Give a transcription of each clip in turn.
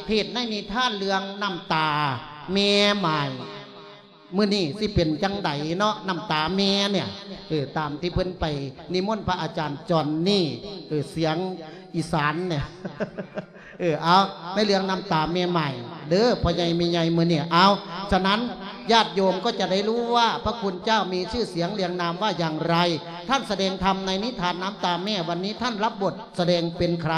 ເທດໃນນິທານເລື່ອງນ້ຳຕາແມ່ໝ້າຍ ມື້ນີ້ຊິເປັນຈັ່ງໃດເນາະ ນ້ຳຕາແມ່ເນຍ. ເອີ ຕາມທີ່ເພິ່ນໄປນິມົນພະອາຈານຈອນນີ້ ເອີ ສຽງອີສານເນຍ ເອີ ເອົາ ໃນເລື່ອງນ້ຳຕາແມ່ໝ້າຍເດີ ພໍ່ໃຫຍ່ແມ່ໃຫຍ່ມື້ນີ້. ເອົາ ສະນັ້ນ ຍາດໂຍມກໍຈະໄດ້ຮູ້ວ່າພະຄຸນເຈົ້າມີຊື່ສຽງລຽງນາມວ່າຢ່າງໃດ. ທ່ານສະແດງທຳໃນນິທານນ້ຳຕາແມ່ ວັນນີ້ທ່ານລັບບົດ ສະແດງເປັນໃຄ?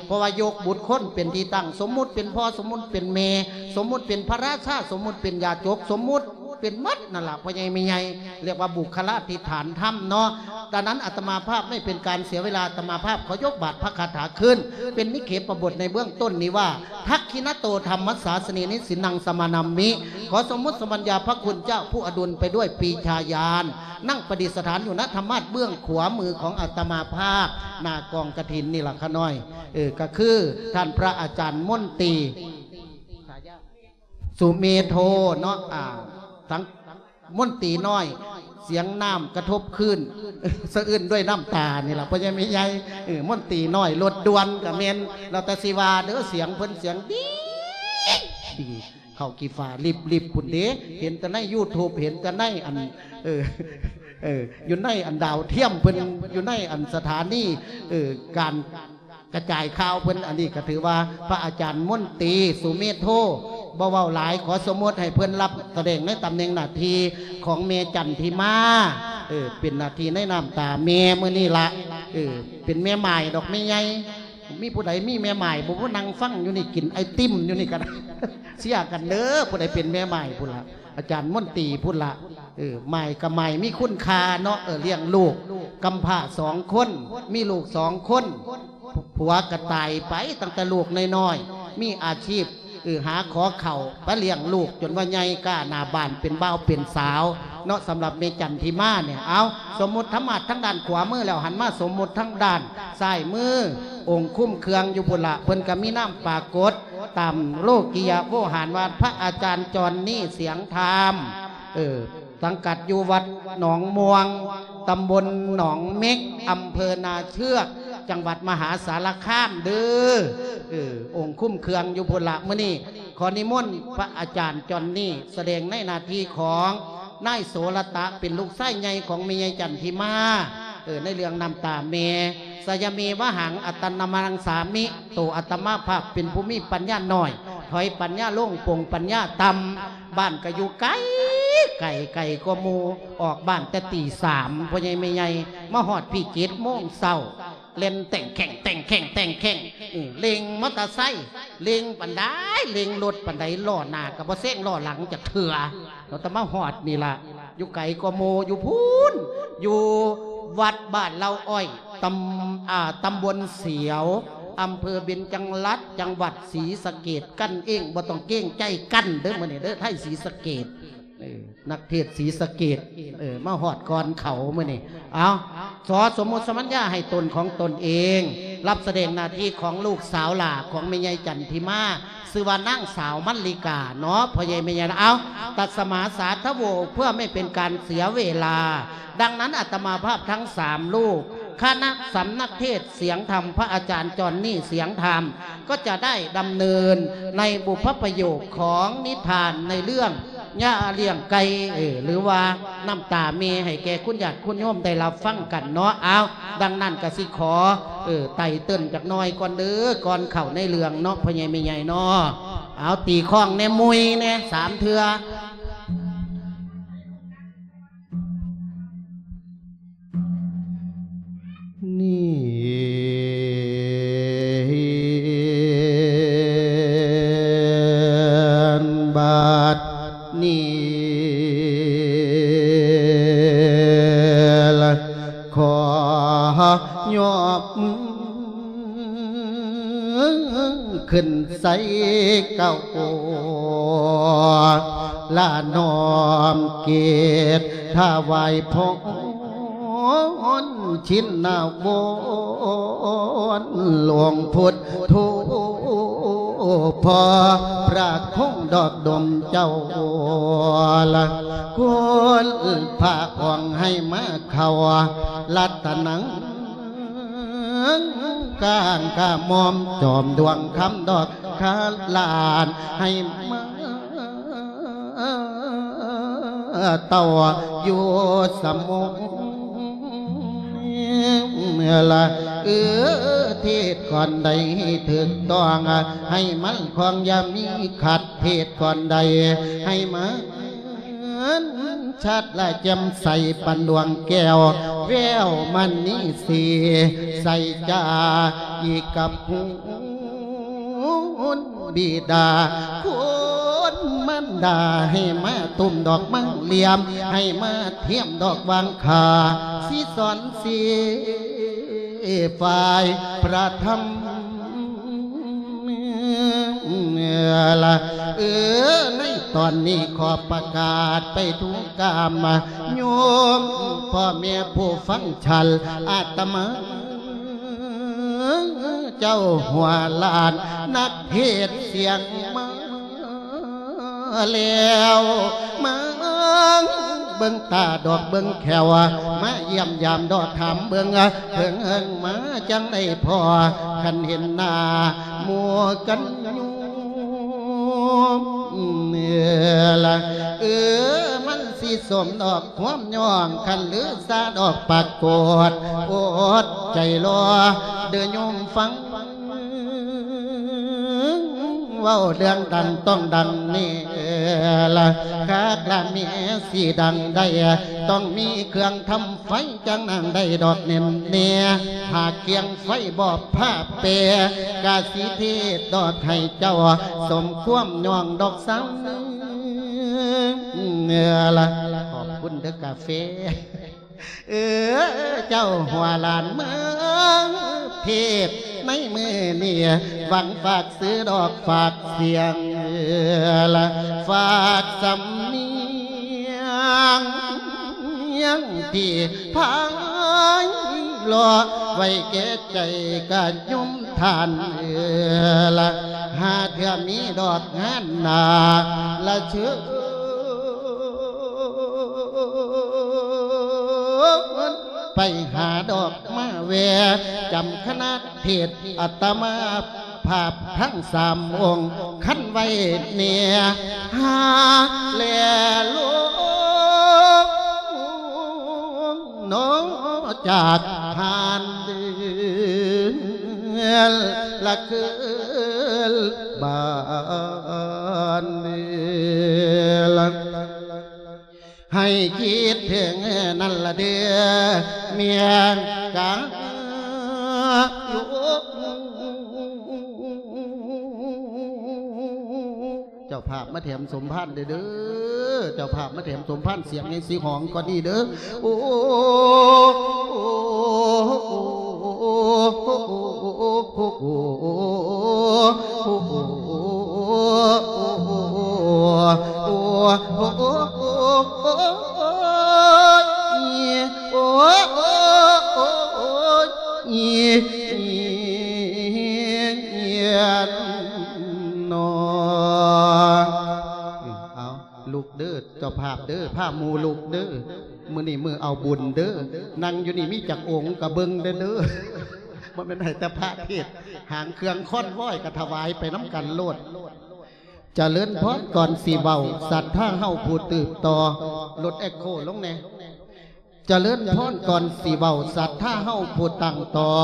ເພາະວ່າຍົກບຸກຄົນເປັນທີ່ຕັ້ງ ສົມມຸດເປັນພໍ່ ສົມມຸດເປັນແມ່ ສົມມຸດເປັນພະລາຊາ ສົມມຸດເປັນຢາຈົກ ສົມມຸດເປັນໝົດນັ້ນລະ ພໍ່ໃຫຍ່ແມ່ໃຫຍ່ ລຽກວ່າບຸກຄະລາທິຖານທຳເນາະ. ດັ່ງນັ້ນອາດຕະມາພາບໄມ່ເປັນການເສຍເວລາ ອາດຕະມາພາບຂໍຍົກບາດພະຄາຖາຂຶ້ນ ເປັນນິເຂປະບົດໃນເບື້ອງຕົ້ນນີ້ວ່າ ທັກຂິນະໂຕທຳມັດສາສະເນ ນິສິນນັງສະມານາມິ. ຂໍສົມມຸດສະບັນຍາພະຄຸນເຈົ້າຜູ້ອະດຸນໄປດ້ວຍປີຊາຍານ ນັ່ງປະດິດສະຖານຢູ່ນະທຳມາດເບື້ອງຂວາມືຂອງອາດຕະມາພາບ ໜ້າກອງກະຖິນນີ້ລະຂະນ້ອຍ. ເອີ ກໍຄືທ່ານພະອາຈານມົນຕີ ສາຍາ ສຸເມໂທເນາະ ອ່າ ທັງມົນຕີນ້ອຍ ສຽງນ້ຳກະທົບຄື້ນ ສະອື້ນດ້ວຍນ້ຳຕານີ້ລະ ພໍ່ໃຫຍ່ແມ່ໃຫຍ່. ເອີ ມົນຕີນ້ອຍລົດດ່ວນກະແມ່ນ ແລ້ວແຕ່ຊິວ່າເດີ ສຽງເພິ່ນສຽງດີ ເຂົ້າກີ້ຟ້າລິບໆພຸ້ນເດ ເຫັນແຕ່ໃນຢູທູບ ເຫັນແຕ່ໃນອັນ ເອີ ເອີ ຢູ່ໃນອັນດາວທຽມເພິ່ນ ຢູ່ໃນອັນສະຖານີ ເອີ ການກະຈາຍຂ່າວເພິ່ນ. ອັນນີ້ກໍຖືວ່າພະອາຈານມົນຕີ ສຸເມໂທ ບໍ່ເວົ້າຫຼາຍ ຂໍສົມມຸດໃຫ້ເພິ່ນຮັບສະແດງໃນຕຳແໜ່ງໜ້າທີ່ຂອງແມ່ຈັນທິມາ ເອີ ເປັນໜ້າທີ່ໃນນ້ຳຕາແມ່ມື້ນີ້ລະ ເອີ ເປັນແມ່ໝ້າຍດອກແມ່ໃຫຍ່. ມີຜູ້ໃດມີແມ່ໝ້າຍບໍ່? ຜູ້ນັ່ງຟັງຢູ່ນີ້ ກິນໄອຕິມຢູ່ນີ້ກໍໄດ້ ເຊຍກັນເດີ ຜູ້ໃດເປັນແມ່ໝ້າຍພຸ້ນລະ ອາຈານມົນຕີພຸ້ນລະ. ເອີ ໝ້າຍກໍໝ້າຍມີຄຸນຄ່າເນາະ ເອີ ລ້ຽງລູກກຳພ້າສອງຄົນ ມີລູກສອງຄົນ ຜົວກໍຕາຍໄປຕັ້ງແຕ່ລູກນ້ອຍໆ ມີອາຊີບ ເອີ ຫາຂໍເຂົ້າໄປລ້ຽງລູກຈົນວ່າໃຫຍ່ກ້າໜ້າບ້ານເປັນບ່າວເປັນສາວເນາະ. ສຳລັບແມ່ຈັນທິມານີ້ ເອົາ ສົມມຸດທຳມາດທາງດ້ານຂວາມືແລ້ວ ຫັນມາສົມມຸດທາງດ້ານຊ້າຍມື ອົງຄຸມເຄື່ອງຢູ່ພຸ້ນລະ ເພິ່ນກໍມີນາມປາກົດຕາມໂລກິຍະໂວຫານວ່າ ພະອາຈານຈອນນີ ສຽງທາມ ເອີ ສັງກັດຢູ່ວັດໜອງມ່ວງ ຕຳບົນໜອງເມັກ ອຳເພີນາເຊືອກ ຈັງຫວັດມະຫາສາລະຄາມເດີ. ເອີ ອົງຄຸມເຄື່ອງຢູ່ພຸ້ນລະ. ມື້ນີ້ຂໍນິມົນພະອາຈານຈອນນີສະແດງໃນໜ້າທີ່ຂອງນາຍໂສລະຕະ ເປັນລູກຊາຍໃຫຍ່ຂອງແມ່ໃຫຍ່ຈັນທິມາ ເອີ ໃນເລື່ອງນ້ຳຕາແມ່. ສະຍະເມວະຫັງ ອັດຕະນະມັງສາມິ ໂຕອາດຕະມາພາບເປັນຜູ້ມີປັນຍານ້ອຍ ຖອຍປັນຍາລົງ ປົງປັນຍາຕ່ຳ ບ້ານກໍຢູ່ໄກ ໄກ ໄກກວ່າໝູ່ ອອກບ້ານແຕ່ຕີສາມ ພໍ່ໃຫຍ່ແມ່ໃຫຍ່ ມາຮອດພີ້ເຈັດໂມງເຊົ້າ ແລ່ນແຕ່ງແຂ່ງ ແຕ່ງແຂ່ງ ແຕ່ງແຂ່ງ ເອີ ເລັ່ງມໍເຕີໄຊ ເລັ່ງປານໃດ ເລັ່ງລົດປານໃດ ລໍ້ໜ້າກໍບໍ່ແຊງ ລໍ້ຫຼັງຈັກເທື່ອ. ເຮົາຕະມາຮອດນີ້ລະ ຢູ່ໄກກວ່າໝູ່ ຢູ່ພຸ້ນ ຢູ່ວັດບ້ານເຫຼົ່າອ້ອຍ ຕຳ ອ່າ ຕຳບົນສຽວ ອຳເພີເບັນຈັງລັດ ຈັງຫວັດສີສະເກດ ກັນເອງ ບໍ່ຕ້ອງເກງໃຈກັນເດີ ມື້ນີ້ເດີ ໄທສີສະເກດ ເອີ ນັກເທດສີສະເກດ ເອີ ມາຮອດກ່ອນເຂົາມື້ນີ້. ເອົາ ຂໍສົມມຸດສະບັນຍາໃຫ້ຕົນຂອງຕົນເອງ ຮັບສະແດງໜ້າທີ່ຂອງລູກສາວຫຼ້າຂອງແມ່ໃຫຍ່ຈັນທິມາ ຊື່ວ່ານາງສາວມັນລິກາເນາະ ພໍ່ໃຫຍ່ແມ່ໃຫຍ່. ເອົາ ຕັດສະມາສາທະໂວ ເພື່ອໄມ່ເປັນການເສຍເວລາ. ດັ່ງນັ້ນອາດຕະມາພາບທັງສາມຮູບ ຄະນະສຳນັກເທດສຽງທຳ ພະອາຈານຈອນນີ ສຽງທຳ ກໍຈະໄດ້ດຳເນີນໃນບຸບພະປະໂຫຍກຂອງນິທານໃນເລື່ອງ ຍາລ້ຽງໄກ່ ເອີ ຫຼືວ່ານ້ຳຕາແມ່ໃຫ້ແກ່ຄຸນຍາດຄຸນໂຍມໄດ້ຮັບຟັງກັນເນາະ. ເອົາ ດັ່ງນັ້ນກະຊິຂໍ ເອີ ໄຕ່ເຕີນຈັກໜ່ອຍກ່ອນເດີ ກ່ອນເຂົ້າໃນເລື່ອງເນາະ ພໍ່ໃຫຍ່ແມ່ໃຫຍ່ເນາະ. ເອົາ ຕີຄ້ອງແດ່ ມຸຍແດ່ ສາມເທື່ອ. ນີ້ ບາດນີ້ລະ ຂໍຍອບມືຂຶ້ນໃສ່ເກົ້າ ລະນ້ອມກຽດຖວາຍພອນ ຊິນນະວອນ ຫຼວງພຸດໂທ ພໍ່ພະຄົງດອກດົມເຈົ້າລະ ຄຸນພະອົງໃຫ້ມາເຂົ້າ ລັດຕະນັງກາງກະໝອມ ຈອມດວງຄຳດອກ ຄາຫຼານໃຫ້ມາເຕົ້າຢູ່ສະໝຸງລະ ເອີ ເທດກ່ອນໃດຖືກຕ້ອງ ໃຫ້ມັນຄອງຢ່າມີຂັດ ເທດກ່ອນໃດໃຫ້ມັນ ເຫັນຊັດລະແຈ່ມໃສປານດວງແກ້ວ ແວວມະນີສີໃສຈາອີກກັບຫູນບິດາ ຄຸນມານດາ ໃຫ້ມາຕຸ້ມດອກໄມ້ລຽມ ໃຫ້ມາທຽມດອກຫວ່າງຄາ ສີສອນສີຝ່າຍພະທຳ ລະ ເອີ ໃນຕອນນີ້ຂໍປະກາດໄປທຸກກາມໂຍມ ພໍ່ແມ່ຜູ້ຟັງສັນ ອາດຕະມາເຈົ້າຫົວຫຼານ ນັກເທດສຽງມາແລ້ວ ມາເບິ່ງຕາດອກເບິ່ງແຂ້ວ ມາຢ້ຽມຢາມເລາະຖາມເບິ່ງ ເພິ່ງເຫິງມາຈັ່ງໄດ້ພໍ ຄັນເຫັນໜ້າໝູ່ກັນຢູ່ລະ ເອີ ມັນຊິສົມດອກຄວາມຍ້ອງ ຄັນລືຊາດອກປາກົດ ອົດໃຈລໍເດີໂຍມຟັງ ເວົ້າເລື່ອງດັງຕ້ອງດັງແນ່ລະ ຄັກລະແມ່ຊິດັງໄດ້ ຕ້ອງມີເຄື່ອງທຳ ໄຟຈັ່ງນາງໄດ້ດອກແໜ້ນແນ່ ຫາກກຽງໄຟບໍ່ພາແປ ກະຊິເທດດອກໃຫ້ເຈົ້າ ສົມຄວາມຍ້ອງດອກສາວເອີລະ ຂອບຄຸນເດີກາເຟ ເອີ ເຈົ້າຫົວຫຼານເມືອງເທບໃນມື້ນີ້ ຫວັງຝາກຊື່ດອກຝາກສຽງ ລະ ຝາກສຳນຽງ ທີ່ໄພເລາະໄວ້ແກ່ໃຈກະຍົມທ່ານເອີລະ ຫາເທື່ອມີດອກງານໜ້າລະເຊີນ ໄປຫາດອກມາແວ່ ຈຳຄະນະເທດອາດຕະມາ ພາບທັງສາມອົງ ຄັນໄວ້ແນ່ ຫາແລລົງເນາະ ຈາກທ່ານເດີ ລະຄືນບ້ານເດີ ລະ ໃຫ້ຄິດເຖິງນັ້ນລະເດີ ເມຍກາ ເຈົ້າພາບມາແຖມສົມພານເດີ ເຈົ້າພາບມາແຖມສົມພານ ສຽງໃຫ້ຊິຮ້ອງກ່ອນນີ້ເດີ ໂອ ເອົາ ລຸກເດີ ເຈົ້າພາບເດີ ພາໝູ່ລຸກເດີ ມື້ນີ້ມື້ເອົາບຸນເດີ ນັ່ງຢູ່ນີ້ມີຈັກອົງກະເບິ່ງແດ່ເດີ ບໍ່ແມ່ນໃຫ້ແຕ່ພະເທດ ຫາງເຄື່ອງຄອນວອຍກະຖວາຍໄປນຳກັນໂລດ ຈະເລີນພອນກ່ອນຊິເວົ້າ ສັດທາເຮົາຜູ້ສືບຕໍ່ ລົດແອັກໂຄລົງແດ່ ຈະເລີນພອນກ່ອນຊິເວົ້າ ສັດທາເຮົາຜູ້ຕັ້ງຕໍ່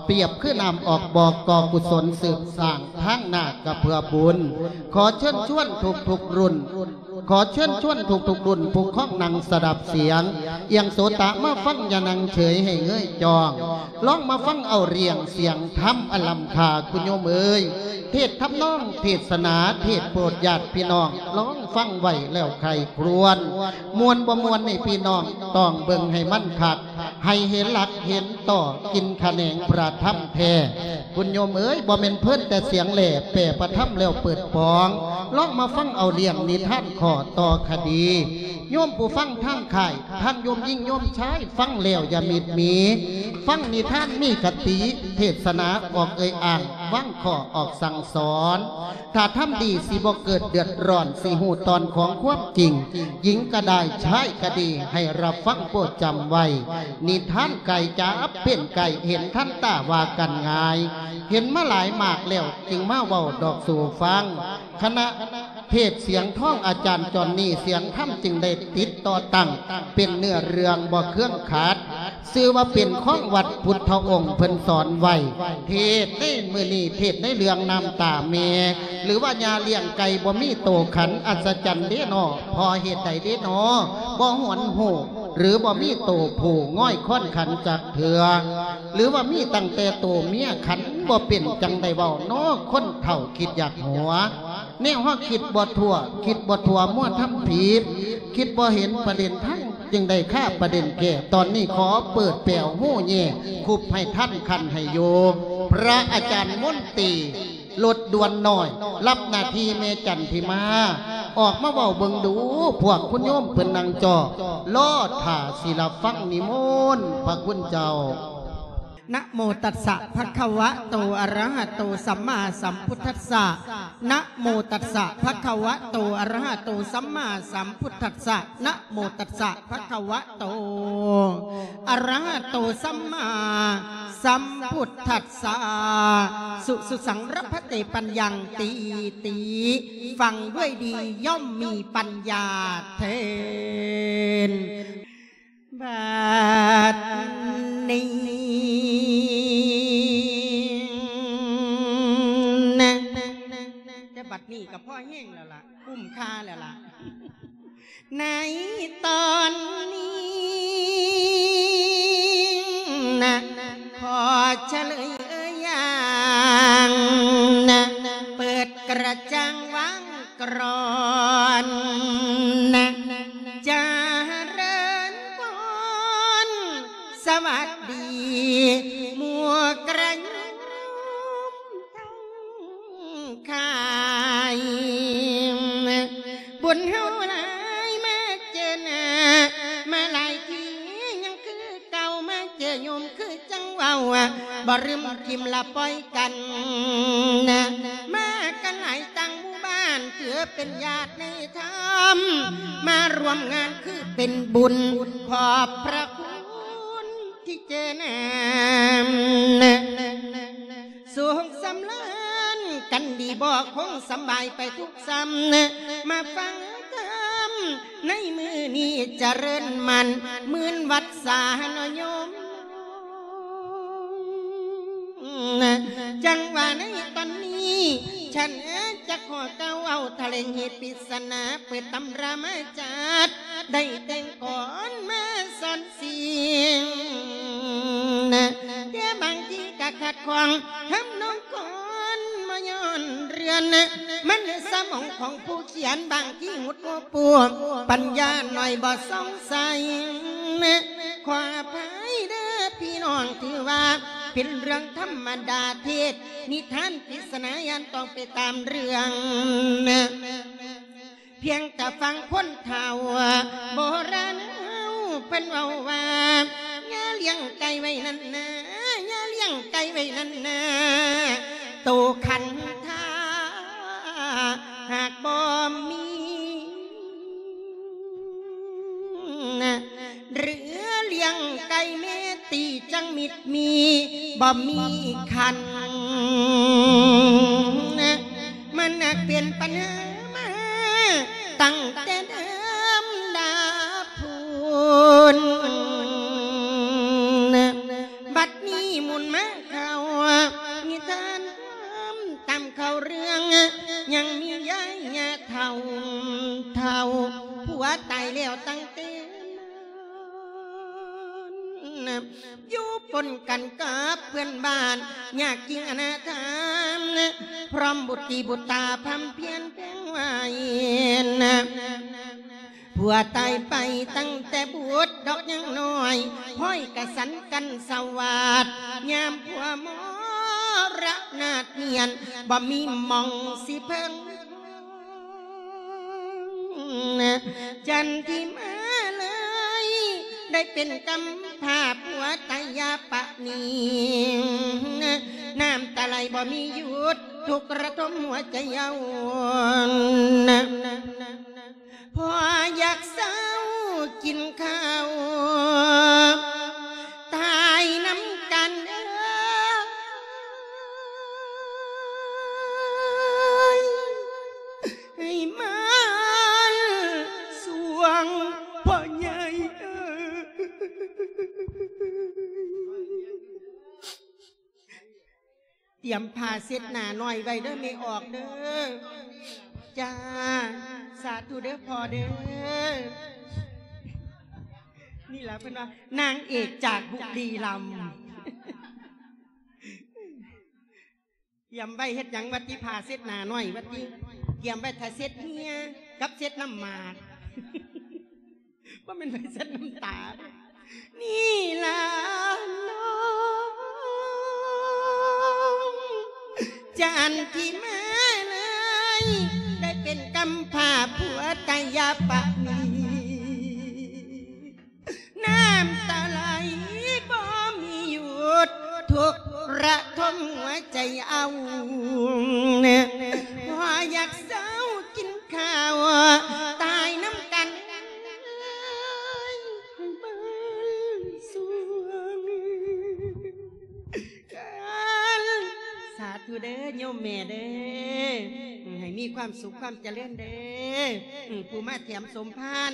ປຽບຄືນ້ຳອອກບໍ່ກໍ່ກຸສົນສືບສ້າງ ທາງໜ້າກະເພື່ອບຸນ ຂໍເຊີນຊວນທຸກໆລຸ້ນ ຂໍເຊີນຊວນທຸກໆລຸ້ນ ຜູ້ຄອງນັ່ງສະດັບສຽງ ອຽງໂສຕະມາຟັງ ຢ່ານັ່ງເສີຍໃຫ້ເງີຍຈ້ອງ ລອງມາຟັງເອົາລຽງສຽງທຳອັນລ້ຳຄ່າ ຄຸນໂຍມເອີຍ ເທດທຳນອງເທດສະໜາ ເທດໂປດຍາດພີ່ນ້ອງ ລອງຟັງໄວ້ແລ້ວໃຄ່ຄວນ ມ່ວນບໍ່ມ່ວນໃຫ້ພີ່ນ້ອງຕ້ອງເບິ່ງໃຫ້ມັນຄັກ ໃຫ້ເຫັນຫຼັກເຫັນຕໍ່ ກິນຂະແໜງພະທຳແທ້ ຄຸນໂຍມເອີຍ ບໍ່ແມ່ນເພີນແຕ່ສຽງແຫຼ ແປພະທຳແລ້ວເປີດປອງ ລອງມາຟັງເອົາລຽງນິທານຂໍ້ຕໍ່ຄະດີ ໂຍມຜູ້ຟັງທາງຄ້າຍ ທັງໂຍມຍິງໂຍມຊາຍ ຟັງແລ້ວຢ່າມິດໝີ ຟັງນິທານມີຄະຕິ ເທດສະໜາອອກເອີ່ຍອ້າງ ວາງຂໍ້ອອກສັ່ງສອນ ຖ້າທຳດີຊິບໍ່ເກີດເດືອດຮ້ອນ ຊິຮູ້ຕອນຂອງຄວາມຈິງ ຍິງກະໄດ້ ຊາຍກະດີ ໃຫ້ຮັບຟັງໂປດຈຳໄວ້ ນິທານໄກ່ຈັບເປັນໄກ່ ເຫັນທັນຕາວ່າກັນງ່າຍ ເຫັນມາຫຼາຍມາກແລ້ວ ຈຶ່ງມາເວົ້າດອກສູ່ຟັງ. ຄະນະເທດສຽງທອງອາຈານຈອນນີ້ ສຽງທຳຈຶ່ງໄດ້ຕິດຕໍ່ຕັ້ງ ເປັນເນື້ອເລື່ອງບໍ່ເຄືອງຂັດ. ຊື່ວ່າເປັນຂອງວັດພຸດທະອົງເພິ່ນສອນໄວ້. ເທດໃນມື້ນີ້ ເທດໃນເລື່ອງນ້ຳຕາແມ່ ຫຼືວ່າຍ່າລ້ຽງໄກ່ບໍ່ມີໂຕຂັນ ອັດສະຈັນເດ້ນໍ ເພາະເຫດໃດເດ້ນໍ ບໍ່ຫວນຮູ້ ຫຼືບໍ່ມີໂຕຜູ້ງ່ອຍຄ້ອນຂັນຈັກເທື່ອ ຫຼືວ່າມີຕັ້ງແຕ່ໂຕເມຍຂັນ ບໍ່ເປັນ ຈັ່ງໄດ້ເວົ້ານໍ ຄົນເຖົ້າຄິດຢາກຫົວ. ແນວເຮົາຄິດບໍ່ທົ່ວ ຄິດບໍ່ທົ່ວ ມົວທຳຜິດ ຄິດບໍ່ເຫັນປະເດັນທັງ ຈຶ່ງໄດ້ຄາປະເດັນແກ້. ຕອນນີ້ຂໍເປີດແປວຮູແຍ່ ຄຸບໃຫ້ທັນຄັນໃຫ້ຢູ່. ພະອາຈານມົນຕີ ລົດດ່ວນນ້ອຍ ຮັບໜ້າທີ່ແມ່ຈັນທິມາ ອອກມາເວົ້າເບິ່ງດູ ພວກຄຸນໂຍມເພິ່ນນັ່ງຈໍ້ ລໍຖ້າຊິຮັບຟັງນິມົນພະຄຸນເຈົ້າ. ນະໂມຕັດສະ ພະຄະວະໂຕ ອະລະຫະໂຕ ສຳມາສຳພຸດທັດສະ. ນະໂມຕັດສະ ພະຄະວະໂຕ ອະລະຫະໂຕ ສຳມາສຳພຸດທັດສະ. ນະໂມຕັດສະ ພະຄະວະໂຕ ອະລະຫະໂຕ ສຳມາສຳພຸດທັດສະ. ສຸ ສຸສັງ ລັບພະເຕ ປັນຍັງ ຕີ ຕີ ຟັງດ້ວຍດີ ຍ່ອມມີປັນຍາເທີນ. ບັດນີ້ນະ ແຕ່ບັດນີ້ກໍພໍແຮງແລ້ວລະ ຄຸ້ມຄ່າແລ້ວລະ. ໃນຕອນນີ້ນະ ຂໍສະເຫຼີຍຢ່າງນະ ເປີດກະຈັງວັງກຣອນນະ ຈະເລີນພອນ ສະຫວັດດີໝູ່ກະໂຍມທັງ ຂາຍ ບຸນເຮົາຫຼາຍມາເຈີໜ້າ ມາຫຼາຍທີຍັງຄືເກົ່າ ມາເຈີໂຍມຄືຈັ່ງເວົ້າ ບໍ່ລືມຖິ້ມລະປ່ອຍກັນ ມາກັນຫຼາຍຕ່າງໝູ່ບ້ານ ຖືເປັນຍາດໃນທຳ ມາຮ່ວມງານຄືເປັນບຸນ ຂອບພະຄຸນທີ່ເຈີໜ້າ ສຸກສຳລານກັນດີບໍ່ ຄົງສຳບາຍໄປທຸກສ່ຳ ມາຟັງທຳໃນມື້ນີ້ຈະເລີນໝັ້ນ ໝື່ນວັດສາເນາະໂຍມ. ຈັ່ງວ່າໃນຕອນນີ້ ສັນຈະຂໍກ່າວເວົ້າຖະແຫຼງເຫດປິດສະໜາ ເປີດຕຳລາມາຈັດ ໄດ້ແຕ່ງກອນມາສອນ ສິ່ງ ແຕ່ບາງທີກະຂັດຂ້ອງທຳນອງກອນມາຍ້ອນເລື່ອນ ມັນສະໝອງຂອງຜູ້ຂຽນ ບາງທີຫຸດຫົວປົວ ປັນຍາໜ້ອຍບໍ່ສ່ອງໃສ ຂໍອະໄພເດີພີ່ນ້ອງ ຖືວ່າເປັນເລື່ອງທຳມະດາ ເທດນິທານປິດສະໜາ ຢ້ານຕ້ອງໄປຕາມເລື່ອງ ພຽງແຕ່ຟັງຄົນເຖົ້າໂບລານເຮົາເພິ່ນເວົ້າວ່າ ຢ່າລ້ຽງໄກ່ໄວ້ນັ້ນນາ ຢ່າລ້ຽງໄກ່ໄວ້ນັ້ນນາ ໂຕຂັນຖ້າຫາກບໍ່ມີ ຫຼືລ້ຽງໄກ່ແມ່ຕີ ຈັ່ງມິດມີ ບໍ່ມີຂັນ ມັນນັກເປັນປັນຫາມາ ຕັ້ງແຕ່ເດີມດາບພຸ້ນ ບັດນີ້ໝູນມາເຂົ້ານິທານ ຕາມເຂົ້າເລື່ອງ ຍັງມີຍາຍຍ່າເຖົ້າ ເຖົ້າ ຜົວຕາຍແລ້ວຕັ້ງແຕ່ ຢູ່ປົນກັນກັບເພື່ອນບ້ານ ຍາກຈິງອະນາຖາ ພ້ອມບຸດຕີບຸດຕາ ພຳພຽນແພງໄວ້ ຜົວຕາຍໄປຕັ້ງແຕ່ບຸດດອກຍັງນ້ອຍ ພ້ອຍກະສັນກັນສະຫວາດ ຍາມຜົວມໍລະນາດນຽນ ບໍ່ມີໝ່ອງຊິເພິ່ງ ຈັນທິມາເລີຍ ໄດ້ເປັນກຳພ້າຜົວຕາຍຢາປານີ ນ້ຳຕາໄຫຼບໍ່ມີຢຸດ ທຸກລະທົມຫົວໃຈເຍົາວນ ພໍຢາກເຊົາກິນເຂົ້າ ຕາຍນຳກັນເອີ. ຕຽມຜ້າເຊັດໜ້ານ້ອຍໄວ້ເດີແມ່ອອກເດີ. ຈ້າ ສາທຸເດີພໍ່ເດີ. ນີ້ລະເພິ່ນວ່ານາງເອກຈາກບຸລີລັມ. ຕຽມໄວ້ເຮັດຫຍັງວະຕິ ຜ້າເຊັດໜ້ານ້ອຍວະຕິ ຕຽມໄວ້ຖ້າເຊັດເຫື່ອກັບເຊັດນ້ຳໝາກ ບໍ່ແມ່ນໄວ້ເຊັດນ້ຳຕາ. ນີ້ລະນ້ອງຈັນທິມາເອີຍ ໄດ້ເປັນກຳພ້າຜົວຕາຍາປະນີ ນ້ຳຕາໄຫຼບໍ່ມີຢຸດ ທຸກລະທົນຫົວໃຈເອົາ ພໍຢາກເຊົາກິນຂ້າວ ຕາຍນຳກັນເອີຍໃຫ້ເບິ່ງສວງ. ສາທຸເດີໂຍມແມ່ເດີ ໃຫ້ມີຄວາມສຸກຄວາມຈະເລີນເດີ. ອືມ ຜູ້ມາແຖມສົມພານ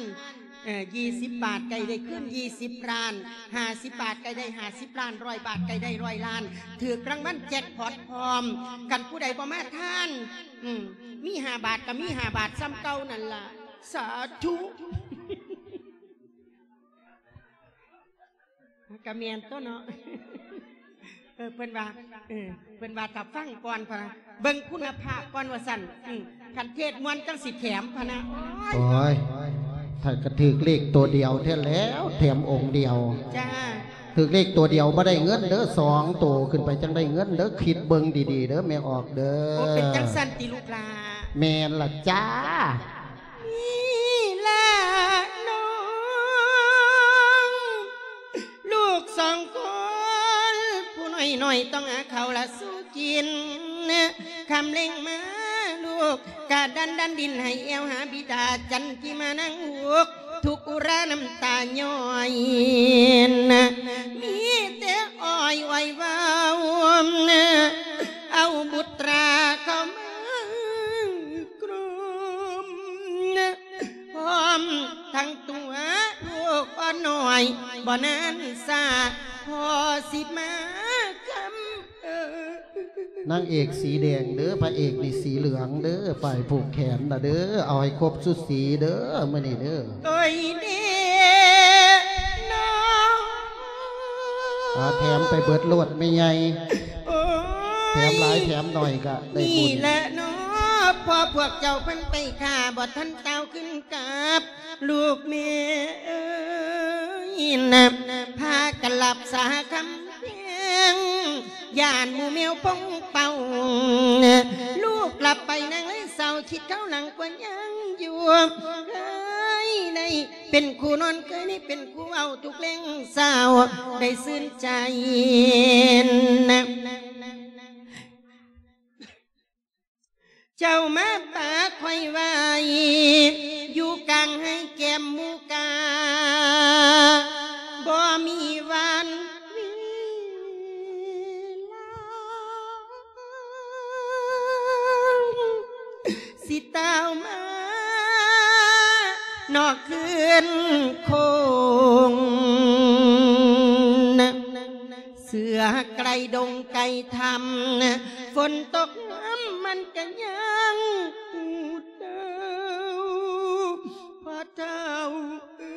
ເອີ ຍີ່ສິບບາດ ໃກ້ໄດ້ຄືນຍີ່ສິບລ້ານ, ຫ້າສິບບາດ ໃກ້ໄດ້ຫ້າສິບລ້ານ, ຮ້ອຍບາດ ໃກ້ໄດ້ຮ້ອຍລ້ານ, ຖືກລາງວັນແຈັກພອດພ້ອມ. ຄັນຜູ້ໃດບໍ່ມາທານ ອືມ ມີຫ້າບາດກໍມີຫ້າບາດສ່ຳເກົ່ານັ້ນລະ. ສາທຸ. ກະແມ່ນຕົວເນາະ. ເອີ ເພິ່ນວ່າ ເອີ ເພິ່ນວ່າຖ້າຟັງກ່ອນພະນະ ເບິ່ງຄຸນນະພາບກ່ອນວ່າຊັ້ນ. ອືມ ຄັນເທດມ່ວນຈັ່ງຊິແຖມພະນະ. ໂອ້ຍ ໂອ້ຍ ຖ້າກະຖືກເລກໂຕດຽວແທ້ແລ້ວ ແຖມອົງດຽວ. ຈ້າ ຖືກເລກໂຕດຽວບໍ່ໄດ້ເງິນເດີ ສອງໂຕຂຶ້ນໄປຈັ່ງໄດ້ເງິນເດີ. ຄິດເບິ່ງດີໆເດີແມ່ອອກເດີ. ໂອ້ ເປັນຈັ່ງຊັ້ນຕິລູກຫຼ້າ? ແມ່ນລະຈ້າ. ນີ້ລະນ້ອງ ລູກສອງຄົນ ຜູ້ນ້ອຍໆຕ້ອງຫາເຂົ້າລະສູ່ກິນ. ຄ່ຳເລັງມາລູກກະດັນດັນດິນໃຫ້ແອວຫາບິດາ ຈັນທິມານາງອຸກ ທຸກອຸຣານ້ຳຕາຍ້ອຍ. ມີແຕ່ອ້ອຍໄວ້ເວົ້າ ເອົາບຸດຕາເຂົ້າມາ ກຣົມ ພ້ອມທັງຕົວລູກອ່ອນນ້ອຍ ບໍ່ນານຊ້າ ພໍ່ຊິມາຄຳເອີ. ນາງເອກສີແດງເດີ ພະເອກນີ້ສີເຫຼືອງເດີ ປ້າຍຜູກແຂນນະເດີ ເອົາໃຫ້ຄົບຊຸດສີເດີ ມື້ນີ້ເດີ. ໂອ້ຍເດນ້ອງ ອ່າ ແຖມໄປເບິດໂລດແມ່ໃຫຍ່. ໂອ້ຍ ແຖມຫຼາຍແຖມໜ້ອຍກະໄດ້ບຸນ. ນີ້ແຫຼະເນາະ ພໍ່ພວກເຈົ້າເພິ່ນໄປຄ້າ ບໍ່ທັນຕ່າວຂຶ້ນກັບ ລູກແມ່ເອີຍນະ ພາກັນລັບສາຄຳແພງ ຢ້ານໝູ່ແມວພົງເປົ່າ. ລູກຫຼັບໄປນາງເລີຍເສົ້າ ຄິດຄາວຫຼັງກວ່າຍັງຢູ່ ເຄີຍໄດ້ ເປັນຄູ່ນອນ ເຄີຍໄດ້ເປັນຄູ່ເວົ້າ ທຸກແລງເຊົ້າໄດ້ຊື່ນໃຈນະ. ເຈົ້າມາປາຂ້ອຍໄວ້ ຢູ່ກາງໄຮ່ແກ້ມໝູກາ ບໍ່ມີວັນເວລາ ຊິຕ່າວມານອກຄືນຄົງ. ເສືອໃກ້ດົງໃກ້ຖ້ຳ ຝົນຕົກນ້ຳມັນກະຍັງອູດເດົວ ພໍ່ເຖົ້າເອີ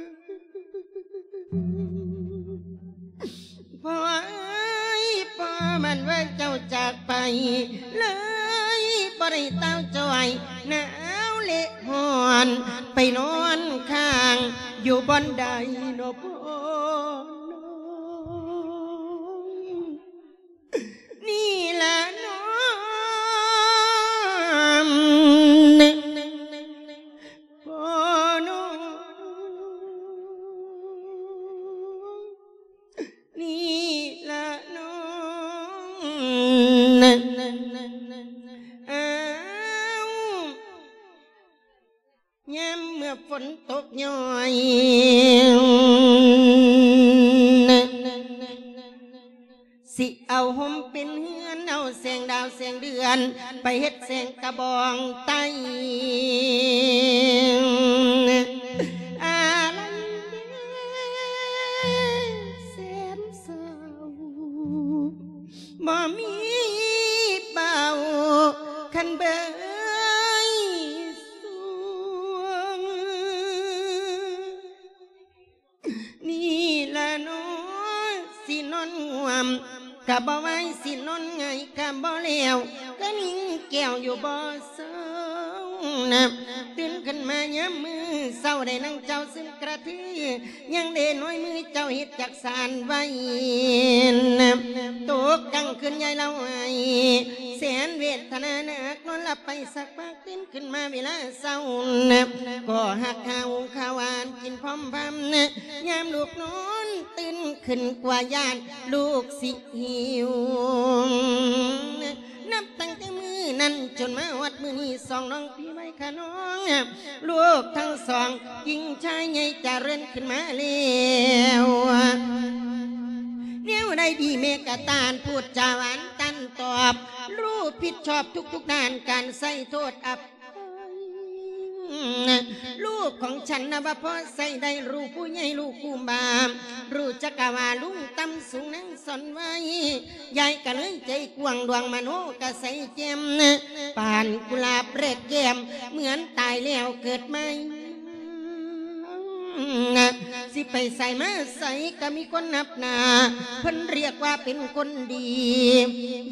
ຍ. ພໍ່ເອີຍ ພໍ່ມັນວ່າເຈົ້າຈາກໄປ ເລີຍບໍ່ໄດ້ເຕົ້າຈ້ອຍ ໜາວເລະຮ້ອນ ໄປນອນຄ້າງຢູ່ບ່ອນໃດນໍພໍ່ນ້ອງ? ນີ້ລະນ້ອງ ພໍ່ນ້ອງ ນີ້ລະນ້ອງ ອ້າວ ຍາມເມື່ອຝົນຕົກຍ້ອຍ ຊິເອົາຮົ່ມເປັນເຮືອນ ເອົາແສງດາວແສງເດືອນ ໄປເຮັດແສງກະບອງໄຕ້. ອາລັນເດ ແສນເສົ້າ ບໍ່ມີ ເບິ່ງ ນີ້ລະເນາະ ຊິນອນງ່ວມກະບໍ່ໄຫວ ຊິນອນຫງາຍກະບໍ່ແລ້ວ ກະຍິງແກ້ວຢູ່ບໍ່ເຊົານະ. ຕື່ນຂຶ້ນມາຍາມມື້ເຊົ້າ ໄດ້ນັ່ງເຈົ້າຊຶມກະທື ຍັງເດນ້ອຍມືເຈົ້າເຮັດຈັກສານໄວ້ນະ. ຕົກກາງຄືນຍາຍລາວໄຫ້ ແສນເວທະນາໜັກ ນອນຫຼັບໄປສັກພັກ ຕື່ນຂຶ້ນມາເວລາເຊົ້ານະ ກໍຮັກຫາຫຸງເຂົ້າຫວານກິນພ້ອມພຳນະ. ຍາມລູກນອນຕື່ນຂຶ້ນກວ່າຢ້ານລູກຊິຫິວນະ. ນັບຕັ້ງແຕ່ມື້ນັ້ນຈົນມາຮອດມື້ນີ້ ສອງນ້ອງ ພີ່ໄວຂະນ້ອງ ລູກທັງສອງ ຍິງຊາຍໃຫຍ່ຈະເລີນຂຶ້ນມາແລ້ວ. ແນວໃດດີແມ່ກະຕ້ານ ພູດຈາຫວານຕັນຕອບ ຮູ້ຜິດຊອບທຸກໆດ້ານ ການໃຊ້ໂທດອະໄພ. ລູກຂອງສັນນະວ່າພໍໃຊ້ໄດ້ ຮູ້ຜູ້ໃຫຍ່ ຮູ້ຄູບາ ຮູ້ຈັກກະວ່າລຸງຕ່ຳສູງນາງສອນໄວ້. ຍາຍກະເລີຍໃຈກວ້າງ ດວງມະໂນກະໃສແຈ່ມ ປານກຸຫຼາບແລກແກ້ມ ເໝືອນຕາຍແລ້ວເກີດໃໝ່. ຊິໄປໃສມາໃສກະມີຄົນນັບໜ້າ ເພິ່ນຮຽກວ່າເປັນຄົນດີ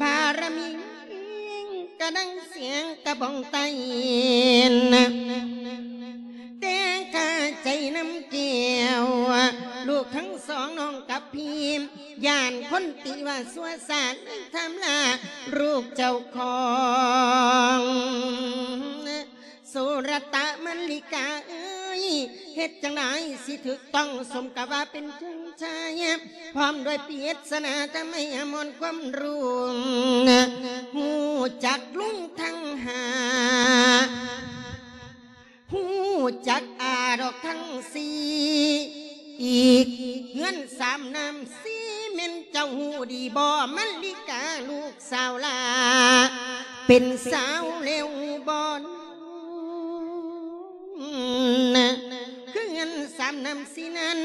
ບາລະມີກະດັ່ງແສງກະບອງໄຕນະ. ແຕ່ຄາໃຈນຳແກ້ວ ລູກທັງສອງ ນ້ອງກັບພີ່ ຢ້ານຄົນຕິວ່າຊົ່ວຊ້າ ໄດ້ຖາມລາລູກເຈົ້າຂອງ. ໂສລະຕະ ມະລິກາເອີຍ ເຮັດຈັ່ງໃດຊິຖືກຕ້ອງ ສົມກັບວ່າເປັນເຈົ້າຊາຍ ພ້ອມດ້ວຍປຣິດສະນາທຳໄມອາມອນຄວາມຮູ້ ຮູ້ຈັກລຸງທັງຫ້າ ຮູ້ຈັກອາດອກທັງສີ່ ອີກເຮືອນສາມນ້ຳສີ່ ແມ່ນເຈົ້າຮູ້ດີບໍ່ ມະລິກາລູກສາວຫຼ້າ ເປັນສາວແລ້ວບໍ່ນະ? ເຮືອນສາມນ້ຳສີ່ນັ້ນ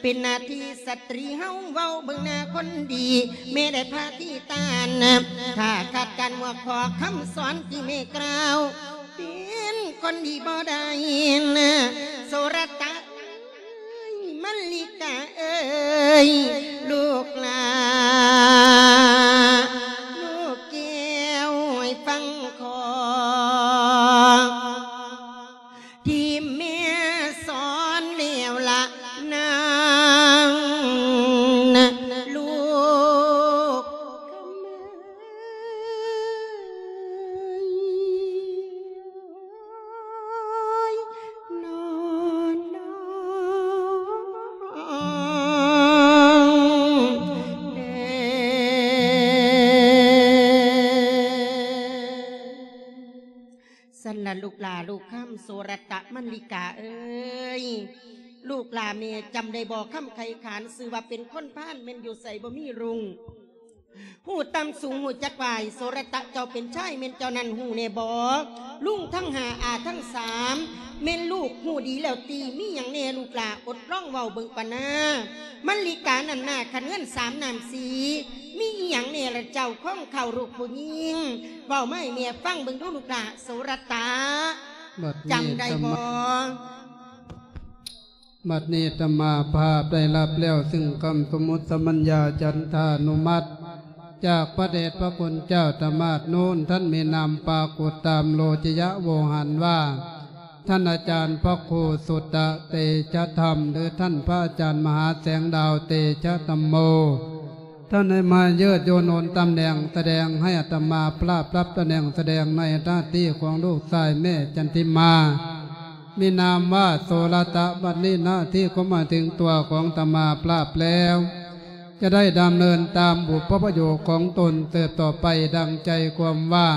ເປັນໜ້າທີ່ສະຕຣີເຮົາ ເວົ້າເບິ່ງໜ້າຄົນດີ ແມ່ໄດ້ພາທີ່ຕ້ານ ຖ້າຂາດການໝວກຂໍຄຳສອນທີ່ແມ່ກ່າວ ເປັນຄົນດີບໍ່ໄດ້ນະ ໂສລະຕະເອີຍ ມະລິກາເອີຍ ລູກຫຼ້າ ລູກແກ້ວ ໃຫ້ຟັງຂໍ ທີ່ແມ່ສອນແລ້ວລະນາງ ລູກ ນອນນອນເດີ. ຊັ້ນລະລູກຫຼ້າລູກຄຳ ໂສລະຕະ ມະລິກາເອີຍ ລູກຫຼ້າແມ່ຈຳໄດ້ບໍ່ ຄຳໄຄຂານ ຊື່ວ່າເປັນຄົນພານ ແມ່ນຢູ່ໃສບໍ່ມີລຸງ ຮູ້ຕ່ຳສູງຮູ້ຈັກຫວາຍ ໂສລະຕະ ເຈົ້າເປັນຊາຍ ແມ່ນເຈົ້ານັ້ນຮູ້ແນ່ບໍ່? ລຸງທັງຫ້າ ອາທັງສາມ ແມ່ນລູກຮູ້ດີແລ້ວຕິ? ມີຫຍັງແນ່ລູກຫຼ້າ ອົດລອງເວົ້າເບິ່ງກ່ອນນາ. ມະລິການັ້ນນາ ຄັນເຮືອນສາມນ້ຳສີ່ ມີອີ່ຫຍັງແນ່ລະເຈົ້າ ຂອງເຂົາລູກຜູ້ຍິງ ເວົ້າມາໃຫ້ແມ່ຟັງເບິ່ງດູລູກຫຼ້າ ໂສລະຕະ ບັດນີ້ ຈຳໄດ້ບໍ່? ບັດນີ້ອາດຕະມາພາບໄດ້ຮັບແລ້ວ ຊຶ່ງຄຳສົມມຸດສະມັນຍາຈັນທານຸມັດ ຈາກພະເດດພະຄຸນເຈົ້າອາດຕະມາດໂນ້ນ ທ່ານມີນາມປາກົດຕາມໂລຈະຍະໂວຫານວ່າ ທ່ານອາຈານພະຄູສຸດຕະເຕຊະທຳ ຫຼື ທ່ານພະອາຈານມະຫາແສງດາວເຕຊະທຳໂມ. ທ່ານໄດ້ມາເຍີດໂຍໂນນຕຳແໜ່ງສະແດງ ໃຫ້ອາດຕະມາພາບຮັບຕຳແໜ່ງສະແດງໃນໜ້າທີ່ຂອງລູກຊາຍແມ່ຈັນທິມາ ມີນາມວ່າໂສລະຕະ. ບັດນີ້ໜ້າທີ່ກໍມາເຖິງຕົວຂອງອາດຕະມາພາບແລ້ວ ຈະໄດ້ດຳເນີນຕາມບຸບພະປະໂຫຍກຂອງຕົນເຕີບຕໍ່ໄປ ດັ່ງໃຈຄວາມວ່າ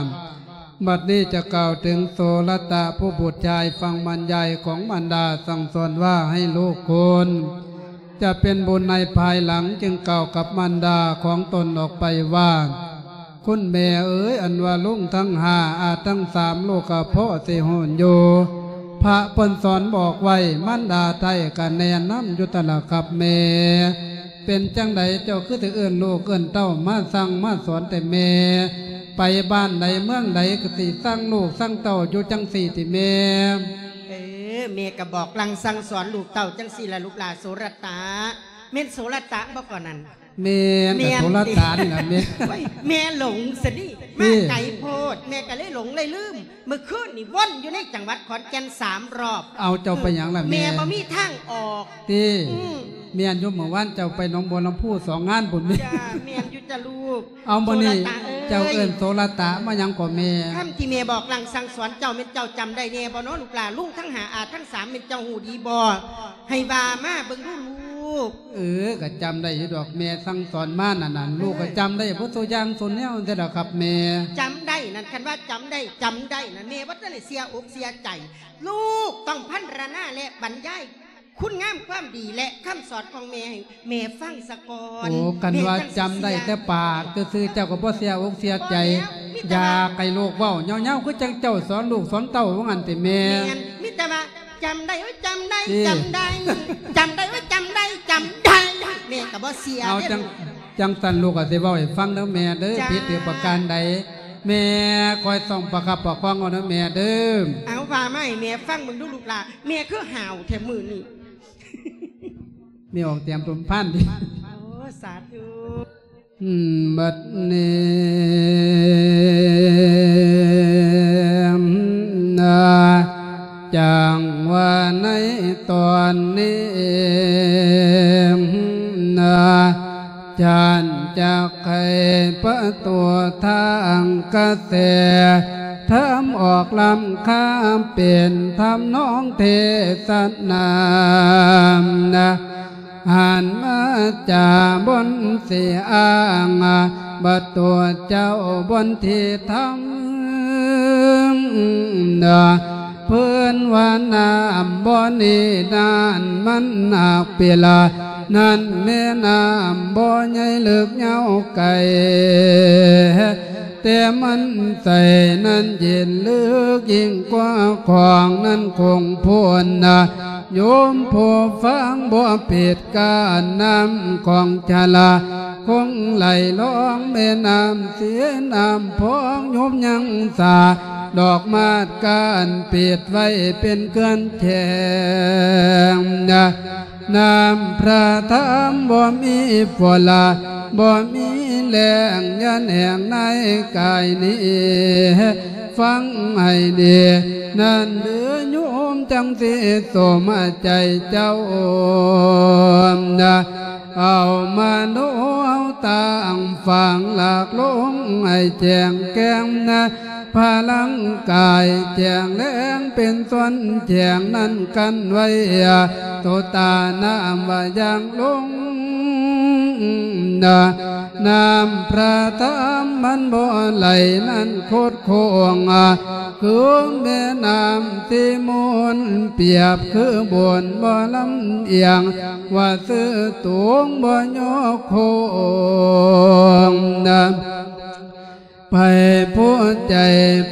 ບັດນີ້ຈະກ່າວເຖິງໂສລະຕະ ຜູ້ບຸດຊາຍຟັງບັນຍາຍຂອງມານດາສັ່ງສອນວ່າໃຫ້ລູກຄຸນ ຈະເປັນບຸນໃນພາຍຫຼັງ ຈຶ່ງກ່າວກັບມານດາຂອງຕົນອອກໄປວ່າ ຄຸນແມ່ເອີຍ ອັນວ່າລຸງທັງຫ້າ ອາທັງສາມ ລູກກະພໍຊິຮູ້ຢູ່ ພະເພິ່ນສອນບອກໄວ້ ມານດາໄທ້ກະແນະນຳຢູ່ຕະລະຄັບແມ່. ເປັນຈັ່ງໃດເຈົ້າຄືຊິເອີ້ນລູກເອີ້ນເຕົ້າມາສັ່ງມາສອນແຕ່ແມ່? ໄປບ້ານໃດເມືອງໃດກໍຊິສັ່ງລູກສັ່ງເຕົ້າຢູ່ຈັ່ງຊີ້ຕິແມ່. ເອີ ແມ່ກໍບອກສັ່ງສັ່ງສອນລູກເຕົ້າຈັ່ງຊີ້ລະລູກຫຼ້າໂສລະຕະ. ແມ່ນໂສລະຕະບໍ່ກ່ອນນັ້ນ? ແມ່ນ ແມ່ນ ກໍໂສລະຕະນີ້ລະແມ່. ໂອ້ຍ ແມ່ຫຼົງຊະນີ້ ເອີ ມາໄກໂພດ ແມ່ກໍເລີຍຫຼົງເລີຍລືມ. ມື້ຄືນນີ້ວົນຢູ່ໃນຈັງຫວັດຂອນແກ່ນສາມຮອບ. ເອົາ ເຈົ້າໄປຫຍັງລະແມ່? ແມ່ບໍ່ມີທາງອອກຕິ? ອືມ ແມ່ນຢູ່ ມື້ວານເຈົ້າໄປໜອງບົວລຳພູສອງງານພຸ້ນແມ່. ຈ້າ ແມ່ນຢູ່ຈ້າລູກ. ເອົາ ມື້ນີ້ ໂສລະຕະເອີຍ ເຈົ້າເອີ້ນໂສລະຕະມາຫຍັງກໍແມ່? ຄຳທີ່ແມ່ບອກສັ່ງສັ່ງສອນເຈົ້າ ແມ່ນເຈົ້າຈຳໄດ້ແນ່ບໍ່ເນາະລູກຫຼ້າ? ລຸງທັງຫ້າ ອາທັງສາມ ແມ່ນເຈົ້າຮູ້ດີບໍ່? ໃຫ້ວ່າມາເບິ່ງດູລູກ. ເອີ ກໍຈຳໄດ້ຢູ່ດອກ ແມ່ສັ່ງສອນມານັ້ນນະ ເອີ ລູກກໍຈຳໄດ້ເບິດສູ່ຢ່າງສູ່ແນວແທ້ດອກຄັບແມ່. ຈຳໄດ້ນັ້ນ ຄັນວ່າຈຳໄດ້ ຈຳໄດ້ນັ້ນ ແມ່ບໍ່ທັນໄດ້ເສຍອົກເສຍໃຈ. ລູກຕ້ອງພັນລະນາ ແລະ ບັນຍາຍຄຸນງາມຄວາມດີ ແລະ ຄຳສອນຂອງແມ່ໃຫ້ແມ່ຟັງສາກ່ອນ. ໂອ້ ຄັນວ່າຈຳໄດ້ແຕ່ປາກຊື່ໆ ເຈົ້າກໍບໍ່ເສຍອົກເສຍໃຈ. ບໍ່ແລ້ວ ມີແຕ່ວ່າ ຢາກໃຫ້ລູກເວົ້າຍາວໆ ຄືຈັ່ງເຈົ້າສອນລູກສອນເຕົ້າວ່າຊັ້ນຕິແມ່. ແມ່ນ ມີແຕ່ວ່າ ຈຳໄດ້ ໂອ້ຍ ຈຳໄດ້ ເອີ ຈຳໄດ້ ຈຳໄດ້ ໂອ້ຍ ຈຳໄດ້ ຈຳໄດ້ ແມ່ກໍບໍ່ເສຍ. ເອົາ ເດ້ ຈັ່ງ ຈັ່ງຊັ້ນລູກກໍຊິເວົ້າໃຫ້ຟັງເດີແມ່ເດີ. ຈ້າ ຜິດຖືກປະການໃດ ແມ່ຄອຍຕ້ອງປະຄັບປະຄອງເອົາເດີແມ່ເດີ. ເອົາ ວ່າມາໃຫ້ແມ່ຟັງເບິ່ງດູລູກຫຼ້າ ແມ່ຄືຫ້າວແທ້ມື້ນີ້. ແມ່ອອກແຕ້ມຕົນພານຕິ? ໂອ້ ສາທຸ. ບັດນີ້ ຈັ່ງວ່າໃນຕອນນີ້ ທ່ານຈັກໃຫ້ປະຕູທາງກະແສທຳອອກລ້ຳຄາ ເປັນທຳນອງເທສະນາ ຫັນມາຈາບົນຊິອ້າງ ບັດຕົວເຈົ້າບົນທີ່ທຳ ເພິ່ນວ່ານ້ຳບໍ່ນີ້ນັ້ນມັນໜັກເປລາ ນັ້ນແມ່ນ້ຳບໍ່ໃຫຍ່ເລິກຍາວໄກ ແຕ່ມັນໃສນັ້ນເຢັນເລິກຍິ່ງກວ່າຂອງນັ້ນຄົງພົ້ນນະ ໂຍມຜູ້ຟັງບໍ່ຜິດ ການນ້ຳຂອງຈະລາຄົງໄຫຼລອງແມ່ນ້ຳເສຍນ້ຳພອງ ໂຍມຍັງສາດອກມາດການປິດໄວ້ເປັນເກືອນແຈງ ນ້ຳພະທຳບໍ່ມີຝົນລະ ບໍ່ມີແລ້ງ ຢ່າແໜງໃນກາຍນີ້ ຟັງໃຫ້ດີ ນັ້ນເດີໂຍມ ຈັ່ງຊິສົມໃຈເຈົ້ານະ ເອົາມະໂນເອົາຕາງຝັງ ລາກລົງໃຫ້ແຈ້ງແຈ້ງນະ ພະລັງກາຍແຈ້ງແລງເປັນສ່ວນແຈ້ງນັ້ນກັນໄວ້ ໂຕຕານ້ຳວ່າຢ່າງລົງ ນ້ຳພະທຳມັນບໍ່ໄຫຼນັ້ນຄົດໂຄ້ງ ຄືແມ່ນ້ຳທີ່ໝູນປຽບ ຄືບົນບໍ່ລຳອຽງ ວ່າຊື່ໂຕງບໍ່ຍໍໂຄ້ງ ໃຜຜູ້ໃຈ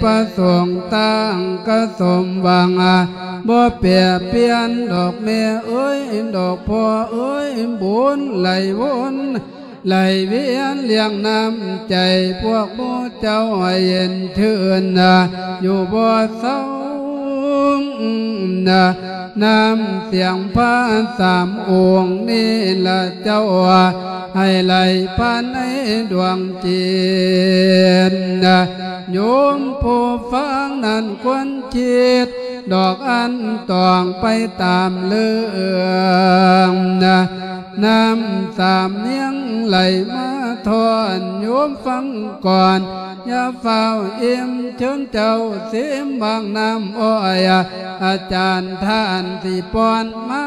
ປະສົງຕັ້ງກະສົມຫວັງ ບໍ່ແປປ່ຽນດອກແມ່ເອີຍ ດອກພໍ່ເອີຍ ບຸນໄຫຼວົນໄຫຼວຽນລ້ຽງນ້ຳໃຈພວກໝູ່ເຈົ້າໃຫ້ເຢັນຊື່ນ ຢູ່ບໍ່ເຊົາ ນ້ຳສຽງພະສາມອົງນີ້ລະເຈົ້າ ໃຫ້ໄຫຼຜ່ານໃນດວງຈິດ ໂຍມຜູ້ຟັງນັ້ນຄວນຄິດ ດອກອັນຕ້ອງໄປຕາມເລື່ອງ ນ້ຳສາມນຽງໄຫຼມາທອນ ໂຍມຟັງກ່ອນ ຢ່າຟ້າວອີ່ມ ເຊີນເຈົ້າຊີມບາງນ້ຳອ້ອຍ ອາຈານທ່ານຊິປ້ອນມາ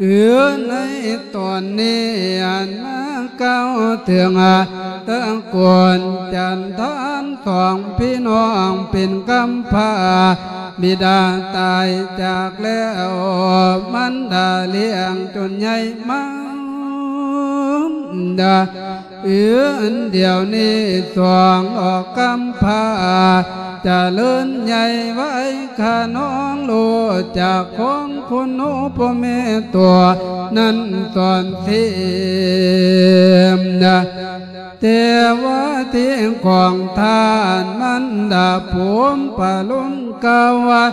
ເອີ ໃນຕອນນີ້ອັນມາກ່າວເຖິງ ຕະໂກນຈັນທານສອງພີ່ນ້ອງເປັນກຳພ້າ ບິດາຕາຍຈາກແລ້ວ ມັນດາລ້ຽງຈົນໃຫຍ່ມາ ເອີ ອັນດຽວນີ້ສອງອອກກຳພາ ຈະເລີນໃຫຍ່ໄວຂະນອງ ຮູ້ຈັກຂອງຄຸນພໍ່ແມ່ຕົວນັ້ນສອນເສມນະ ແຕ່ວ່າທີ່ຂອງທ່ານມັນດາພູມປະລຸງ ກ່າວວ່າ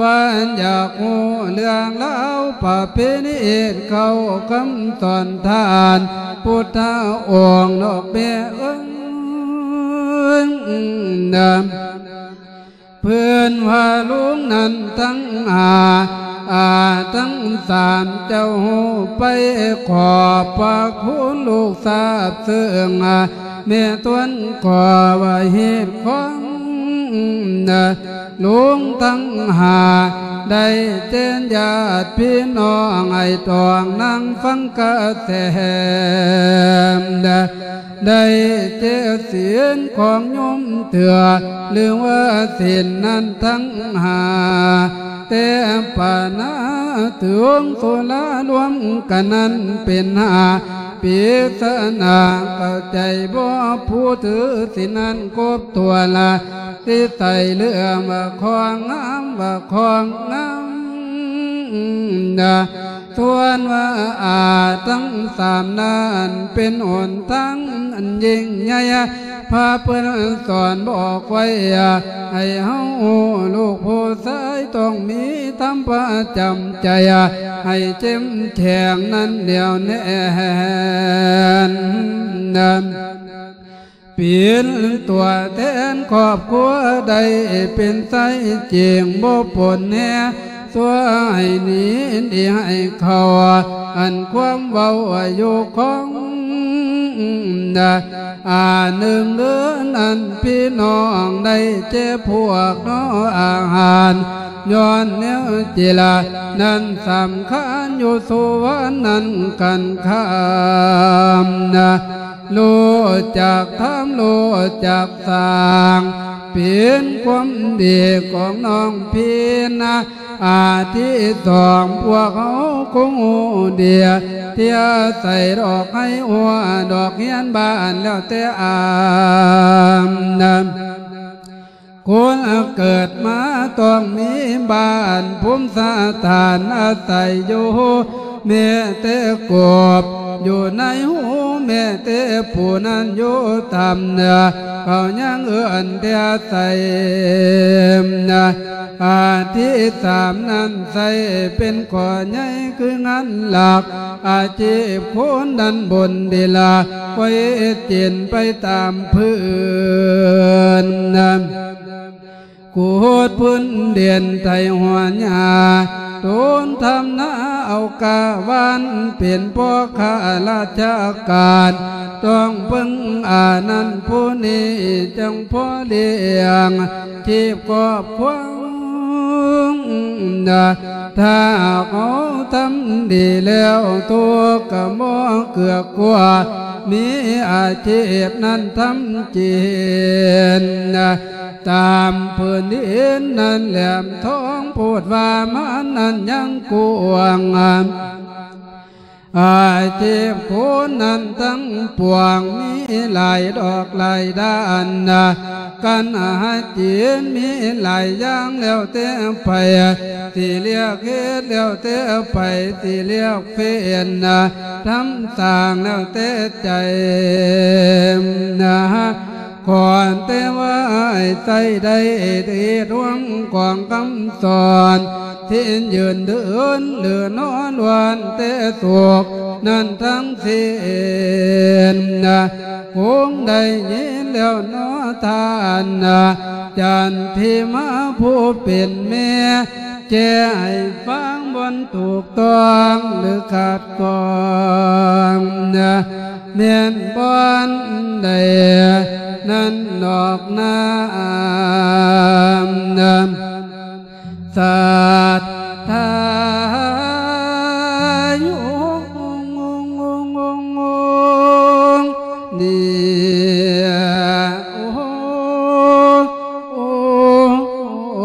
ວ່າຢາກຮູ້ເລື່ອງລາວປະເພນີ ເຂົ້າຄຳສອນທ່ານພຸດທະອົງດອກແມ່ເອີຍນະ ເພິ່ນວ່າລຸງນັ້ນທັງຫ້າ ອາ ທັງສາມເຈົ້າໄປ ຂອບພະຄຸນລູກຊາບເຊິ່ງ ແມ່ຕົວນກໍວ່າເຮັດຂອງ ລຸງທັງຫ້າ ໄດ້ແຈ້ງຍາດພີ່ນ້ອງ ໃຫ້ຕ້ອງນັ່ງຟັງກະແສ ໄດ້ແຈກສິນຂອງໂຍມເທື່ອ ຫຼືວ່າສິນນັ້ນທັງຫ້າ ແຕ່ປານາເຖິງສຸລາລວມກັນນັ້ນເປັນຫ້າ ປິດສະໜາເຂົ້າໃຈບໍ່ ຜູ້ຖືສິນນັ້ນຄົບຖ້ວນລະ ທີ່ໃສ່ເລື່ອມວ່າຂອງງາມ ວ່າຂອງງາມນະ ສ່ວນວ່າອາທັງສາມນັ້ນ ເປັນຫົນທາງອັນຍິ່ງໃຫຍ່ ພາເພິ່ນສອນບອກໄວ້ ໃຫ້ເຮົາລູກຜູ້ຊາຍ ຕ້ອງມີທຳປະຈຳໃຈ ໃຫ້ເຂັ້ມແຂງນັ້ນແໜ້ວແໜ້ນ ເປັນຕົວແທນຄອບຄົວ ໄດ້ເປັນໄຊຈິງບໍ່ປົນແຮ ຊ່ວຍໃຫ້ໜີ ດີໃຫ້ເຂົ້າ ອັນຄວາມເວົ້າຢູ່ຂອງ ອາ ໜຶ່ງເດືອນນັ້ນ ພີ່ນ້ອງໄດ້ແຈກພວກເນາະອາຫານ ຍ້ອນແນວຈິລະນັ້ນສຳຄັນ ຢູ່ສູ່ວັນນັ້ນກັນຄຳນະ ຮູ້ຈັກທຳ ຮູ້ຈັກສ້າງ ເປັນຄວາມດີຂອງນ້ອງພີນນະ ອາ ທີສອງ ພວກເຮົາຄົງຮູ້ດີ ທີ່ອາໄສດອກໄຮຫົວ ດອກຮຽນບ້ານແລ້ວແຕ່ອານນະ ຄົນເກີດມາຕ້ອງມີບ້ານພູມສະຖານອາໄສຢູ່ ແມ້ແຕ່ກົບຢູ່ໃນຮູ ແມ້ແຕ່ປູນັ້ນຢູ່ຕາມເໜືອ ເຂົາຍັງເອີ້ນແຕ່ໄຊນະ ອາ ທີສາມນັ້ນ ໃຊ້ເປັນຂໍ້ໃຫຍ່ຄືງານຫຼັກ ອາຊີບຄົນນັ້ນບົນດີລາ ໄວ້ເຮັດກິນໄປຕາມພື້ນນະ ຂຸດພື້ນດິນໄຖຫົວຫຍ້າ ໂຕນທຳນາເອົາກາວານ ເປັນພໍ່ຂ້າລາຊະການ ຕ້ອງເບິ່ງອານັ້ນຜູ້ນີ້ ຈັ່ງພໍລ້ຽງຊີບຄອບຄົວ ນະ ຖ້າເຮົາທຳດີແລ້ວ ທຸກກະບໍ່ເກືອກກົວ ມີອາຊີບນັ້ນທຳກິນ ນະ ຕາມພື້ນດິນນັ້ນແຫຼມທອງ ໂພດວ່າມັນນັ້ນຍັງກວ້າງ ອາຊີບຄົນນັ້ນທັງປວງ ມີຫຼາຍດອກຫຼາຍດ້ານນະ ການຫາກິນມີຫຼາຍຢ່າງ ແລ້ວແຕ່ໃຜຊິເລືອກເຮັດ ແລ້ວແຕ່ໃຜຊິເລືອກເປັນນະ ທຳສ້າງແລ້ວແຕ່ໃຈນະ ຂໍແຕ່ວ່າໃຊ້ໄດ້ເຮັດຮ່ວມກອງຄຳສອນ ທີ່ຢືນເດີນຫຼືນອນ ລ້ວນແຕ່ສຸກນັ້ນທັງສິ້ນນະ ຄົງໄດ້ຍິນແລ້ວເນາະທ່ານນະ ຈັນທິມາຜູ້ເປັນແມ່ ແຈ້ໃຫ້ຟັງບ່ອນຖືກຕ້ອງ ຫຼືຂັດຂ້ອງນະ ແມ່ນບ່ອນໃດນັ້ນນອກນາ ສາທາຍຸ ນີ້ ໂອ ໂອ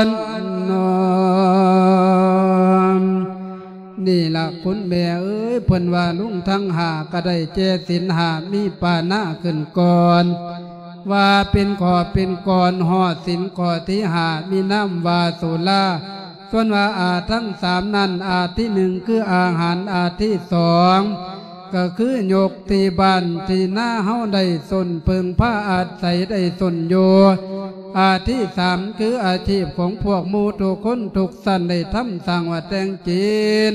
ນອມ ນີ້ລະຄຸນແມ່ເອີຍ ເພິ່ນວ່າລຸງທັງຫ້າ ກໍໄດ້ແກ່ສິນຫ້າ ມີປານະຂຶ້ນກ່ອນ ວ່າເປັນຂໍ້ເປັນກອນ ຮອດສິນຂໍ້ທີຫ້າ ມີນາມວ່າສຸລາ. ສ່ວນວ່າອາທັງສາມນັ້ນ ອາທີໜຶ່ງຄືອາຫານ ອາທີສອງກໍຄືຍົກທີ່ບ້ານທີ່ນາເຮົາໄດ້ຊົນເພິ່ງພາອາໄສໄດ້ຊົນຢູ່ ອາທີສາມຄືອາຊີບຂອງພວກໝູ່ທຸກຄົນທຸກຊັ້ນໄດ້ທຳສ້າງວ່າແຕ່ງກິນ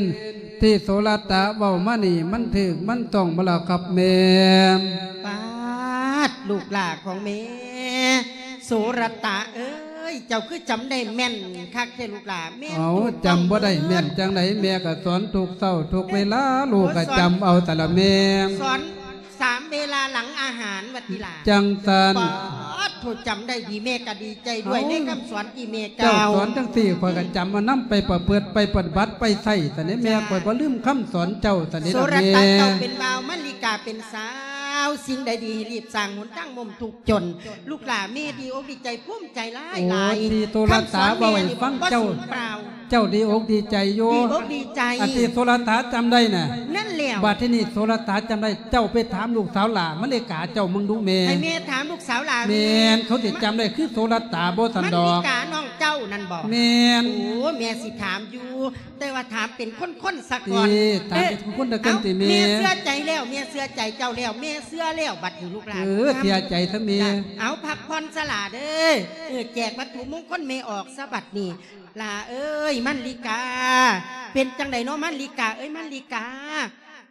ທີ່ໂສລະຕະເວົ້າມານີ້ ມັນຖືກມັນຕ້ອງບໍ່ລະຄັບແມ່? ປາດ ລູກຫຼ້າຂອງແມ່ ໂສລະຕະເອີຍ ເຈົ້າຄືຈຳໄດ້ແມ່ນຄັກແທ້ລູກຫຼ້າ. ແມ່ນ ເອົ້າ ຕູດ ຈຳບໍ່ໄດ້ແມ່ນຈັ່ງໃດ ແມ່ກໍສອນທຸກເຊົ້າທຸກເວລາ ເອີ ລູກກໍຈຳເອົາຕະລະແມ່ ສອນ ສາມເວລາຫຼັງອາຫານວ່າຕິຫຼ້າ ຈັ່ງຊັ້ນ. ປາດໂທ ຈຳໄດ້ດີ ແມ່ກໍດີໃຈດ້ວຍ ເອົ້າ ໃນຄຳສອນທີ່ແມ່ກ່າວ. ເຈົ້າສອນຈັ່ງຊີ້ ຂ້ອຍກໍຈຳເອົານຳໄປປະພຶດ ໄປປະຕິບັດ ໄປໃຊ້ຊັ້ນເດ້ແມ່. ຈ້າ ຂ້ອຍບໍ່ລືມຄຳສອນເຈົ້າຊັ້ນເດ້ ໂສລະຕະ ແມ່ ເຈົ້າເປັນບ່າວ ມະລິກາເປັນສາວ ສິ່ງໃດດີໃຫ້ຮີບສ້າງ ຫົນທາງມົ້ມທຸກຈົນ. ລູກຫຼ້າແມ່ດີອົກດີໃຈພູມໃຈຫຼາຍໆ. ໂອ້ ທີ່ໂສລະຕະເວົ້າໃຫ້ຟັງ ເຈົ້າ ເຈົ້າດີອົກດີໃຈຢູ່ ດີອົກດີໃຈ ອັນທີ່ໂສລະຕະຈຳໄດ້ນະ. ນັ້ນແຫຼ້ວ ບັດທີນີ້ໂສລະຕະຈຳໄດ້ ເຈົ້າໄປຖາມລູກສາວຫຼ້າມະລິກາເຈົ້າເບິ່ງດູແມ່. ໃຫ້ແມ່ຖາມລູກສາວຫຼ້າ ແມ່ນ ເຂົາຊິຈຳໄດ້ຄືໂສລະຕະບໍ່ຊັ້ນດອກ ມະລິການ້ອງເຈົ້ານັ້ນບໍ່? ແມ່ນ. ໂອ້ ແມ່ຊິຖາມຢູ່ ແຕ່ວ່າຖາມເປັນຄົນໆຊະກ່ອນ. ເອີ ຖາມເປັນຄົນໆຊະກ່ອນຕິແມ່. ເອົ້າ ແມ່ເຊື່ອໃຈແລ້ວ ແມ່ເຊື່ອໃຈເຈົ້າແລ້ວ ແມ່ເຊື່ອແລ້ວ ບັດນີ້ລູກຫຼ້າ ເອີ ເຊື່ອໃຈຊະແມ່. ເອົາ ພັກຜ່ອນຊະຫຼ້າເດີ ເອີ ແຈກວັດຖຸມົງຄົນແມ່ອອກຊະບັດນີ້. ຫຼ້າເອີຍ ມັນລິກາ ເປັນຈັ່ງໃດເນາະ ມັນລິກາເອີຍ ມັນລິກາ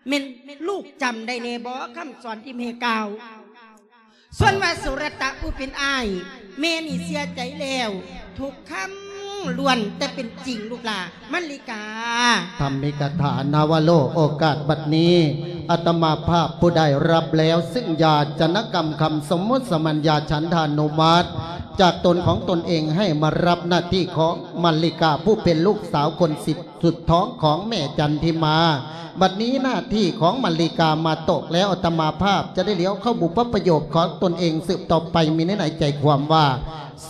ແມ່ນລູກຈຳໄດ້ແດ່ບໍ່ ຄຳສອນທີ່ແມ່ກ່າວ? ສ່ວນວ່າສຸລະຕະຜູ້ເປັນອ້າຍ ແມ່ນີ້ເຊື່ອໃຈແລ້ວ ທຸກຄຳລ້ວນແຕ່ເປັນຈິງ ລູກຫຼ້າ ມັນລິກາ. ທຳມິກະຖາ ນະວະໂລກ ໂອກາດບັດນີ້ ອາດຕະມາພາບຜູ້ໄດ້ຮັບແລ້ວ ຊຶ່ງຢາຈະນະກຳຄຳສົມມຸດສະມັນຍາ ສັນທານຸມັດ ຈາກຕົນຂອງຕົນເອງ ໃຫ້ມາຮັບໜ້າທີ່ຂອງມັນລິກາ ຜູ້ເປັນລູກສາວຄົນສິບສຸດທ້ອງຂອງແມ່ຈັນທິມາ. ບັດນີ້ໜ້າທີ່ຂອງມັນລິກາມາຕົກແລ້ວ ອາດຕະມາພາບຈະໄດ້ຫຼຽວເຂົ້າບຸບປະໂຫຍກຂອງຕົນເອງສືບຕໍ່ໄປ ມີໃນໃນໃຈຄວາມວ່າ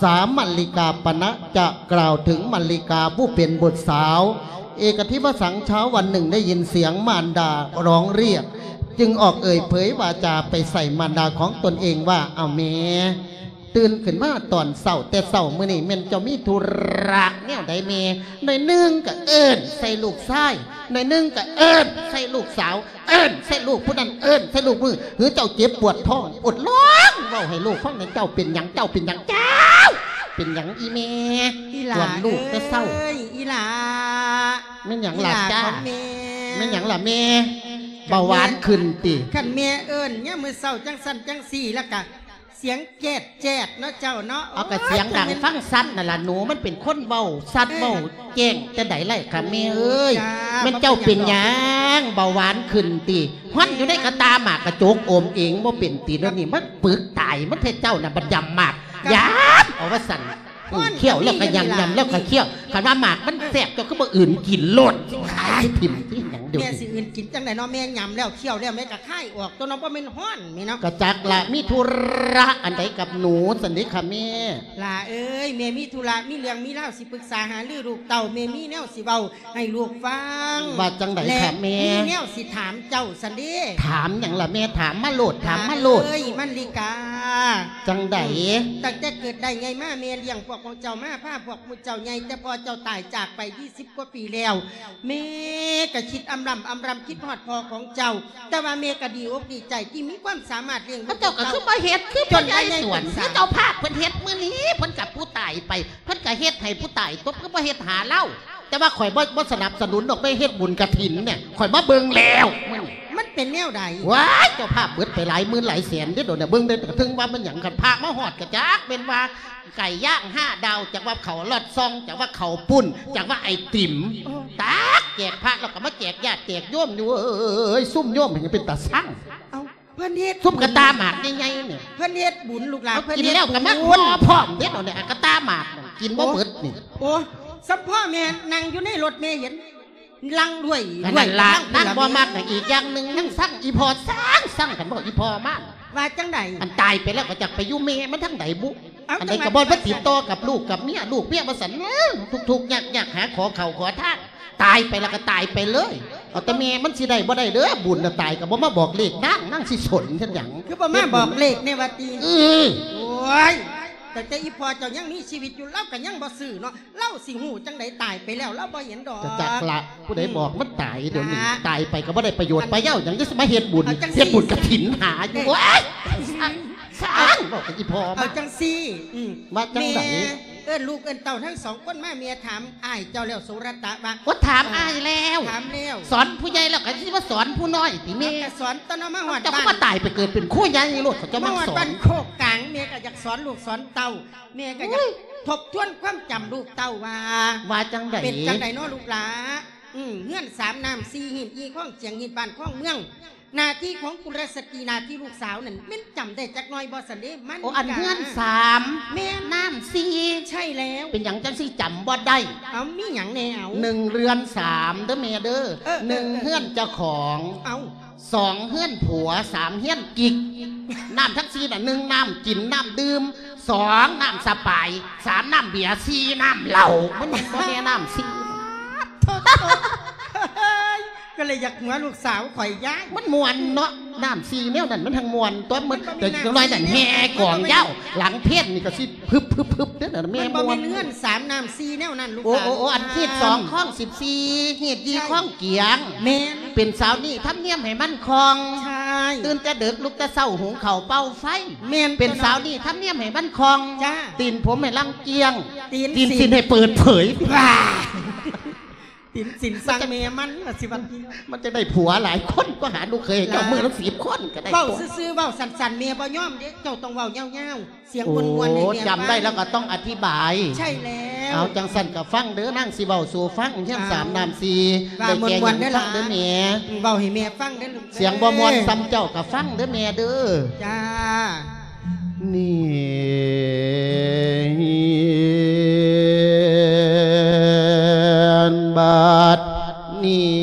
ສາມ ມັນລິກາປະນະຈະກ່າວເຖິງມັນລິກາຜູ້ເປັນບຸດສາວ. ເອກະທິວະສັງ ເຊົ້າວັນໜຶ່ງໄດ້ຍິນສຽງມານດາຮ້ອງຮຽກ ຈຶ່ງອອກເອີ່ຍເຜີຍວາຈາໄປໃສ່ມານດາຂອງຕົນເອງວ່າ ເອົາແມ່ ຕື່ນຂຶ້ນມາຕອນເຊົ້າແຕ່ເຊົ້າມື້ນີ້ ແມ່ນເຈົ້າມີທຸລະແນວໃດແມ່? ໜ້ອຍໜຶ່ງກໍເອີ້ນໃສ່ລູກຊາຍ ໜ້ອຍໜຶ່ງກໍເອີ້ນໃສ່ລູກສາວ ເອີ້ນໃສ່ລູກຜູ້ນັ້ນ ເອີ້ນໃສ່ລູກຜູ້ນີ້ ຫຼືເຈົ້າເຈັບປວດທ້ອງ ອົດຮ້ອງເວົ້າໃຫ້ລູກຟັງແດ່ ເຈົ້າເປັນຫຍັງ ເຈົ້າເປັນຫຍັງ ເຈົ້າເປັນຫຍັງອີ່ແມ່? ອີຫຼ້າ ກວນລູກແຕ່ເຊົ້າ ເອີຍ ອີຫຼ້າ ແມ່ນຫຍັງລະຈ້າ? ແມ່ນຫຍັງລະແມ່? ເບົາຫວານຂຶ້ນຕິ? ຄັນແມ່ເອີ້ນຍາມມື້ເຊົ້າຈັ່ງຊັ້ນຈັ່ງຊີ້ ແລ້ວກະ ສຽງແຈດແຈດເນາະເຈົ້າເນາະ. ເອົາ ກະສຽງດັງ ໂອ້ຍ ຟັງຊັດນັ້ນລະໜູ ມັນເປັນຄົນເວົ້າຊັດ ເອີ ເວົ້າແຈ້ງຈັ່ງໃດໄດ້ຄະແມ່ເອີຍ. ໂອ້ຍ ຈ້າ ແມ່ນເຈົ້າເປັນຫຍັງ ເບົາຫວານຂຶ້ນຕິ? ຮອນຢູ່ໃນກະຕ່າໝາກກະຈົກ ອົມເອງບໍ່ເປັນຕິ? ດຽວນີ້ມັນປຶກຕາຍ ມັນແທ້ເຈົ້ານະ ບັດຢຳໝາກ ຢຳເອົາວ່າຊັ້ນ. ເອີ ຂ້ຽວແລ້ວກໍຢຳ ຢຳແລ້ວກໍຂ້ຽວ. ຄັນວ່າໝາກມັນແຊບ ເຈົ້າຄືບໍ່ອື່ນກິນໂລດ? ຂາຍຖິ້ມຄືຫຍັງດຽວນີ້? ແມ່ຊິອື່ນກິນຈັ່ງໃດເນາະ ແມ່ຢຳແລ້ວ ຂ້ຽວແລ້ວ ແມ່ກໍຄາຍອອກຕົວະເນາະ ບໍ່ແມ່ນຮ້ອນແມ່ເນາະ. ກະຈັກລະ ມີທຸລະອັນໃດກັບໜູຊັ້ນເດຄະແມ່? ຫຼ້າເອີຍ ແມ່ມີທຸລະ ມີເລື່ອງມີລາວຊິປຶກສາຫາລືລູກເຕົ້າ ແມ່ມີແນວຊິເວົ້າໃຫ້ລູກຟັງ. ວ່າຈັ່ງໃດຄະແມ່? ມີແນວຊິຖາມເຈົ້າຊັ້ນເດ. ຖາມຫຍັງລະແມ່? ຖາມມາໂລດ ຖາມມາໂລດ. ຫຼ້າເອີຍ ມັນລິກາ ຈັ່ງໃດ? ຕັ້ງແຕ່ເກີດໄດ້ໃຫຍ່ມາ ແມ່ລ້ຽງພວກຂອງເຈົ້າມາ ພາພວກໝູ່ເຈົ້າໃຫຍ່ ແຕ່ພໍ່ເຈົ້າຕາຍຈາກໄປ ຊາວກວ່າປີແລ້ວ ແມ່ກໍຄິດອຳລຳອຳລຳ ຄິດຮອດພໍ່ຂອງເຈົ້າ ແຕ່ວ່າແມ່ກໍດີອົກດີໃຈທີ່ມີຄວາມສາມາດລ້ຽງລູກ. ເຈົ້າກໍຄືບໍ່ເຮັດ ຄືພະຍາຍສວນ ຄືເຈົ້າພາບເພິ່ນເຮັດມື້ນີ້ ເພິ່ນກັບຜູ້ຕາຍໄປ ເພິ່ນກໍເຮັດໃຫ້ຜູ້ຕາຍຕົບ ຄືບໍ່ເຮັດຫາລາວ? ແຕ່ວ່າຂ້ອຍບໍ່ ບໍ່ສະໜັບສະໜູນດອກ ໄປເຮັດບຸນກະຖິນນີ້ ຂ້ອຍມາເບິ່ງແລ້ວ ມັນ ມັນເປັນແນວໃດ? ວ້າຍ ເຈົ້າພາບເບິດໄປຫຼາຍໝື່ນຫຼາຍແສນເດ້ໂດນ ເບິ່ງໄດ້ ກະເຖິງວ່າມັນຫຍັງ ຄັນພະມາຮອດກະຈັກແມ່ນວ່າ ໄກ່ຍ່າງຫ້າດາວ ຈັກວ່າເຂົ້າລອດຊ່ອງ ຈັກວ່າເຂົ້າປຸ້ນ ຈັກວ່າໄອຕິມ ໂອ້ ຕັກແຈກພະ ແລ້ວກໍມາແຈກຍາດແຈກໂຍມຢູ່. ເອີຍ ຊຸມໂຍມເປັນຕາຊັງ. ເອົ້າ ເພິ່ນເຮັດ ຊຸມກະຕ່າໝາກໃຫຍ່ໆນີ້ ເພິ່ນເຮັດບຸນລູກຫຼານ ເພິ່ນກິນແລ້ວກໍມາພໍ້ພ້ອມເດ້ເນາະ ກະຕ່າໝາກນັ້ນ ກິນບໍ່ເບິດນີ້. ໂອ້ ສຳພໍ່ແມ່ນັ່ງຢູ່ໃນລົດ ແມ່ເຫັນ ລັງດ້ວຍ ອັນນັ້ນລະ ນາງບໍ່ມັກນະ. ອີກຢ່າງໜຶ່ງ ຍັງຊັງອີ່ພໍ່ ຊັງ ຊັງ ຄັນບອກອີ່ພໍ່ມາ ວ່າຈັ່ງໃດ? ອັນຕາຍໄປແລ້ວກໍຈັກໄປຢູ່ແມ່ມັນທາງໃດບຸ? ອັນໃດກໍບໍ່ມາຕິດຕໍ່ກັບລູກກັບເມຍ ລູກເມຍວ່າຊັ້ນ ເອີ ທຸກໆຍາກໆ ຫາຂໍເຂົ້າຂໍທານ ຕາຍໄປແລ້ວກໍຕາຍໄປເລີຍ. ແຕ່ແມ່ມັນຊິໄດ້ບໍ່ໄດ້ເດີ້ ບຸນນະ ຕາຍກໍບໍ່ມາບອກເລກນາງ ນາງຊິສົນເຮັດຫຍັງ? ຄືບໍ່ມາບອກເລກແດ່ວ່າຕິ? ເອີ ໂອ້ຍ ຕັ້ງແຕ່ອີ່ພໍ່ເຈົ້າຍັງມີຊີວິດຢູ່ ລາວກໍຍັງບໍ່ຊື້ເນາະ ລາວຊິຮູ້ຈັ່ງໃດ ຕາຍໄປແລ້ວລາວບໍ່ເຫັນດອກ. ຈັກລະ ຜູ້ໃດບອກມັນຕາຍດຽວນີ້ ຕາຍໄປກໍບໍ່ໄດ້ປະໂຫຍດປະເຫຍົາຫຍັງ ຍັງຊິມາເຮັດບຸນ ເຮັດບຸນກະຖິນຫາຢູ່. ໂອ້ຍ ຊ່າງ ຊ່າງ ເວົ້າກັບອີ່ພໍ່ມັນ. ເອົາຈັ່ງຊີ້ ອືມ ວ່າຈັ່ງໃດ? ແມ່ເອີ້ນລູກເອີ້ນເຕົ້າທັງສອງຄົນມາ ແມ່ຖາມອ້າຍເຈົ້າແລ້ວ ສຸລະຕະ ວ່າ ໂອ້ ຖາມອ້າຍແລ້ວ ຖາມແລ້ວ ສອນຜູ້ໃຫຍ່ແລ້ວກໍຊິມາສອນຜູ້ນ້ອຍຕິແມ່? ເອົາ ກໍສອນຕົວເນາະ ມາຮອດ ເຈົ້າກໍ ບ້ານ ມາຕາຍໄປເກີດເປັນຄົນໃຫຍ່ໂລດ ເຂົາເຈົ້າ ມາ ມາສອນ ຮອດບ້ານໂຄກກາງ ແມ່ກໍຢາກສອນລູກສອນເຕົ້າ ແມ່ກໍຢາກ ໂອ້ຍ ທົບທວນຄວາມຈຳລູກເຕົ້າວ່າ ວ່າຈັ່ງໃດ? ເປັນຈັ່ງໃດເນາະລູກຫຼາ? ອືມ ເຮືອນສາມນ້ຳສີ່ຮີດ ຮີດຄອງຊຽງ ຮີດບ້ານຄອງເມືອງ ໜ້າທີ່ຂອງກຸລະສະຕີ ໜ້າທີ່ລູກສາວນັ້ນ ແມ່ນຈຳໄດ້ຈັກໜ້ອຍບໍ່ຊັ້ນເດ? ມັນ ໂອ້ ອັນເຮືອນສາມ ແມ່ນ ນ້ຳສີ່ ໃຊ່ແລ້ວ. ເປັນຫຍັງຈັ່ງຊິຈຳບໍ່ໄດ້? ເອົາ ມີຫຍັງແດ່ເອົາ? ໜຶ່ງເຮືອນສາມເດີແມ່ເດີ ເອີ ເອີ ໜຶ່ງເຮືອນເຈົ້າຂອງ ເອົາ ສອງເຮືອນຜົວ ສາມເຮືອນກິກ ນ້ຳທັງສີ່ນະ ໜຶ່ງ ນ້ຳກິນ ນ້ຳດື່ມ ສອງ ນ້ຳສະປາຍ ສາມ ນ້ຳເບຍ ສີ່ ນ້ຳເຫຼົ້າ ມັນບໍ່ແມ່ນນ້ຳສີ່. ໂທ້ໆ ກໍເລີຍຢາກຫົວລູກສາວຂ້ອຍຍາຍ ມັນມ່ວນເນາະ ນ້ຳສີ່ແນວນັ້ນມັນທັງມ່ວນຕົວະ ມັນ ແຕ່ຈັກໜ້ອຍນັ້ນແຫ່ກອງຍາວ ຫຼັງເພນນີ້ກໍຊິ ຮຶບໆໆ ເດ້ນະແມ່ ມັນບໍ່ແມ່ນເຮືອນສາມນ້ຳສີ່ແນວນັ້ນລູກຫຼານ. ໂອ້ ໂອ້ ອັນຮີດສອງຄອງສິບສີ່ ຮີດສີ່ຄອງກຽງ ແມ່ນ ເປັນສາວນີ້ທຳນຽມໃຫ້ມັນຄ່ອງ ໃຊ່ ຕື່ນແຕ່ເດິກລຸກແຕ່ເຊົ້າ ຫຸງເຂົ້າເປົ່າໄຟ ແມ່ນ ເປັນສາວນີ້ທຳນຽມໃຫ້ມັນຄ່ອງ ຈ້າ ຕີນຜົມໃຫ້ລັງກຽງ ຕີນ ຕີນສິນໃຫ້ເປີດເຜີຍ ວ້າ ຕີນສິນສັ່ງແມ່ມັນວ່າຊິວ່າ ມັນຈະໄດ້ຜົວຫຼາຍຄົນ ກໍຫາລູກເຂີຍໃຫ້ເຈົ້າມື້ລະສິບຄົນກໍໄດ້. ເວົ້າຊື່ໆ ເວົ້າສັ້ນໆ ແມ່ບໍ່ຍອມເດ້ ເຈົ້າຕ້ອງເວົ້າຍາວໆ ສຽງມ່ວນໆ ໃຫ້ແມ່ຟັງ. ໂອ້ ຈຳໄດ້ແລ້ວກໍຕ້ອງອະທິບາຍ. ໃຊ່ແລ້ວ ເອົາ ຈັ່ງຊັ້ນກໍຟັງເດີ ນາງຊິເວົ້າສູ່ຟັງ ຮຽນສາມນ້ຳສີ່ ເວົ້າມ່ວນໆເດີຫຼານ ຟັງເດີແມ່ ເວົ້າໃຫ້ແມ່ຟັງເດີລູກເດີ ສຽງບໍ່ມ່ວນສ່ຳເຈົ້າກໍຟັງເດີແມ່ເດີ. ຈ້າ ນີ້ ບາດນີ້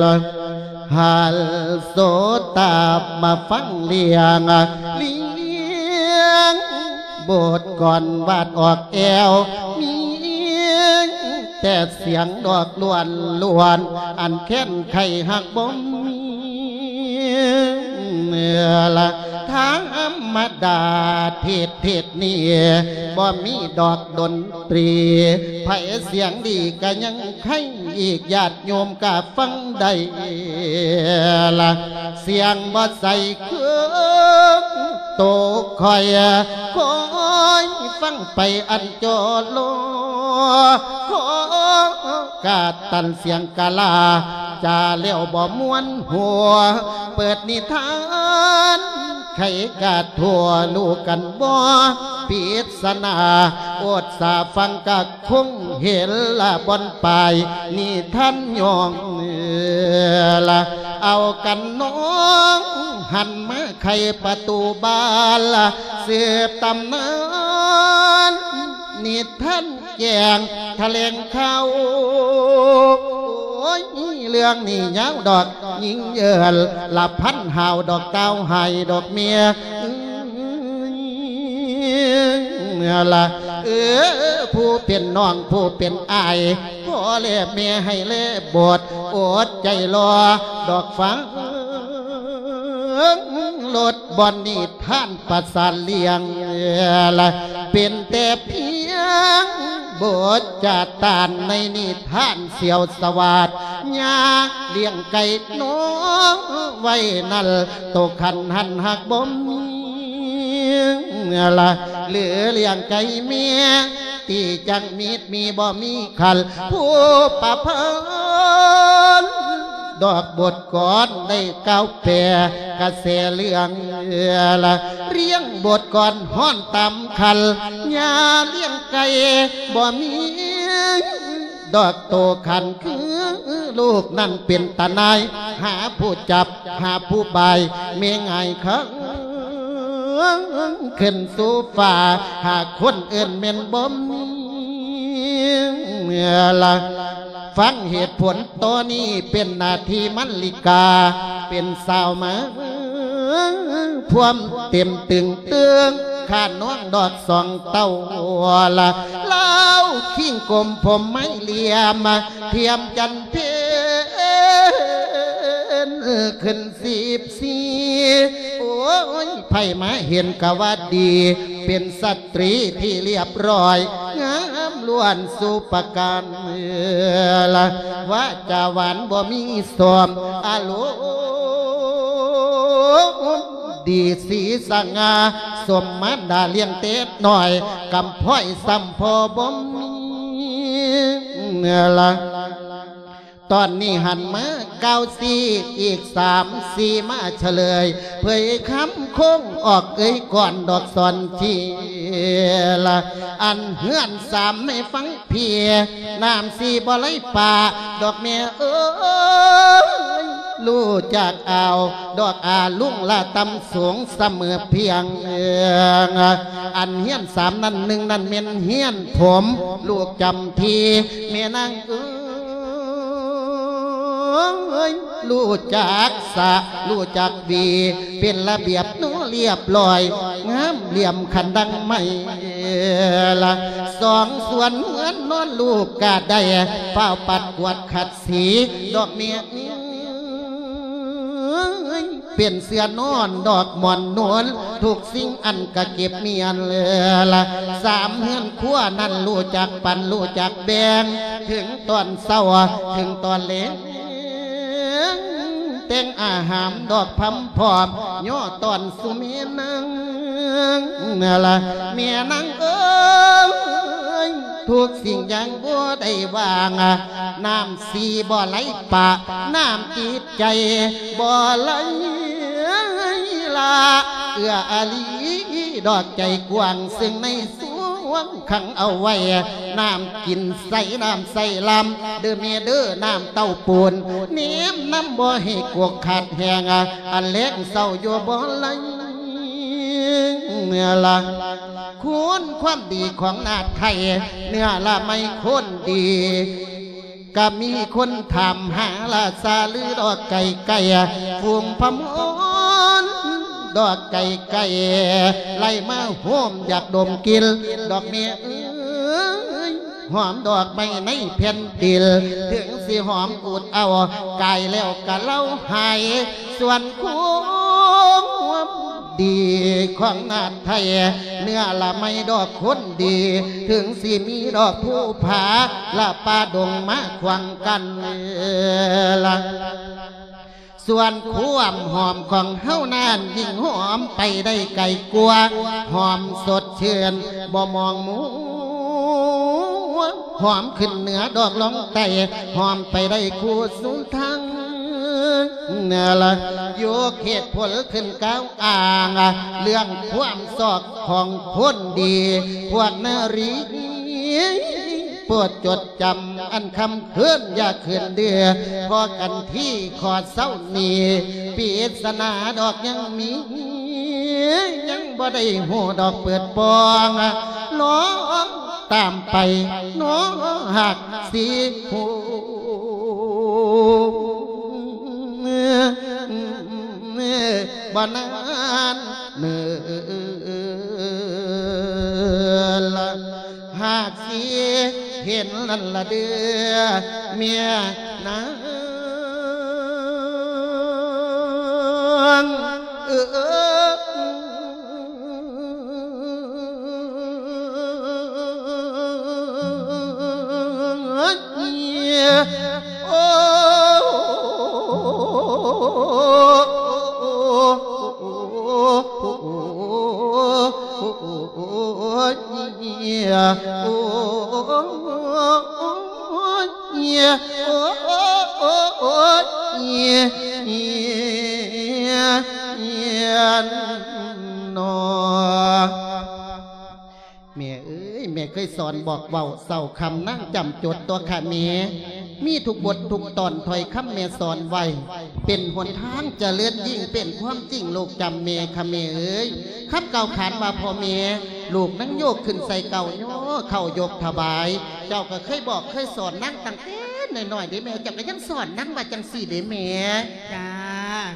ລະ ຫັ້ນໂສດາມາຟັງລຽງ ລຽງບົດກ່ອນວາດອອກແອວ ມີແຕ່ສຽງດອກລ້ວນໆ ອັນແຄ້ນໄຄຮັກບໍ່ມີລະ ທຳມະດາເທດ ເທດນີ້ບໍ່ມີດອກດົນຕຣີ ໃຜສຽງດີກະຍັງ ໃຄອີກ ຍາດໂຍມກະຟັງໄດ້ລະ ສຽງບໍ່ໃສຄືໂຕຂ້ອຍ ຄອຍຟັງໄປອັນຈໍລໍ ຂໍກາດຕັນສຽງກະລາ ຈາແລ້ວບໍ່ມ່ວນຫົວ ເປີດນິທານ ໃຄກາດທົ່ວ ຮູ້ກັນບໍ່ ປິດສະໜາ ອົດສາຟັງກະ ຄົງເຫັນລະບ່ອນປາຍນິທານຍ່ອງລະ ເອົາກັນນ້ອງ ຫັນມາໄຂປະຕູບານລະ ສືບຕຳນານນິທານແຈ້ງຖະແຫຼງຂ່າວ. ໂອ້ຍ ເລື່ອງນີ້ຍາວດອກ ຍິງເອີ້ນລະພັນຫາວດອກ ກ່າວໃຫ້ດອກເມຍ ລະ ເອີ ຜູ້ເປັນນ້ອງ ຜູ້ເປັນອ້າຍ ພໍ່ແລະແມ່ໃຫ້ແລບົດ ອົດໃຈລໍດອກຟັງ ລົດບ່ອນນິທານປະສານລຽງ ລະ ເປັນແຕ່ພຽງບົດຈາຕານໃນນິທານ ສ່ຽວສະຫວາດ ຍາລ້ຽງໄກ່ນ້ອງໄວ້ນັ້ນ ໂຕຂັນຫັນຮັກບໍ່ມີລະ ຫຼືລ້ຽງໄກ່ເມຍ ຕີຈັກມີດມີບໍ່ມີຂັນ ຜູ້ປະພັນດອກບົດກ່ອນໄດ້ກ່າວແປກະແສເລື່ອງລະ ລ້ຽງບົດກ່ອນຮ້ອນຕາມຂັນ ຍາລ້ຽງໄກ່ບໍ່ມີ ດອກໂຕຂັນຄືລູກນັ້ນເປັນຕານາຍ ຫາຜູ້ຈັບຫາຜູ້ບາຍ ແມ່ງ່າຍຄັງຂຶ້ນສູ່ຟ້າ ຫາຄົນເອີ້ນແມ່ນບໍ່ມີລະ ຟັງເຫດຜົນໂຕນີ້ ເປັນໜ້າທີ່ມັນລິກາ ເປັນສາວມາ ພວມເຕັມຕຶງເຕີງ ຂ້ານ້ອງດອກສອງເຕົ້າລະ ລາວ ຄິງກົມຜົມໄມ້ຫຼຽມ ທຽມຈັນເພັນຂຶ້ນສິບສີ່ ໂອ້ຍ ໃຜມາເຫັນກະວ່າດີ ເປັນສະຕຣີທີ່ລຽບຮ້ອຍ ງາມລ້ວນສຸປະການ ວາຈາຫວານບໍ່ມີສອມ ອາລົມ ດີສີສະຫງ່າ ສົມມານດາລ້ຽງແຕ່ນ້ອຍ ກຳພ້ອຍສ່ຳພໍ່ບໍ່ມີລະ ຕອນນີ້ຫັນມາກ່າວຊີ້ ອີກສາມສີ່ມາສະເລີຍ ເຜີຍຄຳຄົງອອກເອີຍກ່ອນດອກສອນທີ່ລະ ອັນເຮືອນສາມໃຫ້ຟັງ ພີ່ ນ້ຳສີບໍ່ໄຫຼປາ ດອກແມ່ເອີຍ ຮູ້ຈັກເອົາ ດອກອາລຸງລະຕ່ຳສູງສະເໝີພຽງ ອັນເຮືອນສາມນັ້ນ ໜຶ່ງນັ້ນແມ່ນເຮືອນຜົມ ລູກຈຳທີ່ ແມ່ນາງເອີຍ ຮູ້ຈັກສະ ຮູ້ຈັກຫວີ ເປັນລະບຽບເນາະ ລຽບຮ້ອຍ ງາມຫຼຽມຄັນດັ່ງໄມ້ລະ ສອງສ່ວນເຮືອນນອນລູກກະໄດ້ ຟ້າວປັດກວາດຂັດສີ ດອກແມ່ເອີຍ ເປັນເສື່ອນອນດອກໝອນນວນ ທຸກສິ່ງອັນກະເກັບມ້ຽນລະ ສາມເຮືອນຄົວນັ້ນ ຮູ້ຈັກປັນ ຮູ້ຈັກແບ່ງ ເຖິງຕອນເຊົ້າ ເຖິງຕອນແລງ ແຕ່ງອາຫານດອກພຳພ້ອມ ຍໍຕ້ອນສູ່ແມ່ນາງລະ ແມ່ນາງເອີຍ ທຸກສິ່ງຢ່າງບໍ່ໄດ້ວ່າງ ນ້ຳສີບໍ່ໄຫຼປະ ນ້ຳຈິດໃຈບໍ່ໄຫຼລະ ເອື້ອອາລີ ດອກໃຈກວ້າງ ຊຶ່ງໃນ ສວງຂັງເອົາໄວ້ ນ້ຳກິນໃສ ນ້ຳໃສລຳ ເດີແມ່ເດີ ນ້ຳເຕົ້າປູນ ແນມນຳບໍ່ໃຫ້ກວກຂາດແຫ້ງ ອັນແລງເສົ້າຢູ່ບໍ່ໄຫຼລະ ຄຸນຄວາມດີຂອງນາດໄທ ເນື້ອລະໄມຄົນດີ ກະມີຄົນຖາມຫາລາຊາລືດອກໄກ່ໄກ່ ຝູງພະມອນດອກໄກ່ໄກ່ ໄລ່ມາໂຮມຢາກດົມກິ່ນ ດອກແມ່ເອີຍ ຫອມດອກໄມ້ໃນແຜ່ນດິນ ເຖິງຊິຫອມອູດເອົາ ກາຍແລ້ວກະເລົາຫາຍ ສ່ວນຄວາມ ດີຂອງນາດໄທ ເນື້ອລະໄມດອກຄົນດີ ເຖິງຊິມີດອກພູຜາ ລະປ່າດົງມາຂວາງກັ້ນລະ ສ່ວນຄວາມຫອມຂອງເຮົານັ້ນ ຍິ່ງຫອມໄປໄດ້ໄກກວ່າ ຫອມສົດຊື່ນບໍ່ມອງມົວ ຫອມຂຶ້ນເໜືອດອກລ່ອງໃຕ້ ຫອມໄປໄດ້ຄູ່ສູ່ທາງ ລະ ຍົກເຫດຜົນຂຶ້ນກ່າວອ້າງ ເລື່ອງຄວາມຊອກຂອງຄົນດີ ພວກນາຣີ ໂປດຈົດຈຳອັນຄຳເຂີນ ຢ່າເຂີນເດືອ ພໍກັນທີ່ຂໍເຊົານີ້ ປິດສະໜາດອກຍັງມີ ຍັງບໍ່ໄດ້ຮູ້ດອກເປີດປ່ອງ ລອງຕາມໄປເນາະ ຫາກຊິຮູ້ ບໍ່ນານເນີລະ ຫາກຊິເຫັນນັ້ນລະເດີ ເມຍນາງເອີຍ. ແມ່ເອີຍ ແມ່ເຄີຍສອນບອກເວົ້າເຊົ້າຄ່ຳນາງຈຳຈົດຕົວະຄະແມ່ ມີທຸກບົດທຸກຕອນ ຖ້ອຍຄຳແມ່ສອນໄວ້ ເປັນຫົນທາງຈະເລີນຍິ່ງ ເປັນຄວາມຈິງລູກຈຳແມ່ຄະແມ່ເອີຍ ຄຳກ່າວຂານວ່າພໍ່ແມ່ ລູກນາງໂຍກຂຶ້ນໃສ່ເກົ້າຍໍ ເຂົ້າຍົກຖວາຍ ເຈົ້າກໍເຄີຍບອກເຄີຍສອນນາງຕັ້ງແຕ່ນ້ອຍໆເດ້ແມ່ ເຈົ້າກໍຍັງສອນນາງວ່າຈັ່ງຊີ້ເດ້ແມ່. ຈ້າ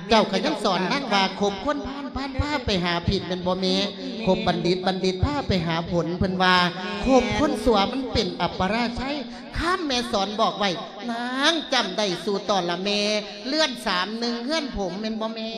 ເຈົ້າກໍຍັງສອນນາງວ່າ ຄົບຄົນພານ ພານພາໄປຫາຜິດ ແມ່ນບໍ່ແມ່? ຄົບບັນດິດ ບັນດິດພາໄປຫາຜົນ ເພິ່ນວ່າ ແມ່ນ ຄົບຄົນຊົ່ວມັນເປັນອັບປະລາໄຊ ຄຳແມ່ສອນບອກໄວ້ ນາງຈຳໄດ້ສູ່ຕອນລະແມ່ ເຮືອນສາມໜຶ່ງເຮືອນຜົມ ແມ່ນບໍ່ແມ່?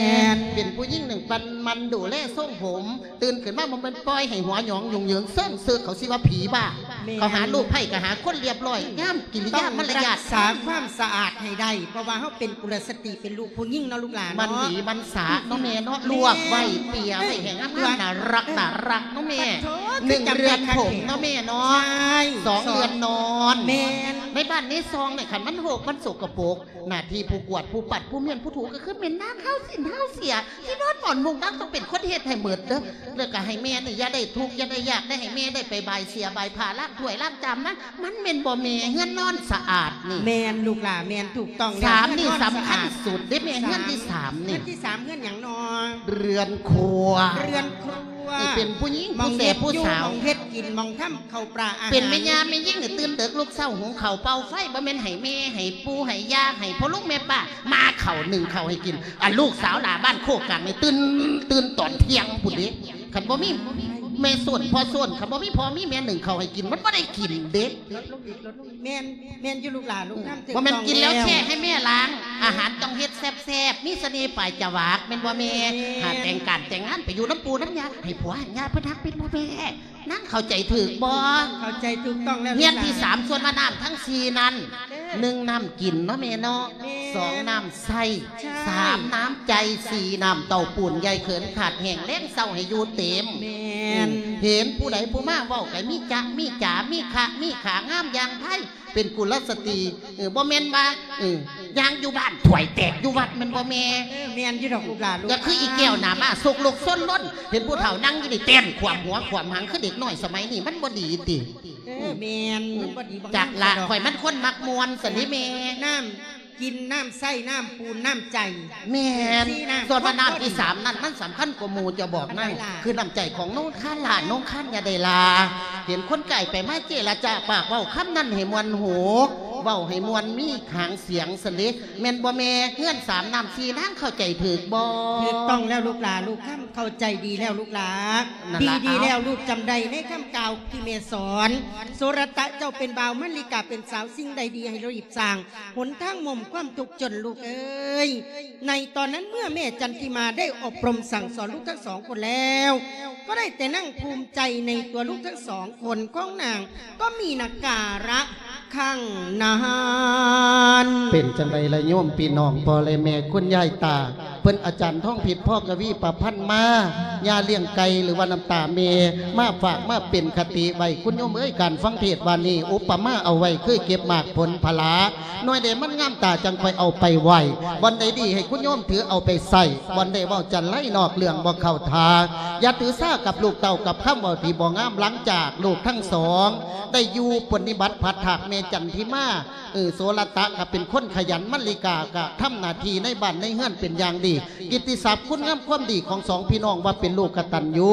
ແມ່ນ ເປັນຜູ້ຍິງໜຶ່ງປັນມັນດູແລຊົງຜົມ ຕື່ນຂຶ້ນມາບໍ່ແມ່ນປ່ອຍໃຫ້ຫົວຫຍອງຫຍຸ້ງເຫຍີງເຊິ່ງເຊິ່ງ ເຂົາຊິວ່າຜີບ້າ ແມ່ນ ເຂົາຫາລູກໃພ້ກໍຫາຄົນລຽບລ້ອຍ ງາມກິລິຍາມາລະຍາດ ຕ້ອງຮັກສາຄວາມສະອາດໃຫ້ໄດ້ ເພາະວ່າເຮົາເປັນກຸລະສະຕີ ເປັນລູກຜູ້ຍິງເນາະລູກຫຼານເນາະ ມັນດີມັນສາເນາະແມ່ເນາະ ແມ່ນ ລວກໄວ້ເປຍໄວ້ໃຫ້ງາມໆ ເອີ ໜ້າຮັກ ເອີ ໜ້າຮັກເນາະແມ່ ປະໂທ ໜຶ່ງເຮືອນຜົມເນາະແມ່ເນາະ ໃຊ່ ສອງເຮືອນນອນ ແມ່ນ ໃນບ້ານໃນຊ່ອງນີ້ ຄັນມັນຮົກມັນສົກກະປົກ ໜ້າທີ່ຜູ້ກວາດ ຜູ້ປັດ ຜູ້ມ້ຽນ ຜູ້ຖູ ກໍຄືແມ່ນນາງ ເຮົາສິນເຮົາເສຍ ທີ່ນອນໝອນມຸງນາງຕ້ອງເປັນຄົນເຮັດໃຫ້ໝົດເດີ້ ແລ້ວກໍໃຫ້ແມ່ນີ້ຢ່າໄດ້ທຸກຢ່າໄດ້ຍາກ ໄດ້ໃຫ້ແມ່ໄດ້ໄປບາຍເສຍບາຍຜ້າ ລ້າງຖ້ວຍລ້າງຈາມນະ ມັນແມ່ນບໍ່ແມ່ ເຮືອນນອນສະອາດນີ້ ແມ່ນລູກຫຼ້າ ແມ່ນ ຖືກຕ້ອງແລ້ວ ສາມນີ້ສຳຄັນສຸດເດ້ແມ່ ເຮືອນທີສາມນີ້ ເຮືອນທີສາມ ເຮືອນຫຍັງນໍ? ເຮືອນຄົວ ເຮືອນຄົວ ເອີ ເປັນຜູ້ຍິງ ໝ່ອງເຮັດຢູ່ ຜູ້ແສຜູ້ສາວ ໝ່ອງເຮັດກິນ ໝ່ອງທຳ ເຂົ້າປາອາຫານ ເປັນແມ່ຍ່າແມ່ຍິງນີ້ຕື່ນເດິກ ລຸກເຊົ້າ ຫຸງເຂົ້າ ເປົ່າໄຟ ບໍ່ແມ່ນໃຫ້ແມ່ ໃຫ້ປູ່ ໃຫ້ຍ່າ ໃຫ້ພໍ່ລຸງແມ່ປ້າ ມາເຂົ້າ ໜຶ້ງເຂົ້າໃຫ້ກິນ ອັນລູກສາວຫຼ້າບ້ານໂຄກກາງນີ້ຕື່ນ ຕື່ນຕອນທ່ຽງພຸ້ນເດ້ ຄັນບໍ່ມີແມ່ໂຊນພໍ່ໂຊນ ຄັນບໍ່ມີພໍ່ມີແມ່ໜຶ້ງເຂົ້າໃຫ້ກິນ ມັນບໍ່ໄດ້ກິນເດ້ ແມ່ນ ແມ່ນຢູ່ລູກຫຼ້າ ລູກນຳ ບໍ່ແມ່ນກິນແລ້ວແຊ່ໃຫ້ແມ່ລ້າງ ອາຫານຕ້ອງເຮັດແຊບໆ ມີສະເໜ່ປາຍຈະຫວາກ ແມ່ນບໍ່ແມ່? ແມ່ນ ຫາແຕ່ງການແຕ່ງງານໄປຢູ່ນຳປູ່ນຳຍ່າ ໃຫ້ຜົວໃຫ້ຍ່າເພິ່ນຮັກ ແມ່ນບໍ່ແມ່? ນາງເຂົ້າໃຈຖືກບໍ່? ເຂົ້າໃຈຖືກຕ້ອງແລ້ວ ເຮືອນທີສາມ ສ່ວນວ່ານ້ຳທັງສີ່ນັ້ນ ເອີ ໜຶ່ງນ້ຳກິນເນາະແມ່ເນາະ ແມ່ນ ສອງນ້ຳໃຊ້ ໃຊ້ ສາມນ້ຳໃຈ ສີ່ນ້ຳເຕົ້າປູນໃຫຍ່ເຂີນຂາດແຫ້ງ ແລງເຊົ້າໃຫ້ຢູ່ເຕັມ ແມ່ນ ເຫັນຜູ້ໃດຜູ້ມາເວົ້າກໍມີຈະມີຈາ ມີຄະມີຂາ ງາມຢ່າງໃຜ ເປັນກຸລະສະຕີ ເອີ ບໍ່ແມ່ນວ່າ ເອີ ຍ່າງຢູ່ບ້ານຖ້ວຍແຕກຢູ່ວັດ ແມ່ນບໍ່ແມ່? ເອີ ແມ່ນຢູ່ດອກລູກຫຼ້າ ລູກ ກໍຄືອີແກ້ວໜ້າມ້າ ສົກຫຼົກຊົນລົ້ນ ເຫັນຜູ້ເຖົ້ານັ່ງຢູ່ນີ້ ເຕັ້ນຂວາມຫົວຂວາມຫາງ ຄືເດັກນ້ອຍສະໄໝນີ້ ມັນບໍ່ດີຕິ ເອີ ອືມ ແມ່ນ ມັນບໍ່ດີ ບໍ່ງາມ ຈັກລະ ຂ້ອຍມັນຄົນມັກມ່ວນຊັ້ນເດ້ແມ່ ນ້ຳກິນ ນ້ຳໃຊ້ ນ້ຳປູນ ນ້ຳໃຈ ແມ່ນ ສ່ວນວ່ານ້ຳທີສາມນັ້ນ ມັນສຳຄັນກວ່າໝູ່ ຈະບອກນາງ ອັນໃດລະ? ຄືນ້ຳໃຈຂອງນົງຄານຫຼ້າ ນົງຄານຢ່າໄດ້ລາ ເຫັນຄົນໃກ້ໄປມາເຈລະຈາປາກເວົ້າຄຳນັ້ນໃຫ້ມ່ວນຫູ ເວົ້າໃຫ້ມ່ວນມີຫາງສຽງຊັ້ນເດ້ ແມ່ນບໍ່ແມ່? ເຮືອນສາມນ້ຳສີ່ນາງເຂົ້າໃຈຖືກບໍ່? ຖືກຕ້ອງແລ້ວລູກຫຼ້າ ລູກຄຳເຂົ້າໃຈດີແລ້ວລູກຫຼ້າ ນັ້ນລະ ດີໆ ເອົາ ແລ້ວ ລູກຈຳໄດ້ໃນຄຳກ່າວທີ່ແມ່ສອນ ໂສລະຕະເຈົ້າເປັນບ່າວ ມະລິກາເປັນສາວ ສິ່ງໃດດີໃຫ້ເຮົາຮີບສ້າງ ຫົນທາງໝົມຄວາມທຸກຈົນລູກເອີຍ ໃນຕອນນັ້ນເມື່ອແມ່ຈັນທິມາໄດ້ອົບຮົມສັ່ງສອນລູກທັງສອງຄົນແລ້ວ ກໍໄດ້ແຕ່ນັ່ງພູມໃຈໃນຕົວລູກທັງສອງຄົນຂອງນາງ ກໍມີນາກາລະຄັ້ງນັ້ນ. ເປັນຈັ່ງໃດລະໂຍມພີ່ນ້ອງ ພໍ່ແລະແມ່ຄຸນຍາຍຕາ ເພິ່ນອາຈານທອງພິດ ພໍກະວີປະພັນມາ ຍາລ້ຽງໄກ່ ຫຼືວ່ານ້ຳຕາແມ່ ມາຝາກມາເປັນຄະຕິໄວ້ ຄຸນໂຍມເອີຍ ການຟັງເທດວ່ານີ້ ອຸປະມາເອົາໄວ້ຄືເກັບໝາກຜົນຜະລາ ໜ່ວຍໃດມັນງາມຕາຈັ່ງຄ່ອຍເອົາໄປໄວ້ ບ່ອນໃດດີໃຫ້ຄຸນໂຍມຖືເອົາໄປໃຊ້ ບ່ອນໃດເວົ້າຈັນໄລນອກເລື່ອງບໍ່ເຂົ້າທ່າ ຢ່າຖືສາກັບລູກເຕົ້າກັບຄຳເວົ້າທີ່ບໍ່ງາມ. ຫຼັງຈາກລູກທັງສອງໄດ້ຢູ່ປະຕິບັດພັດຖາກແມ່ຈັນທິມາ ເອີ ໂສລະຕະກໍເປັນຄົນຂະຫຍັນ ມະລິກາກໍທຳໜ້າທີ່ໃນບ້ານໃນເຮືອນເປັນຢ່າງດີ. ກິດຕິສັບຄຸນງາມຄວາມດີຂອງສອງພີ່ນ້ອງວ່າເປັນລູກກະຕັນຍູ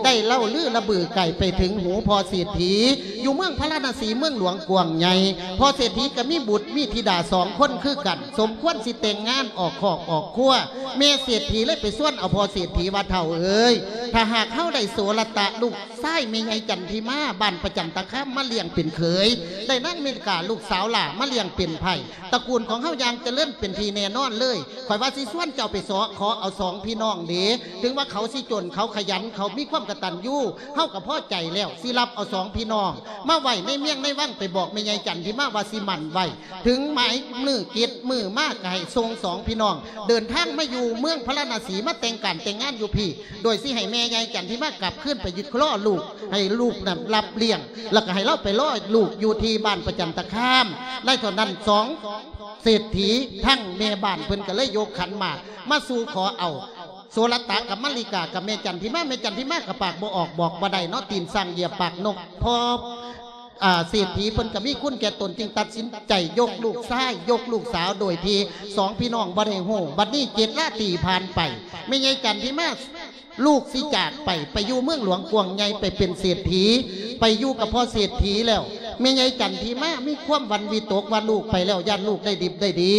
ໄດ້ເລົ່າລືລະບືໄກໄປເຖິງຫູພໍ່ເສດຖີ ຢູ່ເມືອງພາລານະສີ ເມືອງຫຼວງກວ້າງໃຫຍ່. ພໍ່ເສດຖີກໍມີບຸດມີທິດາສອງຄົນຄືກັນ ສົມຄວນຊິແຕ່ງງານອອກຄອກອອກຄົວ. ແມ່ເສດຖີເລີຍໄປຊວນເອົາພໍ່ເສດຖີວ່າ ເຖົ້າເອີຍ ຖ້າຫາກເຮົາໄດ້ໂສລະຕະ ລູກຊາຍແມ່ໃຫຍ່ຈັນທິມາ ບ້ານປະຈັນຕະຄາມ ມາລ້ຽງເປັນເຂີຍ ໄດ້ນາງມະລິກາ ລູກສາວຫຼ້າ ມາລ້ຽງເປັນໃພ້ ຕະກູນຂອງເຮົາຢ່າງຈະເລີນເປັນທີ່ແນ່ນອນເລີຍ. ຂ້ອຍວ່າຊິຊວນເຈົ້າໄປເສາະຂໍເອົາສອງພີ່ນ້ອງເດ ເຖິງວ່າເຂົາຊິຈົນ ເຂົາຂະຫຍັນ ເຂົາມີຄວາມກະຕັນຍູ ເຮົາກໍພໍໃຈແລ້ວ ຊິຮັບເອົາສອງພີ່ນ້ອງມາໄວ້ໃນວຽງໃນວັງ ໄປບອກແມ່ໃຫຍ່ຈັນທິມາວ່າຊິໝັ້ນໄວ້ ເຖິງໝາຍມື້ກິດມື້ມາ ກໍໃຫ້ສົ່ງສອງພີ່ນ້ອງເດີນທາງມາຢູ່ເມືອງພາລານະສີ ມາແຕ່ງການແຕ່ງງານຢູ່ພີ້ ໂດຍຊິໃຫ້ແມ່ໃຫຍ່ຈັນທິມາກັບຄືນໄປຢູ່ລໍລູກ ໃຫ້ລູກນັ້ນຮັບລ້ຽງ ແລ້ວກໍໃຫ້ລາວໄປລໍລູກຢູ່ທີ່ບ້ານປະຈັນຕະຄາມ. ໃນຕອນນັ້ນສອງເສດຖີ ທັງແມ່ບ້ານເພິ່ນກໍເລີຍຍົກຂັນໝາກມາສູ່ຂໍເອົາ ໂສລະຕະກັບມະລິກາກັບແມ່ຈັນທິມາ. ແມ່ຈັນທິມາກໍປາກບໍ່ອອກບອກບໍ່ໄດ້ເນາະ ຕີນຊ້າງຢຽບປາກນົກ ພໍ ອ່າ ເສດຖີເພິ່ນກໍມີຄຸນແກ່ຕົນ ຈຶ່ງຕັດສິນໃຈຍົກລູກຊາຍ ຍົກລູກສາວ ໂດຍທີ່ສອງພີ່ນ້ອງບໍ່ໄດ້ຮູ້. ບັດນີ້ເຈັດລາຕີຜ່ານໄປ ແມ່ໃຫຍ່ຈັນທິມາ ລູກຊິຈາກໄປ ໄປຢູ່ເມືອງຫຼວງກວ້າງໃຫຍ່ ໄປເປັນເສດຖີ ໄປຢູ່ກັບພໍ່ເສດຖີແລ້ວ ແມ່ໃຫຍ່ຈັນທິມາມີຄວາມຫວັ່ນວິຕົກວ່າລູກໄປແລ້ວ ຢ້ານລູກໄດ້ດິບໄດ້ດີ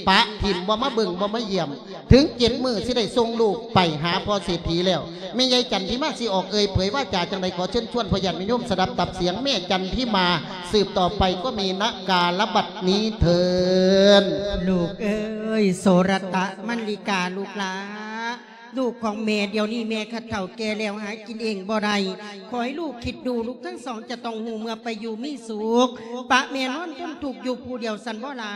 ປະຖິ້ມ ບໍ່ມາເບິ່ງ ບໍ່ມາຢ້ຽມ. ເຖິງເຈັດມື້ຊິໄດ້ສົ່ງລູກໄປຫາພໍ່ເສດຖີແລ້ວ ແມ່ໃຫຍ່ຈັນທິມາຊິອອກເອີ່ຍເຜີຍວາຈາຈັ່ງໃດ ຂໍເຊີນຊວນພໍ່ຍາດແມ່ໂຍມສະດັບຕັບສຽງແມ່ຈັນທິມາ ສືບຕໍ່ໄປກໍມີນະກາລະບັດນີ້ເທີນ. ລູກເອີຍ ໂສລະຕະ ມັນລິກາ ລູກຫຼ້າ ລູກຂອງແມ່ ດຽວນີ້ແມ່ຂະເຖົ້າແກ່ແລ້ວ ຫາກິນເອງບໍ່ໄດ້. ຂໍໃຫ້ລູກຄິດດູ ລູກທັງສອງຈະຕ້ອງຮູ້ເມື່ອໄປຢູ່ມີສຸກ ປະແມ່ນອນທົນທຸກຢູ່ຜູ້ດຽວຊັ້ນບໍ່ລະ?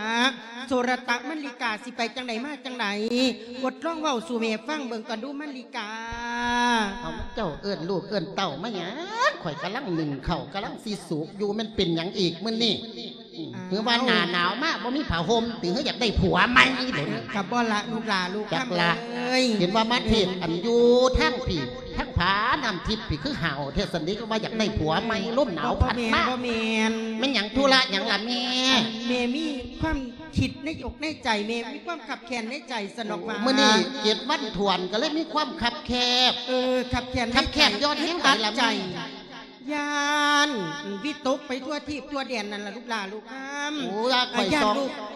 ໂສລະຕະ ມັນລິກາ ຊິໄປຈັ່ງໃດມາຈັ່ງໃດ? ອົດລອງເວົ້າສູ່ແມ່ຟັງເບິ່ງກ່ອນດູ ມັນລິກາ. ເອົາ ເຈົ້າເອີ້ນລູກເອີ້ນເຕົ້າມາຫຍັງ? ຂ້ອຍກຳລັງໜຶ້ງເຂົ້າ ກຳລັງຊິສຸກຢູ່ ແມ່ນເປັນຫຍັງອີກມື້ນີ້? ອືມ ອ່າ ຫຼືວ່າໜ້າໜາວມາບໍ່ມີຜ້າຫົ່ມຕິ? ຫຼືຢາກໄດ້ຜົວໃໝ່ເດ? ກໍບໍ່ລະລູກຫຼ້າ ລູກຄຳເອີຍ ເຫັນວ່າມາເທດອັນຢູ່ທາງພີ້ ທາງຜານ້ຳທິບພີ້ ຄືຫ້າວແທ້ຊັ້ນເດ ວ່າຢາກໄດ້ຜົວໃໝ່ ລົມໜາວພັດມາ. ບໍ່ແມ່ນ ແມ່ນຫຍັງ? ທຸລະຫຍັງລະແມ່? ແມ່ມີຄວາມຄິດໃນອົກໃນໃຈ ແມ່ມີຄວາມຄັບແຄ້ນໃນໃຈຊັ້ນດອກວ່າ ມື້ນີ້ເຈັດວັນຖ້ວນ ກໍເລີຍມີຄວາມຄັບແຄບ. ເອີ ຄັບແຄ້ນໃນໃຈ ຄັບແຄ້ນຍ້ອນແນວໃດລະແມ່? ຢ້ານວິຕົກໄປທົ່ວທີບທົ່ວແດນນັ້ນລະລູກຫຼ້າ ລູກຄຳ. ໂອ້ຍ ຂ້ອຍສອງ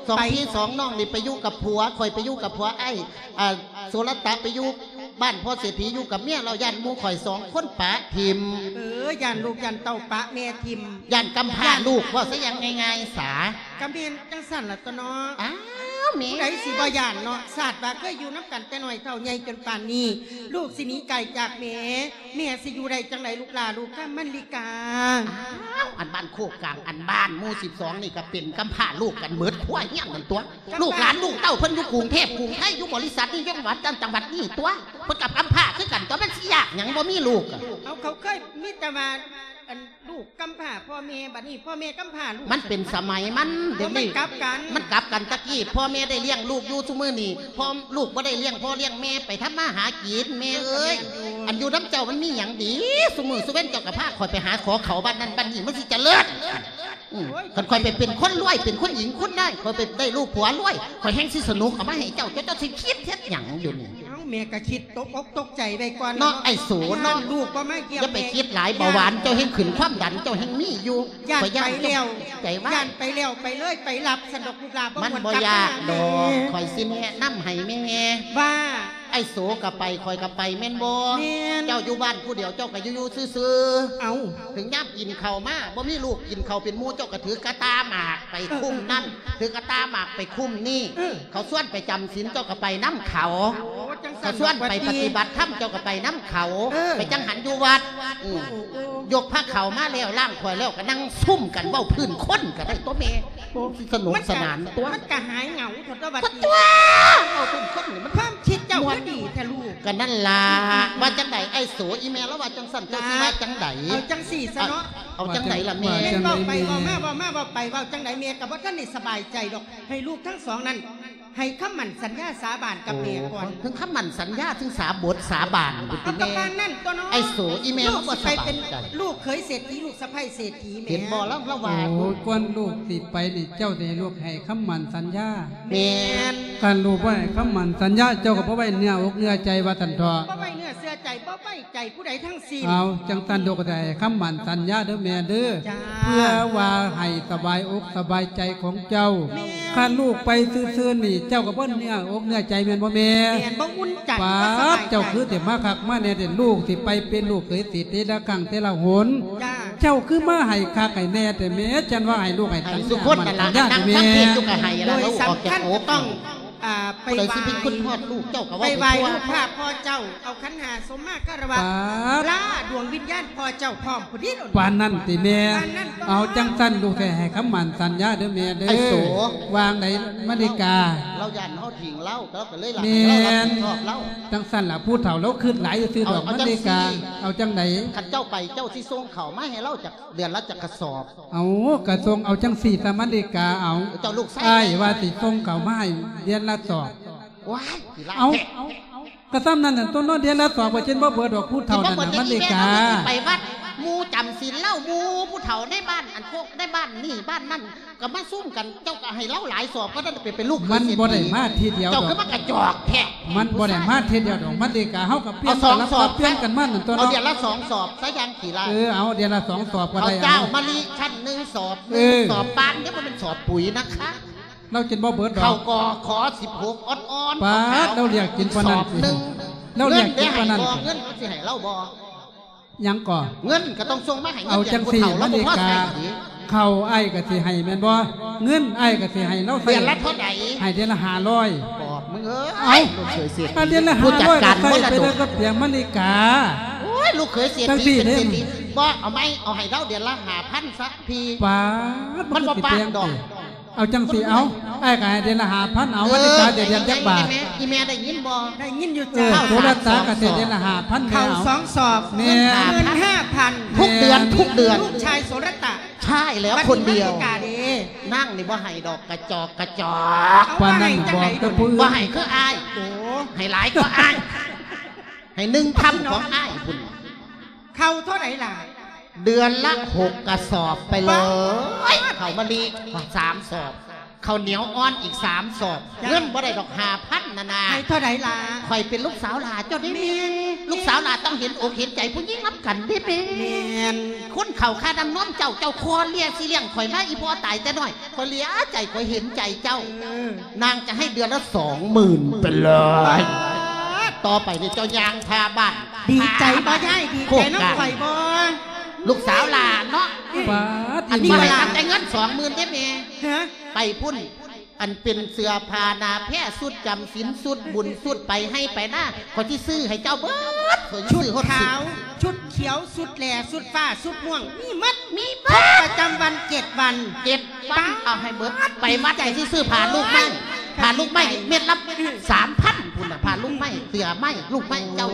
ສອງພີ່ສອງນ້ອງນີ້ໄປຢູ່ກັບຜົວ ຂ້ອຍໄປຢູ່ກັບຜົວ ອ້າຍ ອ່າ ໂສລະຕະໄປຢູ່ບ້ານພໍ່ເສດຖີ ຢູ່ກັບເມຍ ແລ້ວຢ້ານໝູ່ຂ້ອຍສອງຄົນປະຖິ້ມ. ເອີ ຢ້ານລູກຢ້ານເຕົ້າປະແມ່ຖິ້ມ ຢ້ານກຳພ້າລູກ ເວົ້າຊະຢ່າງງ່າຍໆສາ. ກະແມ່ນຈັ່ງຊັ້ນລະຕົວະເນາະ. ອ້າວ ແມ່ ຜູ້ໃດຊິບໍ່ຢ້ານເນາະ? ຊາດວ່າເຄີຍຢູ່ນຳກັນແຕ່ນ້ອຍເທົ່າໃຫຍ່ຈົນປານນີ້ ລູກຊິໜີໄກຈາກແມ່ ແມ່ຊິຢູ່ໄດ້ຈັ່ງໃດລູກຫຼ້າ ລູກຄຳ ມັນລິກາ? ອ້າວ ອັນບ້ານໂຄກກາງ ອັນບ້ານໝູ່ສິບສອງນີ້ກະເປັນກຳພ້າລູກກັນເໝິດຄົວເຮືອນນັ້ນຕົວະ. ກຳພ້າ ລູກຫຼານລູກເຕົ້າເພິ່ນຢູ່ກຸງເທບກຸງໄທ ຢູ່ບໍລິສັດນີ້ ຢູ່ຈັງຫວັດນັ້ນຈັງຫວັດນີ້ຕົວະ ເພິ່ນກະກຳພ້າຄືກັນຕົວະ ມັນຊິຍາກຫຍັງບໍ່ມີລູກ. ເອົາ ເຂົາເຄີຍມີແຕ່ວ່າ ອັນ ລູກກຳພ້າພໍ່ແມ່ ບັດນີ້ພໍ່ແມ່ກຳພ້າລູກ ມັນເປັນສະໄໝມັນ. ໂອ້ ດຽວນີ້ມັນກັບກັນ ມັນກັບກັນ. ຕະກີ້ພໍ່ແມ່ໄດ້ລ້ຽງລູກຢູ່ ຊຸມື້ນີ້ພໍ່ ລູກບໍ່ໄດ້ລ້ຽງພໍ່ລ້ຽງແມ່ ໄປທຳມາຫາກິນແມ່ເອີຍ. ອັນຢູ່ນຳເຈົ້າມັນມີຫຍັງດີ? ຊຸມື້ຊຸເວັນເຈົ້າກໍພາຂ້ອຍໄປຫາຂໍເຂົ້າບ້ານນັ້ນບ້ານນີ້ ມັນຊິຈະເລີດ. ອືມ ໂອ້ຍ ຄັນຂ້ອຍໄປເປັນຄົນລວຍ ເປັນຄຸນຍິງຄຸນນາຍ ຂ້ອຍໄປໄດ້ລູກຜົວລວຍ ຂ້ອຍແຮ່ງຊິສະໜຸກເອົາມາໃຫ້ເຈົ້າ ເຈົ້າ ເຈົ້າຊິຄິດເຮັດຫຍັງຢູ່ນີ້? ເອົ້າ ແມ່ກໍຄິດຕົກອົກຕົກໃຈໄວ້ກ່ອນເນາະ ເນາະ ໄອ້ໂສເນາະ. ລູກບໍ່ມາຢ້ຽມ ຢ່າໄປ ແມ່ ຄິດຫຼາຍ ເບົາຫວານເຈົ້າແຮ່ງຂຶ້ນ ຄວາມດັນເຈົ້າແຮ່ງມີຢູ່. ຢ້ານໄປແລ້ວ ໃຈວ່າ ຢ້ານໄປແລ້ວ ໄປເລີຍ ໄປລັບຊັ້ນດອກລູກຫຼ້າ ບໍ່ ມັນບໍ່ຍາກດອກ ຂ້ອຍຊິແນະນຳໃຫ້ແມ່ ວ່າ ໄອ້ໂສກໍໄປ ຂ້ອຍກໍໄປ ແມ່ນບໍ່? ແມ່ນ ເຈົ້າຢູ່ບ້ານຜູ້ດຽວ ເຈົ້າກໍຢູ່ໆຊື່ໆ. ເອົ້າ ເຖິງຍາມກິນເຂົ້າມາ ບໍ່ມີລູກກິນເຂົ້າເປັນໝູ່ ເຈົ້າກໍຖືກະຕ່າໝາກໄປຄຸ້ມນັ້ນ ເອີ ເອີ ຖືກະຕ່າໝາກໄປຄຸ້ມນີ້. ເອີ ເຂົາຊວນໄປຈຳສິນ ເຈົ້າກໍໄປນຳເຂົາ. ໂອ້ ຈັ່ງຊັ້ນ ເຂົາຊວນໄປປະຕິບັດທຳ ເຈົ້າກໍໄປນຳເຂົາ. ເອີ ໄປຈັງຫັນຢູ່ວັດ. ອືມ ໂອ້ ໂອ້ ໂອ້ ຍົກພາເຂົ້າມາແລ້ວ ລ້າງຖ້ວຍແລ້ວ ກໍນັ່ງຊຸມກັນເວົ້າພື້ນຄົນກໍໄດ້ຕົວະແມ່. ໂອ້ ສະໜຸກສະໜານຕົວະ ມັນກະຫາຍເຫງົາເທົ່າຕົວະວ່າຕິ. ຕົວະ ເວົ້າເປັນຄົນນີ້ມັນ ຄວາມຄິດເຈົ້າ ມ່ວນ ກໍດີແທ້ລູກ. ກໍນັ້ນລະ ອືມ ວ່າຈັ່ງໃດ ໄອ້ໂສ ອີ່ແມ່ລາວວ່າຈັ່ງຊັ້ນ ເຈົ້າຊິວ່າຈັ່ງໃດ? ເອົາຈັ່ງຊີ້ຊະເນາະ ເອົາຈັ່ງໃດລະແມ່? ແມ່ເວົ້າໄປເວົ້າມາ ເວົ້າມາເວົ້າໄປ ເວົ້າຈັ່ງໃດແມ່ກໍບໍ່ທັນໄດ້ສະບາຍໃຈດອກ. ໃຫ້ລູກທັງສອງນັ້ນ ໃຫ້ຄຳໝັ້ນສັນຍາສາບານກັບແມ່ກ່ອນ. ໂອ້ ເຖິງຄຳໝັ້ນສັນຍາ ເຖິງສາບົດສາບານພຸ້ນຕິແມ່. ເອົາ ກໍປານນັ້ນຕົວະເນາະ. ໄອ້ໂສ ອີ່ແມ່ ລູກຊິໄປເປັນລູກເຂີຍເສດຖີ ລູກສະໃພ້ເສດຖີແມ່. ເຫັນບໍ່ ລາວ ລາວວ່າ ໂອ້ຍ ກ່ອນລູກຊິໄປນີ້ ເຈົ້າຊິໃຫ້ລູກໃຫ້ຄຳໝັ້ນສັນຍາ. ແມ່ນ ຄັນລູກບໍ່ໃຫ້ຄຳໝັ້ນສັນຍາ ເຈົ້າກໍບໍ່ໄວ້ເນື້ອອົກເນື້ອໃຈວ່າຊັ້ນເຖາະ. ບໍ່ໄວ້ເນື້ອເຊື່ອໃຈ ບໍ່ໄວ້ໃຈຜູ້ໃດທັງສິ້ນ. ເອົາ ຈັ່ງຊັ້ນລູກກໍໄດ້ໃຫ້ຄຳໝັ້ນສັນຍາເດີແມ່ເດີ. ຈ້າ ເພື່ອວ່າໃຫ້ສະບາຍອົກສະບາຍໃຈຂອງເຈົ້າ. ແມ່ນ ຄັນລູກໄປຊື່ໆນີ້ ເຈົ້າກໍບໍ່ເນື້ອອົກເນື້ອໃຈແມ່ນບໍ່ແມ່? ແມ່ນ ບໍ່ອຸ່ນໃຈ ບໍ່ສະບາຍໃຈ. ປາດ ເຈົ້າຄືຊິມາຄັກມາແນ່ແທ້ ລູກຊິໄປເປັນລູກເຂີຍເສດຖີແຕ່ລະຄັ້ງແຕ່ລະຫົນ. ຈ້າ ເຈົ້າຄືມາໃຫ້ຄັກໃຫ້ແນ່ແທ້ແມ່ ຈັ່ງວ່າໃຫ້ລູກໃຫ້ ໃຫ້ ໃຫ້ສຸຄົນນັ້ນລະ ສັນຍາແທ້ແມ່. ໂດຍສຳຄັນກໍຕ້ອງ ອ່າ ໄປໄຫວ້ ຜູ້ໃດຊິເປັນຄົນຮອດລູກເຈົ້າກໍເວົ້າ ໄປໄຫວ້ຮູບພາບພໍ່ເຈົ້າ ເອົາຂັນຫ້າສົມມາຄາລະວະ ປາດ ລາດວງວິນຍານພໍ່ເຈົ້າພ້ອມພຸ້ນເດ້. ປານນັ້ນຕິແມ່? ປານນັ້ນຕົວະ. ເອົາ ຈັ່ງຊັ້ນລູກຊິໃຫ້ຄຳໝັ້ນສັນຍາເດີແມ່ເດີ. ໄອ້ໂສ ວ່າຈັ່ງໃດມະລິກາ? ລາວຢ້ານເຮົາຖິ້ມລາວ ລາວກໍເລີຍລະໃຫ້ເຮົາຮັບຜິດຊອບລາວ. ແມ່ນ ຈັ່ງຊັ້ນລະ ຜູ້ເຖົ້າລາວຄິດຫຼາຍຊື່ໆດອກມະລິກາ. ເອົາ ເອົາຈັ່ງຊີ້ ເອົາຈັ່ງໃດ? ຄັນເຈົ້າໄປ ເຈົ້າຊິສົ່ງເຂົ້າມາໃຫ້ລາວຈັກເດືອນລະຈັກກະສອບ? ເອົາ ກະສົ່ງເອົາຈັ່ງຊີ້ສະມະລິກາ. ເອົາ ເຈົ້າລູກຊາຍ ອ້າຍວ່າຊິສົ່ງເຂົ້າມາໃຫ້ເດືອນລະສອບ. ວ້າຍ ຊິຫຼາຍ ເອົາ ແທ້ ກະສ່ຳນັ້ນຕົວະເນາະ ເດືອນລະສອບກໍເຈັນບໍ່ເບີດດອກ ຜູ້ເຖົ້ານັ້ນນະມະລິກາ. ໄປວັດ ໝູ່ຈຳສິນລາວ ໝູ່ຜູ້ເຖົ້າໃນບ້ານ ອັນພວກໃນບ້ານນີ້ບ້ານນັ້ນ ກໍມາຊຸມກັນ ເຈົ້າກໍໃຫ້ລາວຫຼາຍສອບ ກໍນັ້ນໄປເປັນລູກເຂຍເສດຖີ ມັນບໍ່ໄດ້ມາທີດຽວດອກ ເຈົ້າຄືມາກະຈອກແທ້ ມັນບໍ່ໄດ້ມາທີດຽວດອກ ມາລິກາ ເຮົາກໍປ່ຽນ ເອົາສອງສອບ ສະຫຼັບສັບປ່ຽນກັນມານັ້ນຕົວະ ເນາະ ເອົາເດືອນລະສອງສອບຊະ ຢ່າງຂີ້ລ້າຍ ເອີ ເອົາເດືອນລະສອງສອບກໍໄດ້ ເອົາເຈົ້າມະລິຊັ້ນໜຶ່ງສອບ ເອີ ໜຶ່ງສອບປານ ເດ້ ບໍ່ແມ່ນສອບປຸ໋ຍນະຄະ ລາວກິນບໍ່ເບິດດອກ ເຂົ້າກໍຂໍສິບຫົກອ່ອນໆ ປາດ ເອົາ ລາວລຽກກິນປານນັ້ນ ສອບໜຶ່ງ ລາວລຽກກິນປານນັ້ນ ເງິນເດ້ໃຫ້ບໍ່ ເງິນເຮົາຊິໃຫ້ລາວບໍ່ ຫຍັງກໍ ເງິນກໍຕ້ອງສົ່ງມາໃຫ້ ເງິນເດືອນຜູ້ເຖົ້າ ເອົາຈັ່ງຊີ້ ລາວບໍ່ພໍໃຊ້ ມາລິກາ ເຂົ້າອ້າຍກໍຊິໃຫ້ແມ່ນບໍ່ ເງິນອ້າຍກໍຊິໃຫ້ລາວໃຊ້ ເດືອນລະເທົ່າໃດ ໃຫ້ເດືອນລະຫ້າຮ້ອຍ ບອກມຶງເອີຍ ເອົ້າ ລູກເຂີຍເສດຖີ ເດືອນລະຫ້າຮ້ອຍ ຜູ້ຈັດການມໍລະດົກ ກໍໃຊ້ໄປເລີຍກັບແປງມາລິກາ ໂອ້ຍ ລູກເຂີຍເສດຖີ ເປັນເສດຖີ ບໍ່ ເອົາໃໝ່ ເອົາໃຫ້ລາວເດືອນລະຫ້າພັນຊະພີ້ ປາດ ມັນບໍ່ປານດອກ ເອົາຈັ່ງຊີ້ ເອົາ ອ້າຍກໍໃຫ້ເດືອນລະຫ້າພັນ ເອົາ ເອີ ມາລິກາ ເດືອນຈັກບາດ ອີ່ແມ່ ອີ່ແມ່ໄດ້ຍິນບໍ່ ໄດ້ຍິນຢູ່ ເອີ ຈ້າ ໂສລະຕາກໍເສຍເດືອນລະຫ້າພັນ ເຂົ້າສອງສອບ ແມ່ນ ເງິນຫ້າພັນ ທຸກເດືອນ ແມ່ນ ທຸກເດືອນ ລູກຊາຍໂສລະຕາ ໃຊ່ແລ້ວ ຄົນດຽວ ມາລິກາເດ້ ນາງນີ້ບໍ່ໃຫ້ດອກ ກະຈອກກະຈອກ ເອົາ ປານນັ້ນ ບໍ່ໃຫ້ຈັງໃດ ບໍ່ໃຫ້ຄືອ້າຍ ໂອ້ ໃຫ້ຫຼາຍກວ່າອ້າຍ ໃຫ້ໜຶ່ງເທົ່າຂອງອ້າຍພຸ້ນ ເຂົ້າເທົ່າໃດລະ ເດືອນລະຫົກກະສອບໄປເລີຍ ປາດ ເຂົ້າມາລີສາມສອບ ເຂົ້າໜຽວອ່ອນອີກສາມສອບ ເງິນບໍ່ໄດ້ດອກຫ້າພັນນະນາ ໃຫ້ເທົ່າໃດລະ ຂ້ອຍເປັນລູກສາວຫຼ້າເຈົ້າເດ້ແມ່ ແມ່ນ ລູກສາວຫຼ້າຕ້ອງເຫັນອົກເຫັນໃຈຜູ້ຍິງນຳກັນເດ້ແມ່ ແມ່ນ ຄົນເຂົ້າຄ່ານ້ຳນົມເຈົ້າ ເຈົ້າຄໍ່ເລຍຊິລ້ຽງຂ້ອຍມາ ອີ່ພໍ່ຕາຍແຕ່ນ້ອຍ ຂ້ອຍເລຍໃຈ ຂ້ອຍເຫັນໃຈເຈົ້າ ເອີ ນາງຈະໃຫ້ເດືອນລະສອງໝື່ນໄປເລີຍ ປາດ ຕໍ່ໄປນີ້ເຈົ້າຍ່າງທ່າບ້ານ ດີໃຈບໍ່ຍາຍ ດີໃຈນຳຂ້ອຍບໍ່ ລູກສາວຫຼ້າເນາະ ປາດ ອັນນີ້ກໍຫຼ້າ ແຕ່ເງິນສອງໝື່ນເດ້ແມ່ ຮະ ໄປພຸ້ນ ອັນເປັນເສື້ອຜ້າໜ້າແພ ຊຸດຈຳສິນ ຊຸດບຸນ ຊຸດໄປໄຮ່ໄປນາ ຂ້ອຍຊິຊື້ໃຫ້ເຈົ້າເບິດ ຂ້ອຍຊິຊື້ຮອດຊຸດຂາວ ຊຸດຂຽວ ຊຸດແຫຼ ຊຸດຟ້າ ຊຸດມ່ວງ ມີໝົດ ມີໝົດ ປະຈຳວັນເຈັດວັນ ເຈັດວັນ ເອົາໃຫ້ເບິດ ໄປວັດກໍຊິຊື້ຜ້າລູກໄມ້ ຜ້າລູກໄມ້ເມັດລະສາມພັນພຸ້ນນະ ຜ້າລູກໄມ້ ເສື້ອໄມ້ ລູກໄມ້ເຈົ້າ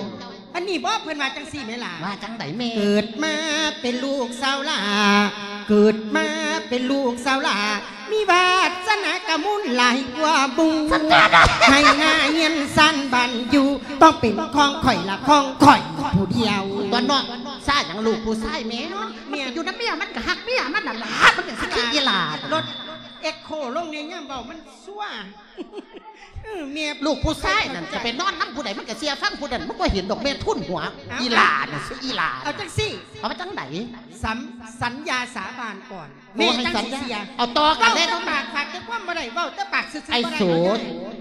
ອັນນີ້ບໍ່ ເພິ່ນວ່າຈັ່ງຊີ້ແມ່ຫຼ້າ ວ່າຈັ່ງໃດແມ່ ເກີດມາເປັນລູກສາວຫຼ້າ ເກີດມາເປັນລູກສາວຫຼ້າ ມີວາດສະໜາກະມູນຫຼາຍກວ່າໝູ່ ໃຫ້ໜ້າຮຽນຊັ້ນບ້ານຢູ່ ຕ້ອງເປັນຂອງຂ້ອຍລະຂອງຂ້ອຍຜູ້ດຽວ ຕົວະເນາະ ຊ້າຫຍັງລູກຜູ້ຊາຍແມ່ ແມ່ນ ຢູ່ນຳເມຍມັນກະຮັກເມຍມັນນັ້ນລະ ມັນຈັ່ງຊິຄືອີ່ຫຼ້າ ລົດເອັກໂຄລົງແດ່ຍາມເວົ້າມັນ ຊົ່ວ ເອີ ແມ່ ລູກຜູ້ຊາຍນັ້ນຈະໄປນອນນຳຜູ້ໃດ ມັນກະເຊື່ອຟັງຜູ້ນັ້ນ ມັນບໍ່ເຫັນດອກແມ່ ທຸ່ນຫົວ ເອົ້າ ອີ່ຫຼ້ານີ້ ອີ່ຫຼ້າ ເອົາຈັ່ງຊີ້ ເອົາວ່າຈັ່ງໃດ ສັນ ສັນຍາສາບານກ່ອນ ໂອ້ ແມ່ ໃຫ້ສັນຍາ ຈັ່ງຊິເຊື່ອ ເວົ້າຕໍ່ກັນເລີຍ ເວົ້າປາກຝາກແຕ່ຄວາມບໍ່ໄດ້ ເວົ້າແຕ່ປາກຊື່ໆ ໄອ້ ບໍ່ໄດ້ ສູນ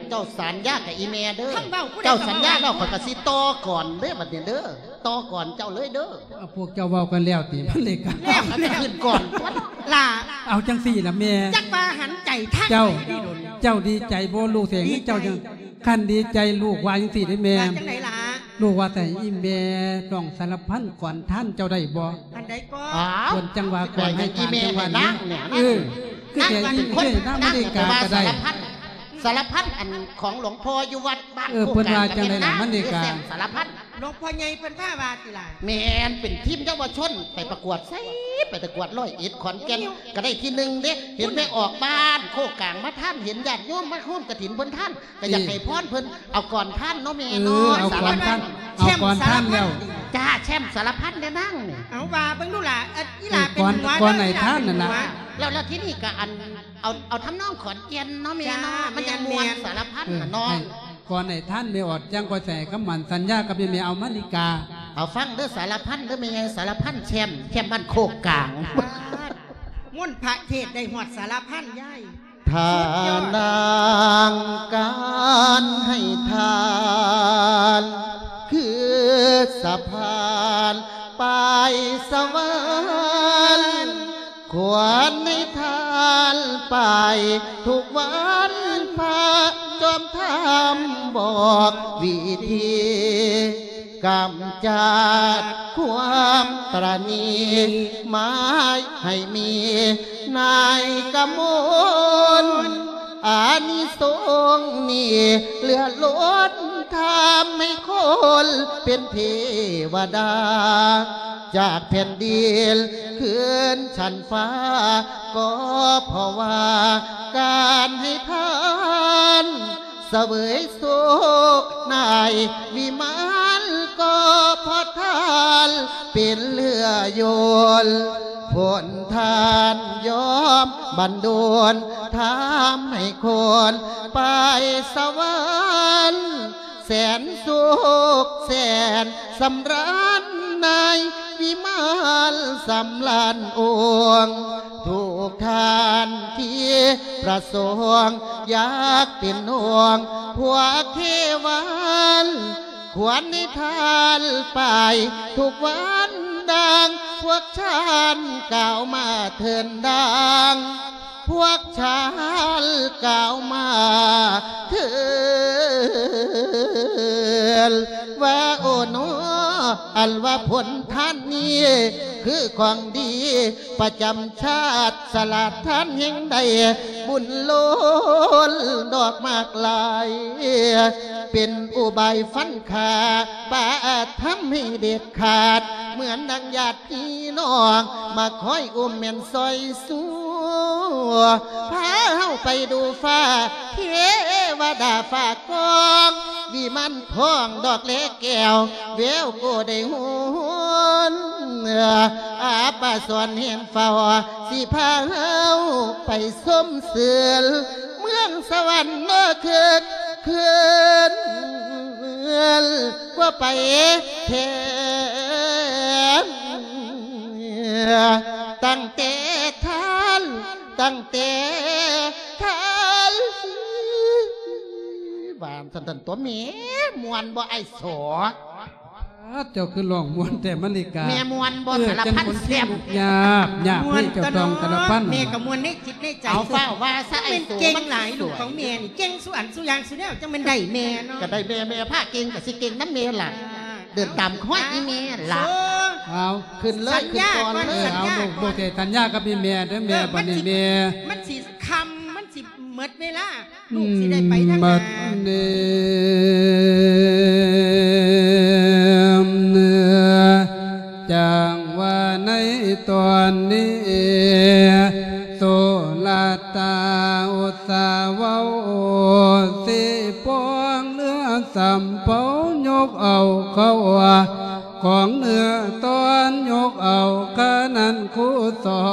ເຈົ້າສັນຍາກັບອີ່ແມ່ເດີ ຄັນເວົ້າຜູ້ໃດ ເຈົ້າສັນຍາແລ້ວ ກໍເວົ້າ ຂ້ອຍກໍຊິຕໍ່ກ່ອນເດີ ບັດນີ້ເດີ ຕໍ່ກ່ອນເຈົ້າເລີຍເດີ ເອົາ ພວກເຈົ້າເວົ້າກັນແລ້ວຕິ ມັນເລີຍກັນ ແລ້ວ ແລ້ວ ຂຶ້ນກ່ອນຕົວະ ຫຼ້າ ເອົາຈັ່ງຊີ້ລະແມ່ ຈັກວ່າຫັນໃຈທາງໃດດີດົນ ເຈົ້າ ເຈົ້າດີໃຈບໍ່ລູກເສຍເງິນເຈົ້າຈັ່ງ ຄັນດີໃຈລູກວ່າຈັ່ງຊີ້ເດ້ແມ່ ວ່າຈັ່ງໃດຫຼ້າ ລູກວ່າແຕ່ອີ່ແມ່ ນ້ອງສາລະພັນກອນທານເຈົ້າໄດ້ບໍ່ ອັນໃດກໍ ອ້າວ ເພິ່ນຈັ່ງວ່າກອນໃຫ້ທານ ຈັ່ງວ່ານາງ ເອີ ຄືແຕ່ອີ່ເອື້ອຍນາງມະລິກາກໍໄດ້ ສາລະພັນ ສາລະພັນ ອັນຂອງຫຼວງພໍ່ຢູ່ວັດບ້ານ ເອີ ໂຄກກາງ ເພິ່ນວ່າຈັ່ງໃດລະມະລິກາ ສາລະພັນ ຫຼວງພໍ່ໃຫຍ່ເພິ່ນພາວ່າຕິຫຼ້າ ແມ່ນ ເປັນທີມເຍົາວະຊົນໄປປະກວດໃສ ໄປປະກວດຮ້ອຍເອັດ ຂອນແກ່ນ ກໍໄດ້ທີໜຶ່ງເດ້ ເຫັນແມ່ອອກບ້ານໂຄກກາງມາທານ ເຫັນຍາດໂຍມມາໂຮມກະຖິນເພິ່ນທານ ກໍຢາກໃຫ້ພອນເພິ່ນ ເອີ ເອົາກອນທານເນາະແມ່ເນາະ ເອີ ເອົາກອນທານ ສາລະພັນ ເອົາກອນທານແລ້ວ ແຊ້ມສາລະພັນ ຈ້າ ແຊ້ມສາລະພັນເດ້ນາງນີ້ ເອົາວ່າເບິ່ງດູຫຼ້າ ເອີ ອີ່ຫຼ້າເປັນຫົວ ກອນ ກອນໃຫ້ທານນັ້ນນະ ແລ້ວ ແລ້ວທີນີ້ກໍອັນ ເອົາ ເອົາທຳນອງຂອນແກ່ນເນາະແມ່ເນາະ ຈ້າ ມັນຈັ່ງມ່ວນ ແມ່ນ ສາລະພັນ ເອີ ນະເນາະ ໃຫ້ກອນໃຫ້ທານແມ່ອອດ ຈັ່ງຂ້ອຍໃສ່ຄຳໝັ້ນສັນຍາກັບແມ່ ແມ່ເອົາມາລິກາ ເອົາຟັງເດີ ສາລະພັນເດີ ແມ່ໃຫຍ່ສາລະພັນ ແຊ້ມ ແຊ້ມບ້ານໂຄກກາງ ມົນພະເທດໄດ້ຮອດສາລະພັນຍາຍ ທ່ານາງການໃຫ້ທານ ຄືສະພານໄປສະຫວັນ ຄວນໃຫ້ທານໄປທຸກວັນ ພະຈອມທຳບອກວິທີ ກຳຈັດຄວາມຕະໜີ ໝາຍໃຫ້ມີນາຍກະມົນ ອານິສົງນີ້ເຫຼືອລົ້ນ ທຳໃຫ້ຄົນເປັນເທວະດາ ຈາກແຜ່ນດິນຂຶ້ນຊັ້ນຟ້າ ກໍເພາະວ່າການໃຫ້ທານ ສະເຫວີຍໂຊກນາຍວິມານ ກໍ ເພາະທ່ານເປັນເຮືອຍົນ ຜົນທ່ານຍອມບັນດົນ ທຳໃຫ້ຄົນໄປສະຫວັນ ແສນສຸກແສນສຳລານ ໃນວິມານສຳລານອົງ ທຸກທ່ານທີ່ປະສົງ ຢາກເປັນອົງພວກເທວັນ ຄວນໃຫ້ທ່ານໄປທຸກວັນ ດັ່ງພວກທ່ານກ່າວມາເທີນ ດັ່ງພວກທ່ານກ່າວມາເທີນ ວ່າໂອໂນ ອັນວ່າຜົນທ່ານນີ້ ຄືຂອງດີປະຈຳຊາດ ສະຫຼາດທ່ານແຫ່ງໃດ ບຸນລົ້ນດອກໝາກຫຼາຍ ເປັນອຸບາຍຟັນຂ້າ ປະທຳໃຫ້ເດັດຂາດ ເໝືອນດັ່ງຍາດພີ່ນ້ອງ ມາຄອຍອຸ້ມແມ່ນຊ່ອຍຊູ ພາເຮົາໄປດູຟ້າ ເທວະດາຟ້າກອງ ວິມານທອງດອກແລແກ້ວ ແວວກໍໄດ້ຫົນ ອາບປະສອນເຫັນເຝົ້າ ຊິພາເຮົາໄປຊົມຊື່ນ ເມືອງສະຫວັນເນາະ ຄຶກຄື້ນກວ່າໄປແທ້ ຕັ້ງແຕ່ທ່ານ ຕັ້ງແຕ່ທ່ານ ວ່າຊັ້ນຕົວະແມ່ ມ່ວນບໍ່ອ້າຍໂສ? ເຈົ້າຄືຮ້ອງມ່ວນແທ້ມະລິກາ ແມ່ມ່ວນບໍ່? ເອີ ສາລະພັນແຊບ ຍາກ ຍາກ ມ່ວນ ເຮີ້ຍ ເຈົ້າຕ້ອງສາລະພັນ ແມ່ກໍມ່ວນໃນຈິດໃນໃຈ ເອົາຟ້າວວ່າຊະ ມັນເກັ່ງຫຼາຍ ລູກຂອງແມ່ນີ້ ເກັ່ງສູ່ອັນສູ່ຢ່າງສູ່ແນວ ຈັ່ງແມ່ນໄດ້ແມ່ເນາະ ກໍໄດ້ແມ່ ແມ່ພາເກັ່ງກໍຊິເກັ່ງນຳແມ່ລະ ເດີນຕາມຮອຍອີ່ແມ່ລະ ເອົາ ຂຶ້ນເລີຍ ຂຶ້ນກ່ອນເລີຍ ເອີ ເອົາ ສັນຍາກ່ອນ ລູກ ລູກຊິສັນຍາກັບອີ່ແມ່ເດີ ແມ່ ເອີ ບັດນີ້ແມ່ ມັນຊິຄ່ຳ ມັນຊິໝົດເວລາ ລູກຊິໄດ້ໄປທາງໜ້າ ບັດນີ້ ຈັ່ງວ່າໃນຕອນນີ້ ໂສລະຕາອຸດສາເວົ້າ ຊິປອງເຮືອສຳເປົາ ຍົກເອົາເຂົ້າ ຂອງເນື້ອຕອນ ຍົກເອົາຂະນັ້ນຄູສອ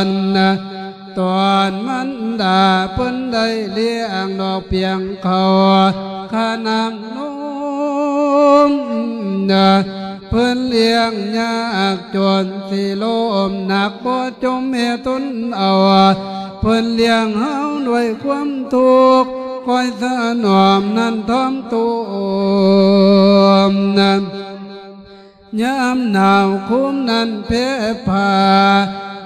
ນ ຕອນມັນດາເພິ່ນໄດ້ລ້ຽງດອກປຽງເຂົ້າຂະນຳນົມ ເພິ່ນລ້ຽງຍາກຈົນຊິລົ້ມ ໜັກບໍ່ຈົມແມ່ທົນເອົາ ເພິ່ນລ້ຽງເຮົາດ້ວຍຄວາມທຸກ ຄອຍຖະໜອມນັ້ນທ້ອມໂຕມ ຍາມໜາວໂຄມນັ້ນແຜ່ຜ້າ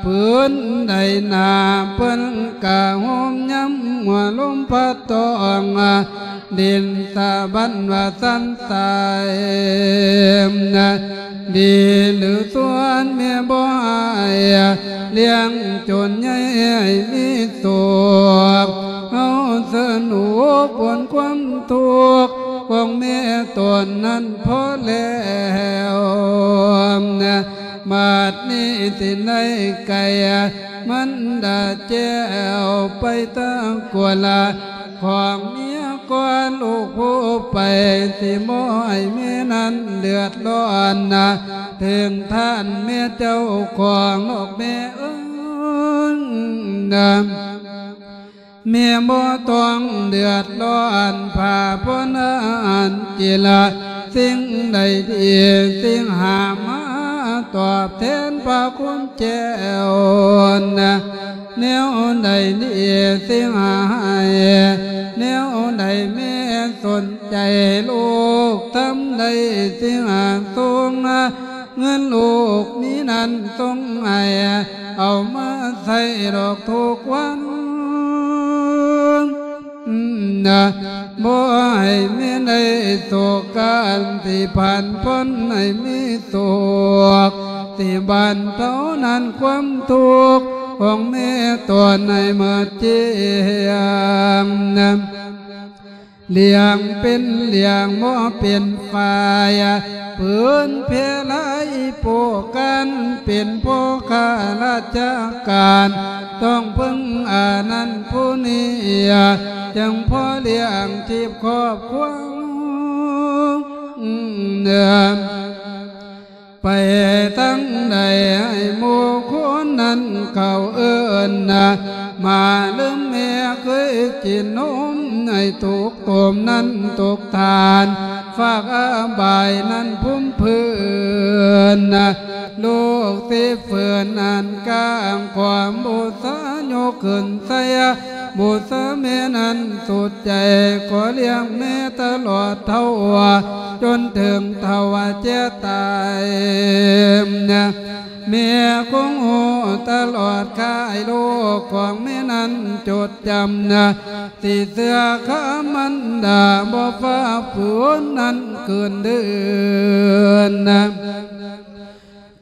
ຜືນໃດໜາເພິ່ນກະໂຮມ ຍາມຫົວລົມພັດຕ້ອງ ດິນສະບັນວ່າສັນສາຍ ດີຫຼືຊົ່ວແມ່ບໍ່ໃຫ້ ລ້ຽງຈົນໃຫຍ່ໃຫ້ມີສຸກ ເຮົາສະໜູກພົ້ນຄວາມທຸກ ຂອງແມ່ຕົນນັ້ນພໍແລ້ວ ບັດນີ້ຊິໄດ້ໄກ່ ມັນດາແຈ້ວໄປຕາກົວລະ ຂອງເມຍກ່ອນລູກຜູ້ໄປ ຊິບໍ່ໃຫ້ແມ່ນັ້ນເດືອດຮ້ອນນະ ເຖິງທ່ານແມ່ເຈົ້າຂອງນອກແມ່ເອີຍນະ ແມ່ບໍ່ຕ້ອງເດືອດຮ້ອນ ພາພົນອາຫານກິລະ ສິ່ງໃດດີ ສິ່ງຫາມາຕອບແທນພະຄຸນແກ້ວນະ ແນວໃດດີ ຊິຫາໃຫ້ ແນວໃດແມ່ສົນໃຈ ລູກທຳໄດ້ ຊິຫາສົ່ງ ເງິນລູກມີນັ້ນສົ່ງໃຫ້ ເອົາມາໃຊ້ດອກທຸກວັນ ນະ ບໍ່ໃຫ້ແມ່ໄດ້ໂສການ ທີ່ຜ່ານພົ້ນໃຫ້ມີໂຊກ ທີ່ບັນເທົານັ້ນຄວາມທຸກຂອງແມ່ຕົນໃຫ້ໝົດເຈ້ຍງ ນະ ລ້ຽງເປັນລ້ຽງບໍ່ເປັນຝ່າຍ ຜືນແຜ່ຫຼາຍໂພການ ເປັນພໍ່ຂ້າລາຊະການ ຕ້ອງເພິ່ງອານັ້ນຜູ້ນີ້ ຈຶ່ງພໍລ້ຽງຊີບຄອບຄົວ ໄປທາງໃດໃຫ້ໝູ່ຄົນນັ້ນເຂົາເອີ້ນນະ ມາລືມແມ່ເຄີຍກິນນົມ ໃຫ້ທຸກຕົມນັ້ນທຸກທ່ານ ຝາກອະບາຍນັ້ນພຸ້ມພື້ນນະ ລູກຊິຟື້ນອັນກາງຄວາມບູຊາຍົກຂຶ້ນໃສ່ ບູຊາແມ່ນັ້ນສຸດໃຈ ຂໍລ້ຽງແມ່ຕະຫຼອດເທົ່າ ຈົນເຖິງເຖົ້າແກ່ຕາຍ ແມ່ຄົງຮູ້ຕະຫຼອດຄາຍ ລູກຂອງແມ່ນັ້ນຈົດຈຳ ຊິເຊື່ອຄຳມັນດາ ບໍ່ຝ່າຝືນນັ້ນຄືນເດີນ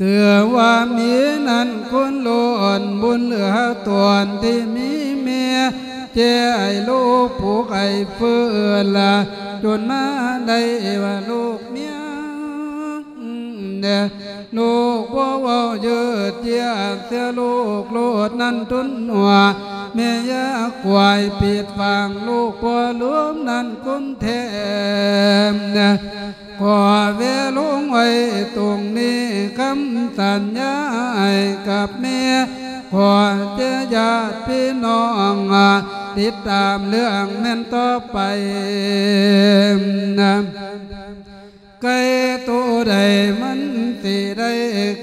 ຖືວ່າມີນັ້ນຄຸນລ້ນບຸນເຫຼືອຕົນທີ່ມີແມ່ ແຈໃຫ້ລູກປູກໃຫ້ຟື້ນລະ ຈົນມາໄດ້ວ່າລູກເມຍ ແດ່ ລູກບໍ່ເວົ້າຢືດຢຽດ ເສຍລູກໂລດນັ້ນທຸນຫົວ ແມ່ຢ່າກວາຍປິດຟັງ ລູກບໍ່ລືມນັ້ນຄຸນແທ້ ຂໍແວະລົງໄວ້ຕົງນີ້ ຄຳສັນຍາໃຫ້ກັບແມ່ ຂໍແຕ່ຍາດພີ່ນ້ອງ ຕິດຕາມເລື່ອງແມ່ນຕໍ່ໄປ ໄກ່ໂຕໃດມັນຊິໄດ້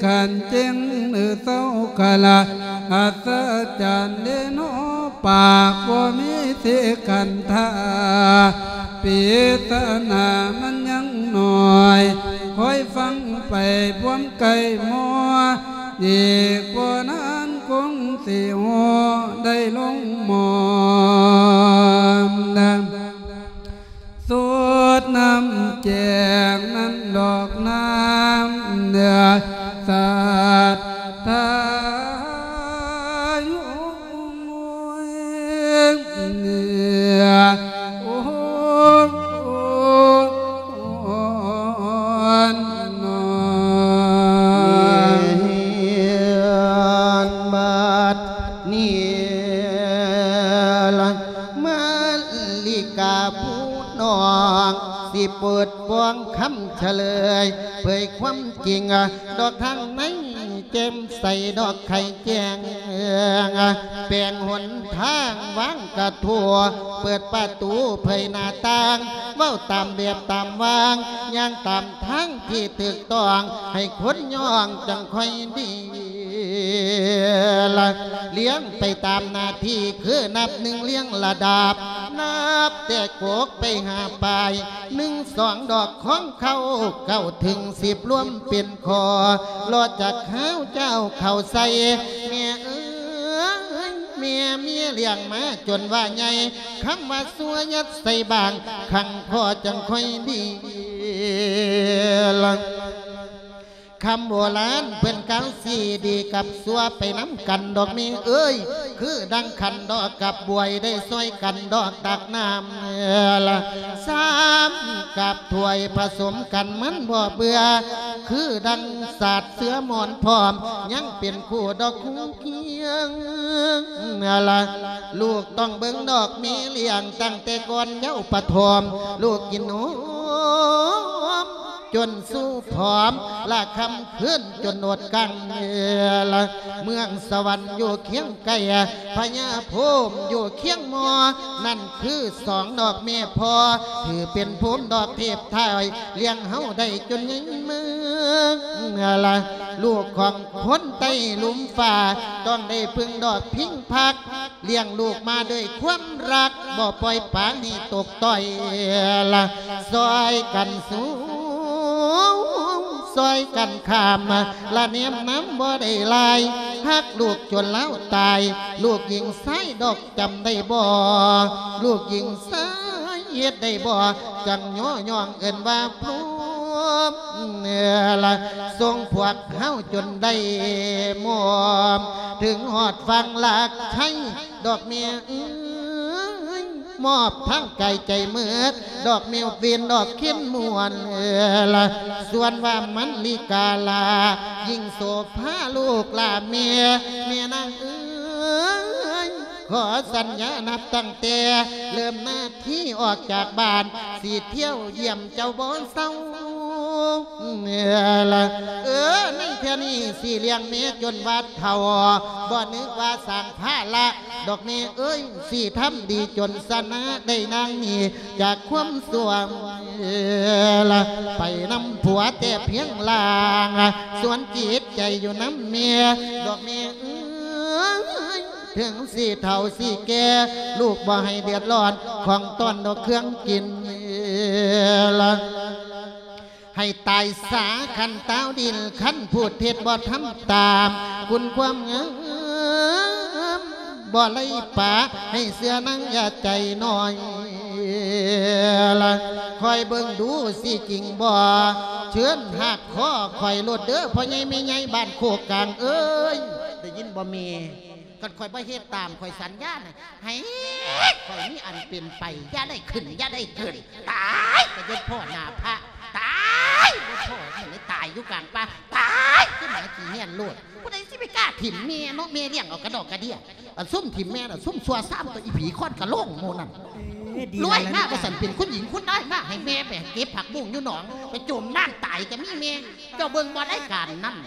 ຂັນເຈັງ ຫຼືເຊົາກະລະ ອັດສະຈັນເດເນາະ ປາກບໍ່ມີສິຂັນທາ ປິດສະໜາມັນຍັງໜ້ອຍ ຄອຍຟັງໄປພວມໄກ່ມໍ ອີກບໍ່ນານຄົງຊິຮູ້ໄດ້ລົງໝໍ ສອດນ້ຳແຈງນັ້ນດອກນ້ຳເໜືອສັດທາຢູ່ເມືອງເໜືອ ໂອ້ ນອນ ເຮືອນບັດນີ້ລະ ມາລິກາຜູ້ນ້ອງ ຊິເປີດປ່ອງຄຳສະເຫຼີຍ ເຜີຍຄວາມຈິງ ດອກທາງໃນແຈ່ມໃສ ດອກໄຂແຈ້ງ ແປງຫົນທາງວາງກະທົວ ເປີດປະຕູເຜີຍໜ້າຕ່າງ ເວົ້າຕາມແບບຕາມວາງ ຍ່າງຕາມທາງທີ່ຖືກຕ້ອງ ໃຫ້ຄົນຍ້ອງຈັ່ງຄ່ອຍດີ ລະ ລຽງໄປຕາມໜ້າທີ່ ຄືນັບໜຶ່ງລຽງລະດັບ ນັບແຕ່ກົກໄປຫາປາຍ ໜຶ່ງ ສອງ ດອກຂອງເຂົ້າ ເກົ້າ ເຖິງ ສິບ ລວມເປັນຂໍ້ ລອດຈາກຫາວເຈົ້າເຂົ້າໃສ່ ແມ່ເອີຍ ແມ່ເມຍລ້ຽງມາຈົນວ່າໃຫຍ່ ຄຳວ່າຊົ່ວຍັດໃສ່ບາງ ຂັງພໍຈັ່ງຄ່ອຍດີ ລະ ຄຳໂບລານເພິ່ນກ່າວ ຊິດີກັບຊົ່ວໄປນຳກັນດອກແມ່ເອີຍ ຄືດັ່ງຂັນດອກກັບບວຍ ໄດ້ຊ່ອຍກັນດອກຕັກນ້ຳ ລະ ຊາມກັບຖ້ວຍຜະສົມກັນມັນບໍ່ເບື່ອ ຄືດັ່ງສາດເສືອໝອນພ້ອມ ຍັງເປັນຄູ່ດອກຄູ່ຄຽງ ລະ ລູກຕ້ອງເບິ່ງດອກແມ່ລ້ຽງ ຕັ້ງແຕ່ກ່ອນເຍົາປະຖົມ ລູກກິນນົມ ຈົນສູ່ຜອມ ລະຄ່ຳຄືນຈົນອົດກັ້ນ ລະ ເມືອງສະຫວັນຢູ່ຄຽງໃກ້ ພະຍາພົມຢູ່ຄຽງມໍ ນັ້ນຄືສອງດອກແມ່ພໍ່ ຖືເປັນພູມດອກເທບໄທ ລ້ຽງເຮົາໄດ້ຈົນໃຫຍ່ເມືອງ ລະ ລູກຂອງຄົນໃຕ້ລຸ່ມຟ້າ ຕ້ອງໄດ້ເພິ່ງດອກພິງພັກ ລ້ຽງລູກມາດ້ວຍຄວາມຮັກ ບໍ່ປ່ອຍປາງໃຫ້ຕົກຕ້ອຍ ລະ ຊ່ອຍກັນສູ້ ຊ່ອຍກັນຂ້າມ ລະແນມນຳບໍ່ໄດ້ລາຍ ຮັກລູກຈົນລາວຕາຍ ລູກຍິງຊາຍດອກຈຳໄດ້ບໍ່ ລູກຍິງຊາຍເຮັດໄດ້ບໍ່ ຈັ່ງຍໍຍ້ອງເອີ້ນວ່າພົມ ລະ ສົ່ງພວກເຮົາຈົນໄດ້ມອມ ເຖິງຮອດຝັ່ງລາກໄທ ດອກແມ່ເອີຍ ມອບທັງກາຍໃຈເໝິດ ດອກແມ່ວຽນ ດອກເຂັນມ່ວນ ລະ ສ່ວນວ່າມັນລິກາລາ ຍິ່ງໂສພາລູກຫຼານແມ່ ແມ່ນາງເອີຍ ຂໍສັນຍານັບຕັ້ງແຕ່ເລີ່ມໜ້າທີ່ອອກຈາກບ້ານ ຊິທ່ຽວຢ້ຽມເຈົ້າບໍ່ເຊົາ ເອີ ໃນເທື່ອນີ້ຊິລ້ຽງແມ່ຈົນວ່າເຖົ້າ ບໍ່ນຶກວ່າສ້າງພາລະດອກແມ່ເອີຍ ຊິທຳດີຈົນຊະນະໄດ້ນາງນີ້ຈາກຄວາມຊົ່ວ ລະໄປນຳຜົວແຕ່ພຽງລ່າງ ສວນຈິດໃຈຢູ່ນຳແມ່ດອກແມ່ເອີຍ ເຖິງຊິເຖົ້າຊິແກ່ ລູກບໍ່ໃຫ້ເດືອດຮ້ອນ ຂອງຕ້ອນດອກເຄື່ອງກິນ ລະໃຫ້ຕາຍສາຄັນຕາວດິນ ຄັນຜູ້ເຮັດບໍ່ທຳຕາມ ຄຸນຄວາມງາມ ບໍ່ໄຫຼປາ ໃຫ້ເຊື່ອນາງຢ່າໃຈນ້ອຍ ລະຄອຍເບິ່ງດູຊິຈິງບໍ່ ເຊີນຫາກຄໍຂ້ອຍໂລດເດີ ພໍ່ໃຫຍ່ແມ່ໃຫຍ່ບ້ານໂຄກກາງເອີຍ ໄດ້ຍິນບໍ່ແມ່? ຄັນຂ້ອຍບໍ່ເຮັດຕາມ ຂ້ອຍສັນຍານະ ໃຫ້ຂ້ອຍມີອັນເປັນໄປ ຢ່າໄດ້ຂຶ້ນ ຢ່າໄດ້ເກີນ ຕາຍກໍຢູ່ພໍ້ໜ້າພະ ຕາຍບໍ່ພໍ້ ມັນໄດ້ຕາຍຢູ່ກາງປ່າ ຕາຍຄືໝາຂີ້ເຫື່ອນໂລດ ຜູ້ໃດຊິໄປກ້າຖິ້ມແມ່ເນາະ ແມ່ລ້ຽງເອົາກະດອກກະເດຍ ອັນຊຸມຖິ້ມແມ່ນະ ຊຸມຊົ່ວຊາມ ຕົວະອີຜີຄ້ອນກະໂລງໝູ່ນັ້ນ ເອີ ດີ ລວຍມາ ແລ້ວ ວ່າຊັ້ນ ເປັນຄຸນຍິງຄຸນນາຍມາ ໃຫ້ແມ່ໄປເກັບຜັກບຸ້ງຢູ່ໜອງ ໄປຈົມນ້ຳຕາຍກະມີແມ່ ເຈົ້າເບິ່ງບໍ່ລາຍການນັ້ນ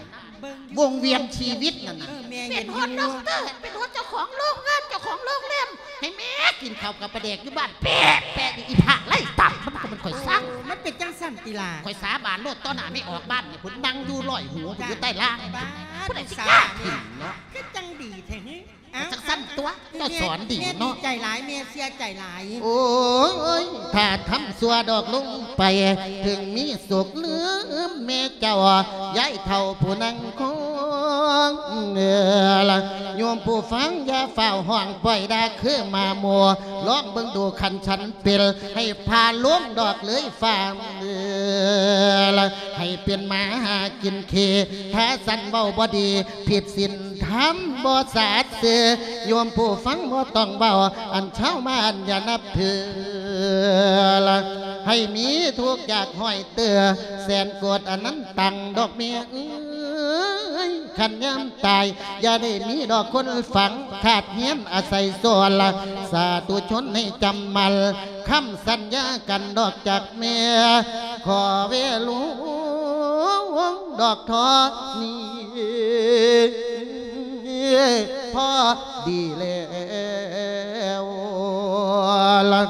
ເບິ່ງຢູ່ ວົງວຽນຊີວິດນັ້ນນະ ເອີ ແມ່ ເປັນຮອດ ເຫັນຢູ່ ດັອກເຕີ ເປັນຮອດເຈົ້າຂອງໂຮງງານ ເຈົ້າຂອງໂຮງແຮມ ໃຫ້ແມ່ກິນເຂົ້າກັບປາແດກຢູ່ບ້ານ ແປະ ແປະ ອີພະໄຮ້ຕັບ ມັນກໍແມ່ນຂ້ອຍສັ່ງ ເອີ ມັນເປັນຈັ່ງຊັ້ນຕິລະ ຂ້ອຍສາບານໂລດ ຕໍ່ໜ້າແມ່ອອກບ້ານນີ້ ພຸ້ນນັ່ງຢູ່ລອຍຫູ ຢູ່ໃຕ້ລ່າງ ບາດ ຜູ້ໃດຊິກ້າຖິ້ມເນາະ ຄືຈັ່ງດີແທ້ ເອົ້າ ຈັ່ງຊັ້ນຕົວະ ເຈົ້າສອນດີເນາະ ແມ່ດີໃຈຫຼາຍ ແມ່ເຊື່ອໃຈຫຼາຍ ໂອ້ຍ ຖ້າທຳຊົ່ວດອກລົງໄປ ເຖິງມີສຸກລືມແມ່ເຈົ້າ ຍາຍເຖົ້າຜູ້ນັ່ງຄອງ ເອີ ລະໂຍມຜູ້ຟັງຢ່າຟ້າວຮ້ອງປ່ອຍດ່າຄືໝາໝູ່ ລອງເບິ່ງດູຄັນສັນເປັນ ໃຫ້ພາລົງດອກເລີຍຟ້າ ເອີ ລະໃຫ້ເປັນໝາຫາກິນເຄ ຖ້າສັນເວົ້າບໍ່ດີ ຜິດສິນທຳບໍ່ສາດຊື່ ໂຍມຜູ້ຟັງບໍ່ຕ້ອງເວົ້າ ອັນຊາວມານຢ່ານັບຖື ລະໃຫ້ມີທຸກຢາກຫ້ອຍເຕີ ແສນໂກດອະນັນຕັງ ດອກແມ່ເອີຍ ຄັນຍາມຕາຍ ຢ່າໄດ້ມີດອກຄົນຝັງ ຂາດຮຽນອາໄສສອນ ລະສາທຸຊົນໃຫ້ຈຳໝັ້ນ ຄຳສັນຍາກັນດອກຈາກແມ່ ຂໍເວລຸງດອກທໍ່ນີ້ ພໍດີແລ້ວ ລະ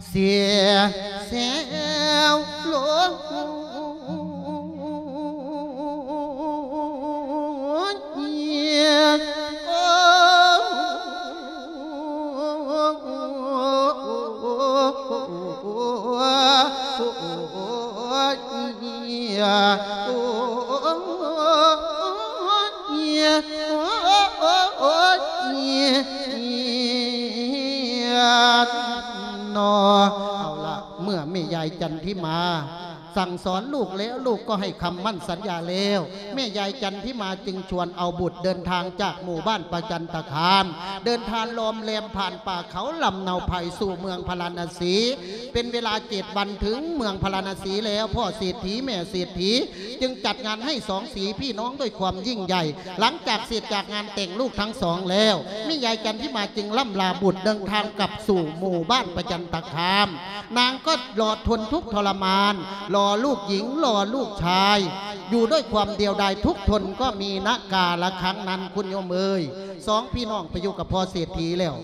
ເສຍແຊວລົງ ເອົາລະ ເມື່ອແມ່ຍາຍຈັນທິມາ ສັ່ງສອນລູກແລ້ວ ລູກກໍໃຫ້ຄຳໝັ້ນສັນຍາແລ້ວ ແມ່ຍາຍຈັນທິມາຈຶ່ງຊວນເອົາບຸດເດີນທາງຈາກໝູ່ບ້ານປະຈັນຕະຄາມ ເດີນທາງລ້ອມແລມຜ່ານປ່າເຂົາລຳເນົາໄພສູ່ເມືອງພາລານະສີ ເປັນເວລາເຈັດວັນເຖິງເມືອງພາລານະສີແລ້ວ ພໍ່ເສດຖີແມ່ເສດຖີຈຶ່ງຈັດງານໃຫ້ສອງສີພີ່ນ້ອງດ້ວຍຄວາມຍິ່ງໃຫຍ່ ຫຼັງຈາກເສັດຈາກງານແຕ່ງລູກທັງສອງແລ້ວ ແມ່ຍາຍຈັນທິມາຈຶ່ງລ່ຳລາບຸດເດີນທາງກັບສູ່ໝູ່ບ້ານປະຈັນຕະຄາມ ນາງກໍລໍທົນທຸກທໍລະມານ ລໍລູກຍິງ ລໍລູກຊາຍ ຢູ່ດ້ວຍຄວາມດຽວດາຍທຸກທົນ ກໍມີນະກາລະຄັ້ງນັ້ນ ຄຸນໂຍມເອີຍ ສອງພີ່ນ້ອງໄປຢູ່ກັບພໍ່ເສດຖີແລ້ວ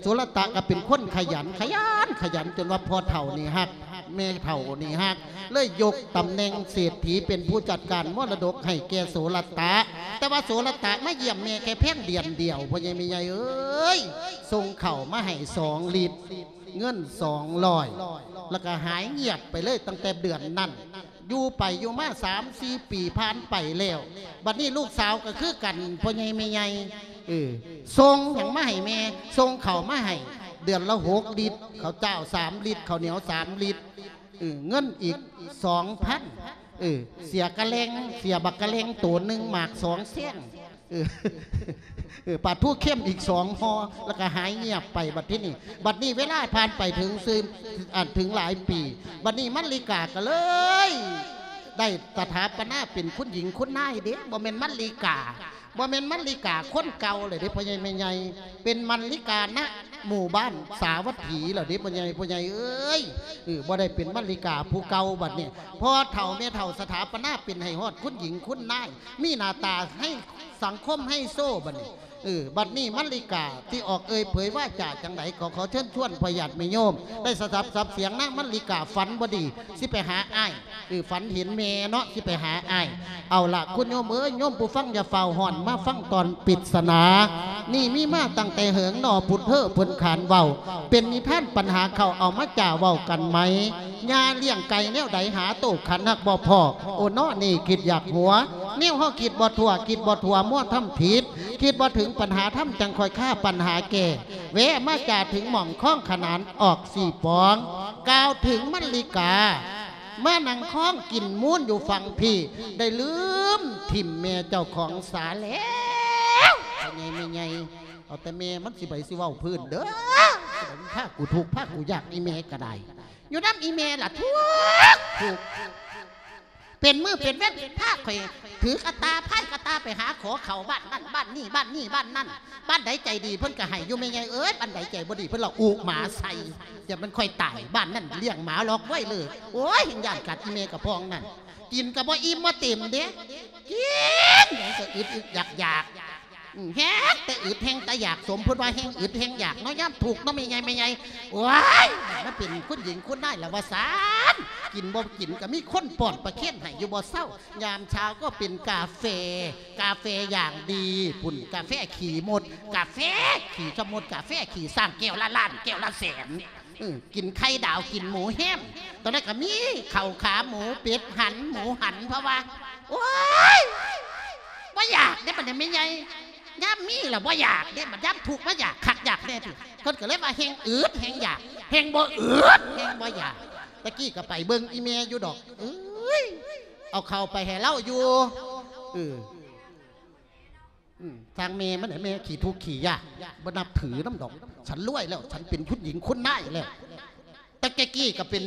ໂສລະຕະກໍເປັນຄົນຂະຫຍັນ ຂະຫຍັນ ຂະຫຍັນ ຈົນວ່າພໍ່ເຖົ້ານີ້ຮັກ ແມ່ເຖົ້ານີ້ຮັກ ເລີຍຍົກຕຳແໜ່ງເສດຖີເປັນຜູ້ຈັດການມໍລະດົກໃຫ້ແກ່ໂສລະຕະ ແຕ່ວ່າໂສລະຕະມາຢ້ຽມແມ່ແຄ່ພຽງເດືອນດຽວ ພໍ່ໃຫຍ່ແມ່ໃຫຍ່ເອີຍ ສົ່ງເຂົ້າມາໃຫ້ສອງລິດ ເງິນສອງຮ້ອຍ ແລ້ວກໍຫາຍງຽບໄປເລີຍຕັ້ງແຕ່ເດືອນນັ້ນ ຢູ່ໄປຢູ່ມາສາມສີ່ປີຜ່ານໄປແລ້ວ ບັດນີ້ລູກສາວກໍຄືກັນ ພໍ່ໃຫຍ່ແມ່ໃຫຍ່ ເອີ ສົ່ງຫຍັງມາໃຫ້ແມ່ ສົ່ງເຂົ້າມາໃຫ້ເດືອນລະຫົກລິດ ເຂົ້າຈ້າວສາມລິດ ເຂົ້າໜຽວສາມລິດ ເອີ ເງິນອີກສອງພັນ ເອີ ເສຍກະແລັງ ເສຍບັກກະແລັງໂຕໜຶ່ງ ໝາກສອງແຊງ ເອີ ເອີ ປາທູເຄັມອີກສອງຫໍ່ ແລ້ວກໍຫາຍງຽບໄປບັດທີນີ້ ບັດນີ້ເວລາຜ່ານໄປເຖິງຊື່ ອັນ ເຖິງຫຼາຍປີ ບັດນີ້ມາລິກາກໍເລີຍໄດ້ສະຖາປະນາເປັນຄຸນຍິງຄຸນນາຍເດ້ ບໍ່ແມ່ນມາລິກາ ບໍ່ແມ່ນມາລິກາຄົນເກົ່າເລີຍເດ້ ພໍ່ໃຫຍ່ແມ່ໃຫຍ່ ເປັນມາລິການະ ໝູ່ບ້ານສາວັດຖີແລ້ວເດ້ ພໍ່ໃຫຍ່ ພໍ່ໃຫຍ່ເອີຍ. ເອີ ບໍ່ໄດ້ເປັນມະລິກາຜູ້ເກົ່າບັດນີ້ ພໍ່ເຖົ້າແມ່ເຖົ້າສະຖາປະນາເປັນໃຫ້ຮອດຄຸນຍິງຄຸນນາຍ ມີໜ້າຕາໃຫ້ສັງຄົມໃຫ້ໂຊບັດນີ້. ເອີ ບັດນີ້ມະລິກາຊິອອກເອີ່ຍເຜີຍວາຈາຈັ່ງໃດ ກໍຂໍເຊີນຊວນພໍ່ຍາດແມ່ໂຍມ ໄດ້ສະດັບສັບສຽງນາງມະລິກາຝັນບໍ່ດີ ຊິໄປຫາອ້າຍ ເອີ ຝັນເຫັນແມ່ເນາະ ຊິໄປຫາອ້າຍ. ເອົາລະ ຄຸນໂຍມເອີຍ ໂຍມຜູ້ຟັງຢ່າຟ້າວຮ້ອນ ມາຟັງຕອນປິດສະໜາ. ນີ້ມີມາຕັ້ງແຕ່ເຫິງໜໍ່ ພຸດເຮີ້ເພິ່ນຂານເວົ້າ ເປັນນິທານປັນຫາເຂົາ ເອົາມາຈ້າເວົ້າກັນໃໝ່. ຍ່າລ້ຽງໄກ່ແນວໃດ ຫາໂຕຂັນຮັກບໍ່ພໍ້ ໂອເນາະ ນີ້ຄິດຢາກຫົວ ແນວເຮົາຄິດບໍ່ທົ່ວ ຄິດບໍ່ທົ່ວ ມົວທຳຜິດ ຄິດບໍ່ເຖິງປັນຫາທຳ ຈັ່ງຄ່ອຍຄາປັນຫາແກ້. ແວະມາຈ້າເຖິງໝ່ອງຄອງຂະໜານ ອອກສີ່ປອງ ກ່າວເຖິງມະລິກາ ມານັ່ງຄອງກິນມູນຢູ່ຝັ່ງພີ້ ໄດ້ລືມຖິ້ມແມ່ເຈົ້າຂອງສາແລ້ວ. ພໍ່ໃຫຍ່ແມ່ໃຫຍ່ ເອົາແຕ່ແມ່ມັນຊິໄປ ຊິເວົ້າພື້ນເດີ ພາກູທຸກພາກູຍາກ ອີແມ່ກໍໄດ້ ຢູ່ນຳອີແມ່ລະທຸກ ທຸກ ເປັນມື້ເປັນເວັນ ພາຂ້ອຍຖືກະຕາ ພາຍກະຕາໄປຫາຂໍເຂົ້າບ້ານນັ້ນບ້ານນີ້ ບ້ານນີ້ບ້ານນັ້ນ ບ້ານໃດໃຈດີເພິ່ນກໍໃຫ້ຢູ່ ແມ່ໃຫຍ່ເອີຍ ບ້ານໃດໃຈບໍ່ດີເພິ່ນລະອຸໝາໃສ່. ຢ່າມັນຂ້ອຍຕາຍ ບ້ານນັ້ນລ້ຽງໝາລອກໄວ້ເລີຍ ໂອ້ຍ ເຮັດຢ້ານກັດອີແມ່ກະພອງນັ້ນ. ກິນກໍບໍ່ອີ່ມບໍ່ເຕັມເດ້ ກິນຫຍັງກໍອຶດໆຢາກໆ ອືມ ແຮງແຕ່ອຶດແຮງແຕ່ຢາກ ສົມເພິ່ນວ່າແຮງອຶດແຮງຢາກເນາະ ຍາມທຸກເນາະ ແມ່ໃຫຍ່ ແມ່ໃຫຍ່. ໂອ້ຍ ມາເປັນຄຸນຍິງຄຸນນາຍລະວ່າຊັ້ນ ກິນບໍ່ກິນກໍມີຄົນປ້ອນປາເຄັນໃຫ້ຢູ່ບໍ່ເຊົາ. ຍາມເຊົ້າກໍເປັນກາເຟ ກາເຟຢ່າງດີພຸ້ນ ກາເຟຂີ້ມົດ ກາເຟຂີ້ຊະມົດ ກາເຟຂີ້ຊ້າງ ແກ້ວລະລ້ານ ແກ້ວລະແສນ. ເອີ ກິນໄຂ່ດາວ ກິນໝູແຮມ ຕອນນັ້ນກໍມີເຂົ້າຂາໝູ ເປັດຫັນ ໝູຫັນ ເພາະວ່າ ໂອ້ຍ ບໍ່ຢາກເດ້ບັດນີ້ແມ່ໃຫຍ່ ຍາມມີລະບໍ່ຢາກເດ້ ບັດຍາມທຸກມາຢາກຄັກຢາກແນ່ຕິ. ເພິ່ນກໍເລີຍວ່າແຮງອຶດແຮງຢາກ ແຮງບໍ່ອຶດແຮງບໍ່ຢາກ. ຕະກີ້ກໍໄປເບິ່ງອີແມ່ຢູ່ດອກ ເອີຍ ເອົາເຂົ້າໄປໃຫ້ລາວຢູ່ ເອີ ອືມ ທາງແມ່ມັນແຫຼະ ແມ່ຂີ້ທຸກຂີ້ຍາກ ບໍ່ນັບຖືນຳດອກ. ສັນລວຍແລ້ວ ສັນເປັນຄຸນຍິງຄຸນນາຍແລ້ວ. ແຕ່ແກ່ກີ້ກໍເປັນ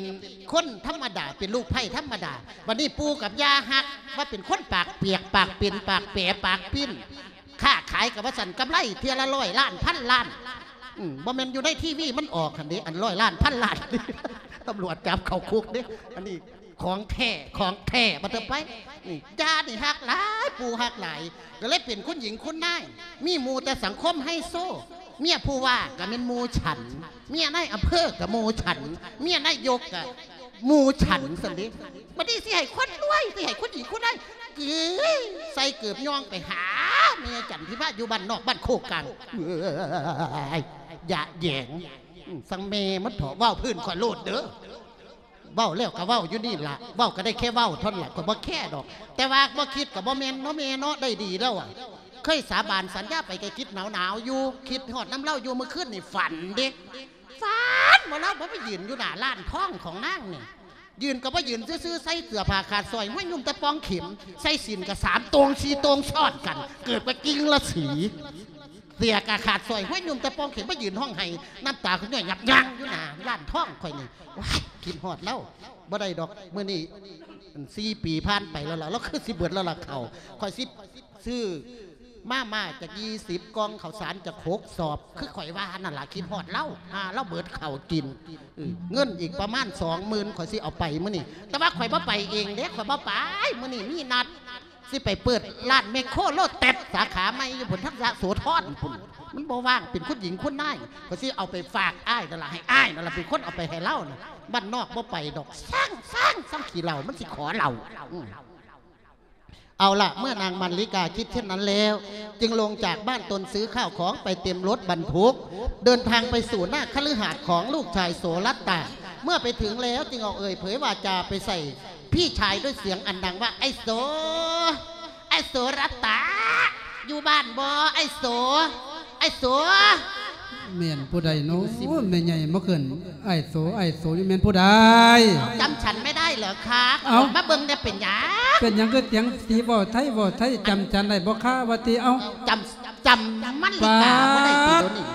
ຄົນທຳມະດາ ເປັນລູກໃພ້ທຳມະດາ. ບັດນີ້ປູ່ກັບຍ່າຮັກວ່າເປັນຄົນປາກປຽກ ປາກເປັນ ປາກແປ ປາກປິ່ນ. ຄ້າຂາຍກໍວ່າຊັ້ນ ກຳໄລເທື່ອລະຮ້ອຍລ້ານ ພັນລ້ານ. ອືມ ບໍ່ແມ່ນຢູ່ໃນທີວີມັນອອກຫັ້ນເດ້ ອັນຮ້ອຍລ້ານ ພັນລ້ານ ຕຳຫຼວດຈັບເຂົ້າຄຸກເດ້. ອັນນີ້ ຂອງແທ້ ຂອງແທ້ ບັດເທີໄປ. ນີ້ ຍ່ານີ້ຮັກຫຼາຍ ປູ່ຮັກຫຼາຍ ກໍເລີຍເປັນຄຸນຍິງຄຸນນາຍ. ມີໝູ່ແຕ່ສັງຄົມໄຮໂຊ ເມຍຜູ້ວ່າກໍແມ່ນໝູ່ສັນ ເມຍນາຍອຳເພີກໍໝູ່ສັນ ເມຍນາຍົກກໍໝູ່ສັນຊັ້ນເດ້. ບັດນີ້ຊິໃຫ້ຄົນລວຍ ຊິໃຫ້ຄຸນຍິງຄຸນນາຍ ເອີຍ ໃສ່ເກີບຍ່ອງໄປຫາແມ່ຈັນທິມາຢູ່ບ້ານນອກບ້ານໂຄກກາງ. ເອີຍ ຢະແຢງ ອືມ ສັງແມ່ມັນເຖາະ ເວົ້າພື້ນຂ້ອຍໂລດເດີ. ເວົ້າແລ້ວກໍເວົ້າຢູ່ນີ້ລະ ເວົ້າກໍໄດ້ແຄ່ເວົ້າເທົ່ານັ້ນລະ ຂ້ອຍບໍ່ແຄດອກ. ແຕ່ວ່າບໍ່ຄິດກໍບໍ່ແມ່ນເນາະແມ່ເນາະ ໄດ້ດີແລ້ວອະ. ເຄີຍສາບານສັນຍາໄປກໍຄິດໜາວໆຢູ່ ຄິດຮອດນຳລາວຢູ່. ມື້ຄືນນີ້ຝັນເດ້ ຝັນວ່າລາວບໍ່ໄປຢືນຢູ່ໜ້າຮ້ານທອງຂອງນາງນີ້ ຢືນກໍບໍ່ຢືນຊື່ໆ ໃສ່ເສື້ອຜ້າຂາດສ້ອຍ ຫ້ວຍ ນຸ່ງແຕ່ປ່ອງເຂັມ ໃສ່ສິ້ນກໍສາມໂຕ່ງສີ່ໂຕ່ງຊ້ອນກັນ ເກີບກໍກິ່ງລະສີ ເສື້ອກໍຂາດສ້ອຍ ຫ້ວຍ ນຸ່ງແຕ່ປ່ອງເຂັມ ມາຢືນຮ້ອງໄຫ້ ນ້ຳຕາຂ້ອຍຍ້ອຍຫຍັບຍ່າງຢູ່ໜ້າຮ້ານທອງຂ້ອຍນີ້. ວ້າຍ ຄິດຮອດລາວ ບໍ່ໄດ້ດອກ ມື້ນີ້ ອັນ ສີ່ປີຜ່ານໄປແລ້ວລະ ລາວຄືຊິເບິດແລ້ວລະເຂົ້າ. ຂ້ອຍຊິຊື້ມາມ່າຈັກຊາວກ່ອງ ເຂົ້າສານຈັກຫົກສອບ ຄືຂ້ອຍວ່ານັ້ນລະ ຄິດຮອດລາວ ຫາລາວເບິດເຂົ້າກິນ. ເອີ ເງິນອີກປະມານສອງໝື່ນ ຂ້ອຍຊິເອົາໄປມື້ນີ້ ແຕ່ວ່າຂ້ອຍບໍ່ໄປເອງເດ້ ຂ້ອຍບໍ່ໄປ. ມື້ນີ້ມີນັດ ຊິໄປເປີດຮ້ານແມັກໂຄໂລແຕັດສາຂາໃໝ່ຢູ່ພຸ້ນ ທັງຍະໂສທອນພຸ້ນ ມັນບໍ່ວ່າງ ເປັນຄຸນຍິງຄຸນນາຍ. ຂ້ອຍຊິເອົາໄປຝາກອ້າຍນັ້ນລະ ໃຫ້ອ້າຍນັ້ນລະເປັນຄົນເອົາໄປໃຫ້ລາວນະ. ບ້ານນອກບໍ່ໄປດອກ ຊ່າງ ຊ່າງ ຊ່າງຂີ້ເຫຼົ້າ ມັນຊິຂໍເຫຼົ້າ. ອືມ ເອົາລະ ເມື່ອນາງມະລິກາຄິດເຊັ່ນນັ້ນແລ້ວ ຈຶ່ງລົງຈາກບ້ານຕົນ ຊື້ຂ້າວຂອງໄປເຕັມລົດບັນທຸກ ເດີນທາງໄປສູ່ໜ້າຄະລືຫາດຂອງລູກຊາຍໂສລັດຕາ. ເມື່ອໄປເຖິງແລ້ວ ຈຶ່ງອອກເອີ່ຍເຜີຍວາຈາໄປໃສ່ ພີ່ຊາຍດ້ວຍສຽງອັນດັງວ່າ ອ້າຍໂສ ອ້າຍໂສລັດຕາ ຢູ່ບ້ານບໍ່ ອ້າຍໂສ ອ້າຍໂສ. ແມ່ນຜູ້ໃດເນາະ ແມ່ໃຫຍ່ມາເອີ້ນອ້າຍໂສ ອ້າຍໂສ ນີ້ແມ່ນຜູ້ໃດ? ຈຳฉันไม่ได้เหรอคะ เอ้า ออกมาเบิ่งแด่ เป็นหยัง เป็นหยังคือเสียงสีเว้าไทย เว้าไทย จำฉันได้บ่คะ ว่าติ เอ้า จำ จำมะลิกาบ่ได้ติ เดี๋ยวนี้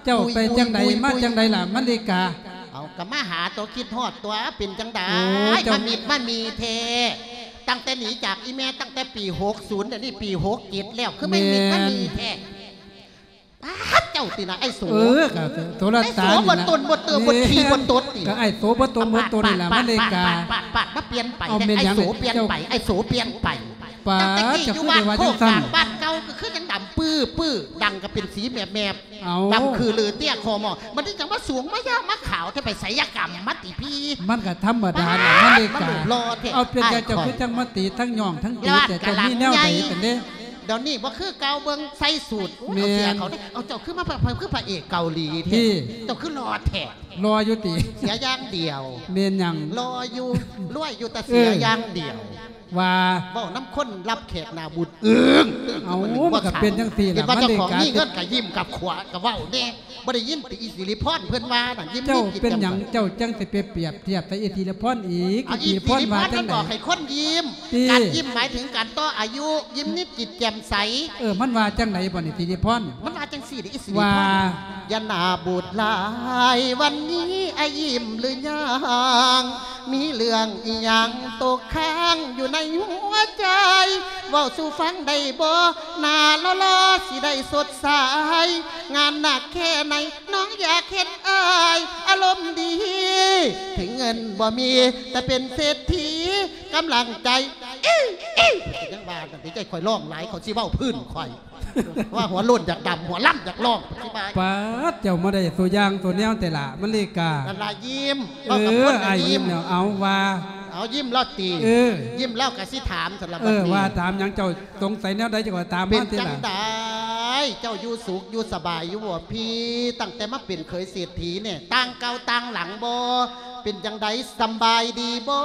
เจ้าไปจั่งใด มาจั่งใดล่ะมะลิกา? เอา ก็มาหาตัว คิดฮอดตัว เป็นจั่งใด โอ้ เจ้า มามิดมามีแท้ ตั้งแต่หนีจากอีแม่ตั้งแต่ปีหกศูนย์ เดี๋ยวนี้ปีหกเจ็ดแล้ว คือมามิดมามีแท้ ป๊าด ເຈົ້າຕິນະ ອ້າຍໂສ. ເອີ ກໍໂສລະຕານີ້ລະ ອ້າຍໂສບໍ່ຕົນບໍ່ເຕີບໍ່ ແມ່ນ ຂີ້ບໍ່ຕົດຕິ ກໍອ້າຍໂສບໍ່ຕົນບໍ່ໂຕນີ້ລະ ມາເລກາ. ປາດໆໆ ມາປ່ຽນໄປ ອ້າຍໂສປ່ຽນໄປ ອ້າຍໂສປ່ຽນໄປ. ປາດ ເຈົ້າຄືໄດ້ວ່າຈັ່ງຊັ້ນ ຕັ້ງແຕ່ກີ້ຢູ່ບ້ານໂຄກກາງ ບ້ານເກົ່າກໍຄືຍັງດຳປຶບໆ ດັງກໍເປັນສີແມບໆ ເອົ້າ ດຳຄືລືເຕ້ຍຄໍໝໍ້ ບັດນີ້ຈັ່ງມາສູງມາຍາວມາຂາວແທ້ ໄປໄສຍະກຳມາຕິພີ່? ມັນກໍທຳມະດາລະ ປາດ ມາເລກາ ມັນຮູບຫຼໍ່ແທ້. ເອົາ ເປັນຫຍັງເຈົ້າຄືຈັ່ງມາຕີທັງຍ້ອງທັງຕີແທ້ ເຈົ້າມີແນວໃດກັນເດ້? ດຽວນີ້ບໍ່ຄືເກົ່າ ເບິ່ງໃສ່ສູດ ເອົາເສື້ອເຂົາເດ້. ເອົາ ເຈົ້າຄືມາ ຄືພະເອກເກົາຫຼີແທ້ ເຈົ້າຄືຫຼໍ່ແທ້. ຫຼໍ່ຢູ່ຕິ? ເສຍຢ່າງດຽວ. ແມ່ນຫຍັງ? ຫຼໍ່ຢູ່ ລວຍຢູ່ ແຕ່ເສຍ ເອີ ຢ່າງດຽວ. ວ່າ ເວົ້ານຳຄົນຮັບແຂກໜ້າບູດອຶ້ງ. ເອົ້າ ມັນກໍເປັນຈັ່ງຊີ້ລະ ເຫັນວ່າເຈົ້າຂອງມີເງິນກໍຍິ້ມກັບຂວາກໍເວົ້າແດ່. ບໍ່ໄດ້ຍິນຕິ ອີ່ສິລິພອນເພິ່ນວ່ານັ້ນ ຍິ້ມ ເຈົ້າເປັນຫຍັງເຈົ້າຈັ່ງຊິໄປປຽບທຽບໃສ່ອີ່ສິລິພອນອີກ? ອີ່ສິລິພອນວ່າຈັ່ງໃດ? ອີ່ສິລິພອນມັນບອກໃຫ້ຄົນຍິ້ມ ການຍິ້ມໝາຍເຖິງການຕໍ່ອາຍຸ ຍິ້ມນິດຈິດແຈ່ມໃສ. ເອີ ມັນວ່າຈັ່ງໃດບັດນີ້ ສິລິພອນ? ມັນວ່າຈັ່ງຊີ້ເດ້ ອີ່ສິລິພອນ ວ່າ ຢ່າໜ້າບູດຫຼາຍ ວັນນີ້ອ້າຍຍິ້ມຫຼືຍັງ? ມີເລື່ອງອີ່ຫຍັງຕົກຄ້າງຢູ່ໃນຫົວໃຈ? ເວົ້າສູ່ຟັງໄດ້ບໍ່? ໜ້າຫຼໍ່ໆ ຊິໄດ້ສົດໃສ ງານໜັກແຄ່ໃດ ນ້ອງຢາກເຫັນອ້າຍອາລົມດີ ເຖິງເງິນບໍ່ມີ ແຕ່ເປັນເສດຖີກຳລັງໃຈ. ອີ ອີ ຍັງວ່າກັນຕິ ໃຈຂ້ອຍຮ້ອງຫຼາຍ ເຂົາຊິເວົ້າພື້ນຂ້ອຍ ວ່າຫົວໂລ້ນຢາກດຳ ຫົວລ້ຳຢາກຮ້ອງ ຊິວ່າ. ປາດ ເຈົ້າມາໄດ້ຕົວຢ່າງຕົວແນວແທ້ລະ ມາເລກາ. ນັ້ນລະ ຍິ້ມ ເອີ ເວົ້າກັບຄົນລະຍິ້ມ. ເອົາ ວ່າ ເອົາ ຍິ້ມແລ້ວຕິ? ເອີ ຍິ້ມແລ້ວກໍຊິຖາມຊັ້ນລະ ເອີ ບັດນີ້ ວ່າຖາມຫຍັງ ເຈົ້າສົງໄສແນວໃດ ເຈົ້າກໍຖາມມາຕິລະ. ເປັນຈັ່ງໃດ ເຈົ້າຢູ່ສຸກຢູ່ສະບາຍຢູ່ບໍ່ພີ່? ຕັ້ງແຕ່ມາເປັນເຂີຍເສດຖີນີ້ ຕ່າງເກົ່າຕ່າງຫຼັງບໍ່? ເປັນຈັ່ງໃດ ສຳບາຍດີບໍ່?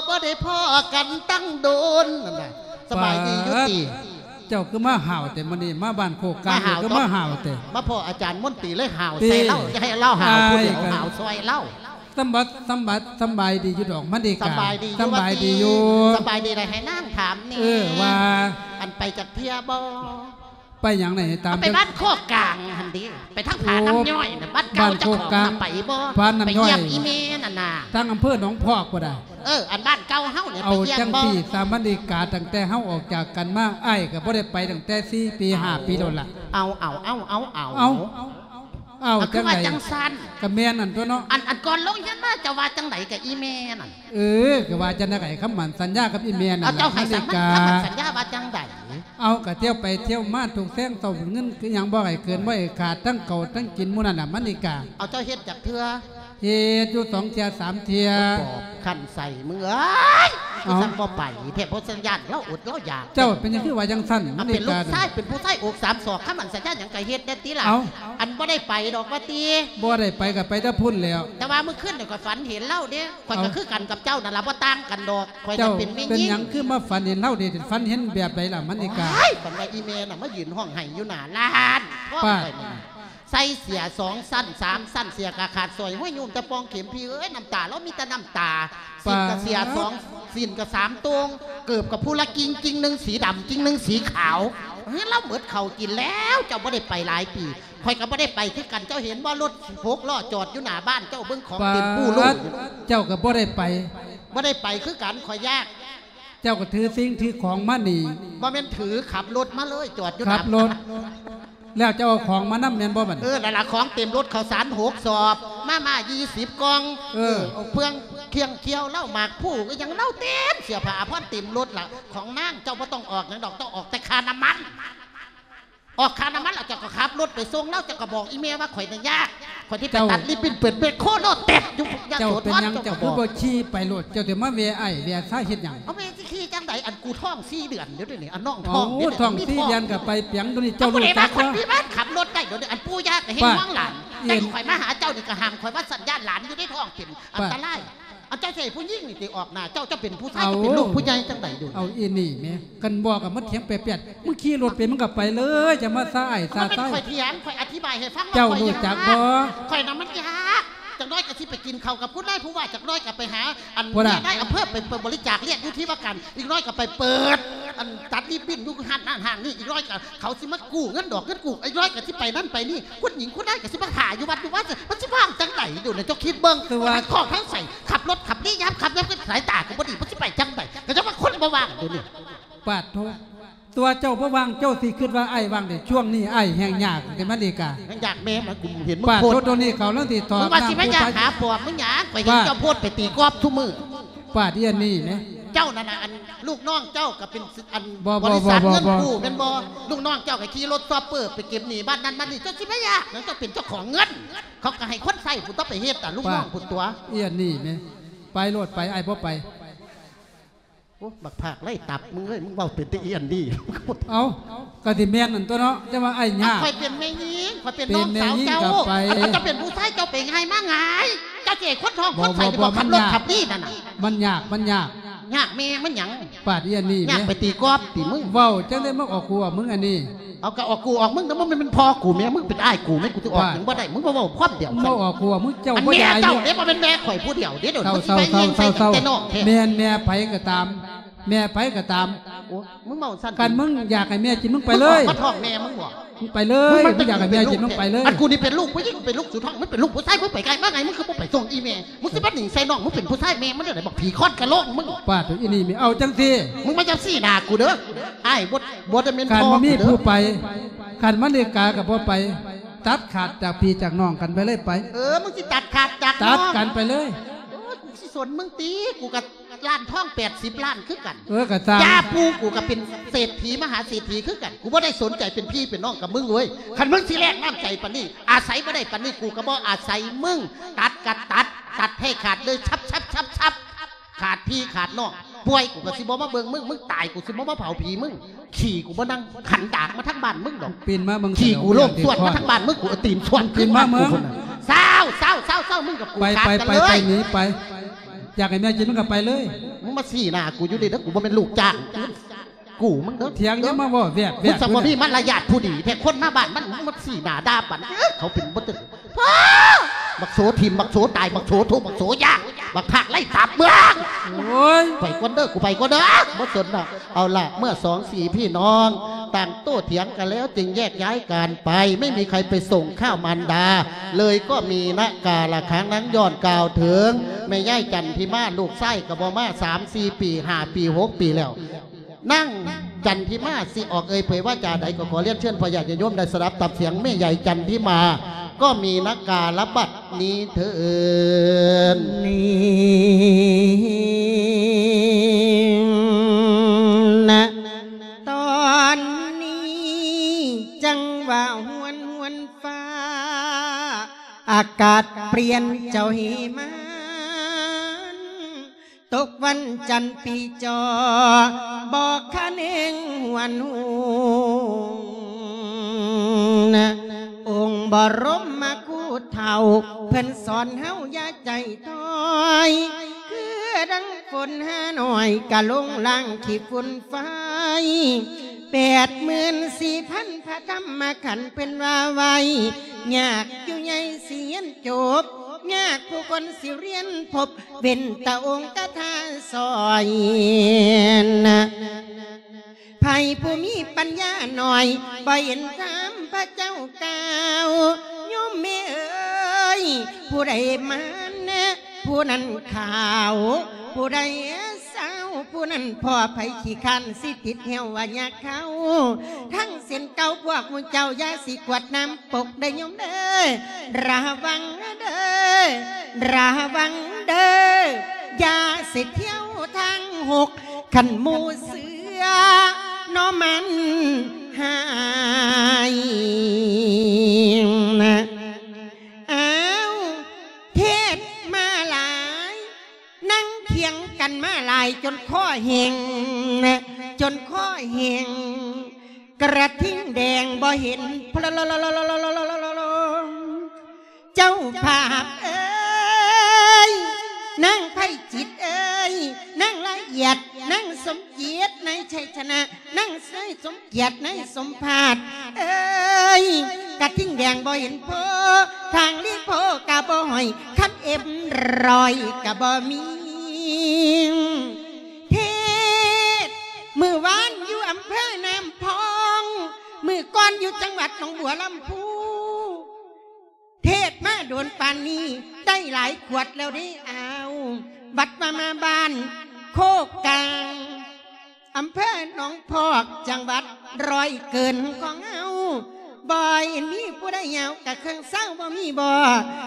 ບໍ່ໄດ້ພໍ້ກັນຕັ້ງດົນ ນັ້ນນະ. ສະບາຍດີຢູ່ຕິ? ປາດ ເຈົ້າຄືມາຫ້າວແທ້ມື້ນີ້ ມາບ້ານໂຄກກາງ ມາຫ້າວ ຄືມາຫ້າວແທ້? ມາພໍ້ອາຈານມົນຕີເລີຍຫ້າວໃສ່ລາວ ຈະໃຫ້ລາວຫ້າວຜູ້ດຽວ ອ້າຍກໍ ຫ້າວຊ່ອຍລາວ. ສຳບັດ ສຳບັດ ສຳບາຍດີຢູ່ດອກ ມາເລກາ. ສຳບາຍດີຢູ່ ສຳບາຍດີຢູ່ ສຳບາຍດີ. ໄດ້ໃຫ້ນາງຖາມແດ່ ເອີ ວ່າ ອັນໄປຈັກເທື່ອບໍ່? ໄປຫຍັງໃນ ຕາມ ເອົາໄປບ້ານໂຄກກາງຫັ້ນເດ້ ໄປທາງຜານ້ຳຍ້ອຍນະ ໂອ້ ບ້ານເກົ່າເຈົ້າຂອງນະ ໄປບໍ່? ຜານ້ຳຍ້ອຍ ໄປຢ້ຽມອີ່ແມ່ນັ້ນນະ ທາງອຳເພີໜອງພອກພຸ້ນນະ. ເອີ ອັນບ້ານເກົ່າເຮົານີ້ ເອົາ ໄປຢ້ຽມບໍ່? ຈັ່ງຊີ້ສາ ມາເລກາ ຕັ້ງແຕ່ເຮົາອອກຈາກກັນມາ ອ້າຍກໍບໍ່ໄດ້ໄປຕັ້ງແຕ່ສີ່ປີຫ້າປີໂດນລະ. ເອົາ ເອົາ ເອົາ ເອົາ ເອົາ ເອົາ ເອົາ ເອົາ ຈັ່ງໃດ? ຄືວ່າຈັ່ງຊັ້ນ? ກໍແມ່ນນັ້ນຕົວເນາະ. ອັນ ອັນກ່ອນລົງຮຽນມາເຈົ້າວ່າຈັ່ງໃດກັບອີ່ແມ່ນັ້ນ? ເອີ ກໍວ່າຈັ່ງໃດ ຄຳໝັ້ນສັນຍາກັບອີ່ແມ່ນັ້ນ ເຈົ້າໃຫ້ຄຳໝັ້ນ ຄຳໝັ້ນສັນຍາວ່າຈັ່ງໃດ? ເອົາ ກໍທ່ຽວໄປທ່ຽວມາທຸກແສງເຊົ້າ ເງິນຄືຫຍັງບໍ່ໃຫ້ເກີນ ບໍ່ໃຫ້ຂາດ ທັງເຂົ້າທັງກິນໝູ່ນັ້ນນະ ມາເລກາ. ເອົາ ເຈົ້າເຮັດຈັກເທື່ອ? ເຮັດຢູ່ສອງເທື່ອສາມເທື່ອ. ບອກຄັນໃສ່ ມຶງເອີຍ ເອົ້າ ຈັ່ງບໍ່ໄປແທ້ ເພາະສັນຍາລາວອົດລາວຢາກ. ເຈົ້າເປັນຫຍັງຄືວ່າຈັ່ງຊັ້ນ? ເອົາ ມາເລກາ ເປັນລູກຊາຍ ເປັນຜູ້ຊາຍອົກສາມສອກ ຄຳໝັ້ນສັນຍາຫຍັງກໍເຮັດແດ່ຕິລະ. ເອົ້າ ອັນບໍ່ໄດ້ໄປດອກວ່າຕິ? ບໍ່ໄດ້ໄປກໍໄປແຕ່ພຸ້ນແລ້ວ. ແຕ່ວ່າມື້ຄືນນີ້ຂ້ອຍຝັນເຫັນລາວເດ້ ຂ້ອຍກໍ ເອົ້າ ຄືກັນກັບເຈົ້ານັ້ນລະ ບໍ່ຕ່າງກັນດອກ. ຂ້ອຍກໍເປັນແມ່ຍິງ. ເຈົ້າເປັນຫຍັງຄືມາຝັນເຫັນລາວເດ້? ຝັນເຫັນແບບໃດລະ ມາເລກາ? ໂອ້ຍ ຝັນວ່າອີ່ແມ່ນະມາຢືນຮ້ອງໄຫ້ຢູ່ໜ້າຮ້ານທອງຂ້ອຍນີ້ ໃສ່ເສື້ອສອງຊັ້ນສາມຊັ້ນ ເສື້ອກໍຂາດ ສ້ອຍຫ້ອຍໂຍມແຕ່ປ່ອງເຂັມ. ພີ່ເອີຍ ນ້ຳຕາລາວມີແຕ່ນ້ຳຕາ. ສິ້ນກໍເສື້ອສອງ ສິ້ນກໍສາມໂຕ່ງ ເກີບກໍຜູ້ລະກິ່ງ ກິ່ງໜຶ່ງສີດຳ ກິ່ງໜຶ່ງສີຂາວ. ເຮີຍ ລາວໝົດເຂົ້າກິນແລ້ວ. ເຈົ້າບໍ່ໄດ້ໄປຫຼາຍປີ ຂ້ອຍກໍບໍ່ໄດ້ໄປຄືກັນ. ເຈົ້າເຫັນບໍ່ ລົດຫົກລໍ້ຈອດຢູ່ໜ້າບ້ານເຈົ້າ ເບິ່ງຂອງເຕັມປູໂລ່ຢູ່. ເຈົ້າກໍບໍ່ໄດ້ໄປ? ບໍ່ໄດ້ໄປຄືກັນ ຂ້ອຍຢ້ານ. ເຈົ້າກໍຖືສິ່ງຖືຂອງມານີ້. ບໍ່ແມ່ນຖື ຂັບລົດມາເລີຍ ຈອດຢູ່ໜ້າ ຂັບລົດ ແລ້ວເຈົ້າເອົາຂອງມານຳແມ່ນບໍ່ບັດ? ເອີ ນັ້ນລະ ຂອງເຕັມລົດ ເຂົ້າສານຫົກສອບ ມາມ່າຊາວກ່ອງ. ເອີ ເອີ ເອົາເຟືອງ ເຄື່ອງຄ້ຽວ ເຫຼົ້າ ໝາກພູ ອີ່ຫຍັງລາວເຕັມ ເສື້ອຜ້າອາພອນເຕັມລົດລະ. ຂອງນາງເຈົ້າບໍ່ຕ້ອງອອກຫຍັງດອກ ຕ້ອງອອກແຕ່ຄ່ານ້ຳມັນ. ອອກຄ່ານ້ຳມັນແລ້ວ ເຈົ້າກໍຂັບລົດໄປສົ່ງລາວ ເຈົ້າກໍບອກອີ່ແມ່ວ່າ ຂ້ອຍນີ້ຍາກ ຂ້ອຍຊິໄປ ເຈົ້າ ຕັດລິບບິ້ນ ເປີດແມັກໂຄໂລແຕັດຢູ່ຍະໂສທອນ. ເຈົ້າເປັນຫຍັງ ເຈົ້າກໍບໍ່ຂີ່ໄປໂລດ ເຈົ້າຊິມາແວ່ອ້າຍແວ່ຊາຍເຮັດຫຍັງ? ເອົາ ແມ່ຊິຂີ່ຈັ່ງໃດ ອັນກູທ້ອງສີ່ເດືອນຢູ່ເດນີ້ ອັນນ້ອງທ້ອງເດນີ້. ໂອ້ ທ້ອງສີ່ເດືອນກໍໄປປຽງໂດນີ້ ເຈົ້າຮູ້ຈັກບໍ່? ຂ້ອຍມີບ້ານຂັບລົດໄດ້ໂດນີ້ ອັນປູ່ຍ່າກໍແຮງຫວງຫຼານ. ແຕ່ຂ້ອຍມາຫາເຈົ້ານີ້ກໍຫ້າມ ຂ້ອຍວ່າສັນຍານຫຼານຢູ່ໃນທ້ອງເປັນອັນຕະລາຍ. ອັນເຈົ້າຊິໃຫ້ຜູ້ຍິງນີ້ຕິອອກໜ້າເຈົ້າ? ເຈົ້າເປັນຜູ້ຊາຍ ເຈົ້າເປັນລູກຜູ້ໃຫຍ່ຈັ່ງໃດຢູ່? ເອົາອີ່ນີ້ແມ່ ຄັນບອກກໍມາຖຽງແປດໆ ມຶງຂີ່ລົດເປັນ ມຶງກໍໄປເລີຍ ຢ່າມາຊ້າອ້າຍຊ້າຊາຍ. ບໍ່ແມ່ນຂ້ອຍຖຽງ ຂ້ອຍອະທິບາຍໃຫ້ຟັງວ່າ ເຈົ້າຮູ້ຈັກບໍ່ ຂ້ອຍນະມັນຍາກ. ຈັກໜ້ອຍກໍຊິໄປກິນເຂົ້າກັບຄຸນນາຍຜູ້ວ່າ ຈັກໜ້ອຍກໍໄປຫາອັນນາຍອຳເພີ ໄປ ໄປບໍລິຈາກລຽນຢູ່ທີ່ວ່າການ ອີກໜ້ອຍກໍໄປເປີດອັນຕັດລິບບິ້ນຢູ່ຮ້ານນັ້ນຮ້ານນີ້ ອີກໜ້ອຍກໍເຂົາຊິມາກູ້ເງິນດອກເງິນກູ້ ອີກໜ້ອຍກໍຊິໄປນັ້ນໄປນີ້ ຄຸນຍິງຄຸນນາຍກໍຊິມາຖ້າຢູ່ວັດຢູ່ວາ ມັນຊິວ່າງຈັ່ງໃດຢູ່ນະ? ເຈົ້າຄິດເບິ່ງ ຄືວ່າ ມັນຂອງທາງໃສ ຂັບລົດຂັບລີ ຍາມຄ່ຳຍາມຄືນ ສາຍຕາກໍບໍ່ດີ ມັນຊິໄປຈັ່ງໃດ? ກໍຈັ່ງວ່າຄົນບໍ່ວ່າງຢູ່ນີ້. ປາດໂທ ຕົວເຈົ້າບໍ່ວ່າງ ເຈົ້າຊິຄິດວ່າອ້າຍວ່າງເດ. ຊ່ວງນີ້ອ້າຍແຮ່ງຍາກເດມາລິກາ. ແຮ່ງຍາກແມ່ມະ ກູເຫັນມຶງໂພດ. ໂຕນີ້ເຂົາລາວຊິຖອກ ປາດໂທ ໂຕນີ້ເຂົາ ໜ້າ ຫາປອບ ມຶງຫຍັງ ຂ້ອຍເຫັນ ປາດ ເຈົ້າໂພດໄປຕີກອບທຸກມື້. ປາດ ອີ່ອັນນີ້ແມ ເຈົ້ານັ້ນນະ ອັນ ລູກນ້ອງເຈົ້າກໍເປັນ ອັນ ບໍ່ ບໍລິສັດ ບໍ່ ບໍ່ ເງິນກູ້ແມ່ນບໍ່? ລູກນ້ອງເຈົ້າກໍຂີ່ລົດຊອບເປີໄປເກັບໜີ້ບ້ານນັ້ນບ້ານນີ້. ເຈົ້າຊິມາຍາກຫຍັງ ເຈົ້າເປັນເຈົ້າຂອງເງິນ ເຂົາກໍໃຫ້ຄົນໃຊ້ພຸ້ນຕົວະ ໄປເຮັດ ອະ ລູກນ້ອງພຸ້ນຕົວະ. ປາດ ອີ່ອັນນີ້ແມ ໄປໂລດໄປ ອ້າຍບໍ່ໄປ. ໂອ້ ບັກພາກໄລ່ຕັບ ມຶງເອີຍ ມຶງເວົ້າເປັນແຕ່ອີ່ອັນນີ້. ເອົ້າ ກໍຊິແມ່ນນັ້ນຕົວະເນາະ ແຕ່ວ່າອ້າຍຍາກ. ຂ້ອຍເປັນແມ່ຍິງ ຂ້ອຍເປັນນ້ອງສາວເຈົ້າ. ເປັນແມ່ຍິງກໍໄປ ເຈົ້າເປັນຜູ້ຊາຍ ເຈົ້າໄປງ່າຍມາງ່າຍ. ເຈົ້າຊິໃຫ້ຄົນທ້ອງ ບໍ່ ຄົນໃສ່ ບໍ່ ບໍ່ ບໍ່ ມັນຍາກ ຂັບນີ້ນັ້ນນະ. ມັນຍາກ ມັນຍາກ. ຍາກແມ່ມັນຫຍັງ? ປາດ ອີ່ອັນນີ້ແມ ຍາກໄປຕີກອບຕິມຶງ. ເວົ້າຈັ່ງໃດ ມາອອກກູອອກມຶງອັນນີ້. ເອົາ ກໍອອກກູອອກມຶງ ແຕ່ມັນແມ່ນພໍ່ກູແມ່ມຶງ ເປັນອ້າຍກູແມ່ ກູຊິອອກຫຍັງບໍ່ໄດ້. ປາດ ມຶງບໍ່ເວົ້າຄວາມດຽວ ມາອອກກູອອກມຶງ ເຈົ້າບໍ່ຢາກຢູ່. ອັນແມ່ເຈົ້າເດ້ ບໍ່ແມ່ນແມ່ຂ້ອຍຜູ້ດຽວເດ້. ດຽວນີ້ ເຊົາ ເຊົາ ເຈົ້າ ເຈົ້າ ເຈົ້າ ແມ່ນແມ່ໃຜກໍຕາມ ແມ່ໃຜກໍຕາມ. ໂອ້ ມຶງເວົ້າຊັ້ນ ຄັນມຶງຢາກໃຫ້ແມ່ກິນ ມຶງໄປເລີຍ. ມາທ້ອງແມ່ມຶງບໍ? ມຶງໄປເລີຍ. ມຶງຢາກໃຫ້ແມ່ກິນ ມຶງໄປເລີຍ. ອັນກູນີ້ເປັນລູກຜູ້ຍິງ ເປັນລູກສຸດທ້ອງ ມັນເປັນລູກຜູ້ຊາຍ ມຶງໄປໄກມາໄງ ມຶງຄືບໍ່ໄປສົ່ງອີ່ແມ່? ມຶງຊິມາໜິງໃສ່ນ້ອງ ມຶງເປັນຜູ້ຊາຍແມ່ມັນແນວໃດ ບັກຜີຄ້ອນກະໂຫຼງມຶງ. ປາດ ອີ່ນີ້ແມ່ ເອົາຈັ່ງຊີ້ ມຶງມາຈັບຊີ້ໜ້າກູເດີ. ອ້າຍບໍ່ ບໍ່ໄດ້ແມ່ນພໍ່ກູເດີ. ຄັນບໍ່ມີຜູ້ໄປ ຄັນມາເລກາກໍບໍ່ໄປ ຕັດຂາດຈາກພີ່ຈາກນ້ອງກັນໄປເລີຍໄປ. ເອີ ມຶງຊິຕັດຂາດຈາກ ຕັດກັນໄປເລີຍ. ໂອ້ຍ ກູຊິສົນມຶງຕິ ກູກໍລ້ານທອງແປດສິບລ້ານຄືກັນ. ເອີ ກໍຊ່າງ ຈ້າປູ່ ກູກໍເປັນເສດຖີມະຫາເສດຖີຄືກັນ. ກູບໍ່ໄດ້ສົນໃຈເປັນພີ່ເປັນນ້ອງກັບມຶງເວີຍ. ຄັນມຶງຊິແລກນ້ຳໃຈປານນີ້ ອາໄສບໍ່ໄດ້ປານນີ້ ກູກໍບໍ່ອາໄສມຶງ. ຕັດກໍຕັດ ຕັດໃຫ້ຂາດເລີຍ ສັບໆໆໆ. ຂາດພີ່ຂາດນ້ອງ ປ່ວຍ ກູກໍຊິບໍ່ມາເບິ່ງມຶງ. ມຶງຕາຍ ກູຊິບໍ່ມາເຜົາຜີມຶງ. ຂີ້ ກູບໍ່ນັ່ງຂັນດາກມາທາງບ້ານມຶງດອກ. ປີນມາເບິ່ງ ຂີ້ ກູໂລກສວດມາທາງບ້ານມຶງ ກູເອົາຕີນສວດ ປີນມາເບິ່ງ. ເຊົາ ເຊົາ ເຊົາ ເຊົາ ມຶງກັບກູ ໄປ ຂາດ ໄປ ກັນ ໄປ ເລີຍ ໄປ ໜີໄປ. ຢາກໃຫ້ແມ່ກິນ ມຶງກໍໄປເລີຍ. ມຶງມາຊີ້ໜ້າກູຢູ່ນີ້ເດີ ກູບໍ່ແມ່ນລູກຈ້າງ ກູ ມຶງເດີ. ຖຽງ ຢ່າມາເວົ້າແວດໆ. ມຶງຊ່າງບໍ່ມີມາລະຍາດຜູ້ດີແທ້ ຄົນມາບ້ານມັນ ມາຊີ້ໜ້າດ່າປານ ເອີ ເຂົາເປັນບໍ່ເຖິງ. ບັກໂສຖິ້ມ ບັກໂສຕາຍ ບັກໂສທຸກ ບັກໂສຍາກ ບັກພາກໄລ່ຕາບເມືອງ. ໂອ້ຍ ໄປກ່ອນເດີ ກູໄປກ່ອນເດີ ບໍ່ສົນດອກ. ເອົາລະ ເມື່ອສອງສີ່ພີ່ນ້ອງຕ່າງໂຕ້ຖຽງກັນແລ້ວ ຈຶ່ງແຍກຍ້າຍກັນໄປ ໄມ່ມີໃຄໄປສົ່ງຂ້າວມານດາເລີຍກໍມີນະ. ກາລະຄັ້ງນັ້ນ ຍ້ອນກ່າວເຖິງແມ່ຍາຍຈັນທິມາ ລູກຊາຍກໍບໍ່ມາສາມສີ່ປີ ຫ້າປີ ຫົກປີແລ້ວ. ນາງຈັນທິມາຊິອອກເອີ່ຍເຜີຍວາຈາໃດ ກໍຂໍລຽນເຊີນພໍ່ຍາດຍາດໂຍມໄດ້ສະດັບຕັບສຽງແມ່ໃຫຍ່ຈັນທິມາ ກໍມີນະ. ກາລະບັດນີ້ເທີນ ນີ້ນະ ຕອນນີ້ຈັງຫວະຫວນຫວນຟ້າ ອາກາດປ່ຽນເຈົ້າເຮມານ ຕົກວັນຈັນປີຈໍ່ ບໍ່ຄະເໜງຫວນຫວນ. ອົງບໍລົມມະຄູເຖົ້າ ເພິ່ນສອນເຮົາຢ່າໃຈຖອຍ ຄືດັ່ງຝົນຫາໜ້ອຍ ກະລົງລ້າງຂີ້ຝຸ່ນໄຟ. ແປດໝື່ນສີ່ພັນພະທຳມະຂັນ ເພິ່ນວ່າໄວ້ ຍາກຢູ່ໃຫຍ່ຊິຮຽນຈົບ ຍາກຜູ້ຄົນຊິຮຽນພົບ ເວັ້ນແຕ່ອົງຄາຖາສອຍນະ. ໃຜຜູ້ມີປັນຍາໜ້ອຍ ບໍ່ເຫັນທຳພະເຈົ້າກ່າວ ໂຍມແມ່ເອີຍ ຜູ້ໃດມານະ ຜູ້ນັ້ນຂາວ ຜູ້ໃດເຊົາ ຜູ້ນັ້ນພໍ້. ໃຜຂີ້ຄ້ານຊິຕິດແຫ້ວວ່າຍາເຂົ້າ ທັງເສັ້ນເກົ່າ ພວກໝູ່ເຈົ້າຢ່າຊິກວດນ້ຳ ປົກເດີໂຍມເດີ ລະວັງເດີ ລະວັງເດີ ຢ່າຊິທ່ຽວທາງຫົກ ຄັນໝູ່ເຊື່ອເນາະມັນຫາຍ. ອ້າວ ເທດມາຫຼາຍ ນັ່ງຖຽງກັນມາຫຼາຍ ຈົນຄໍແຫ້ງ ຈົນຄໍແຫ້ງ ກະທິ່ງແດງບໍ່ເຫັນ ເຈົ້າພາບເອີຍ ນາງໄພຈິດເອີຍ ນາງລະອຽດ ນາງສົມເກີດ ນາຍໄຊຊະນະ ນາງໄຊສົມ ກຽດນາຍສົມພາດເອີຍ ກະທິ່ງແດງບໍ່ເຫັນໂພ ທາງລີໂພກະບໍ່ຫ້ອຍ ຄຳເອັມຮ້ອຍກະບໍ່ມີ. ເທດ ມື້ວານຢູ່ອຳເພີນ້ຳພອງ ມື້ກ່ອນຢູ່ຈັງຫວັດໜອງບົວລຳພູ ເທດມາໂດນປານນີ້ ໄດ້ຫຼາຍຂວດແລ້ວເດ້ອາວ ບັດວ່າມາບ້ານໂຄກກາງ ອຳເພີໜອງພອກ ຈັງຫວັດຮ້ອຍເກີນຂອງເຮົາ ບໍ່ເຫັນມີຜູ້ໃດຍາວກະເຄິ່ງເຊົາບໍ່ມີບໍ່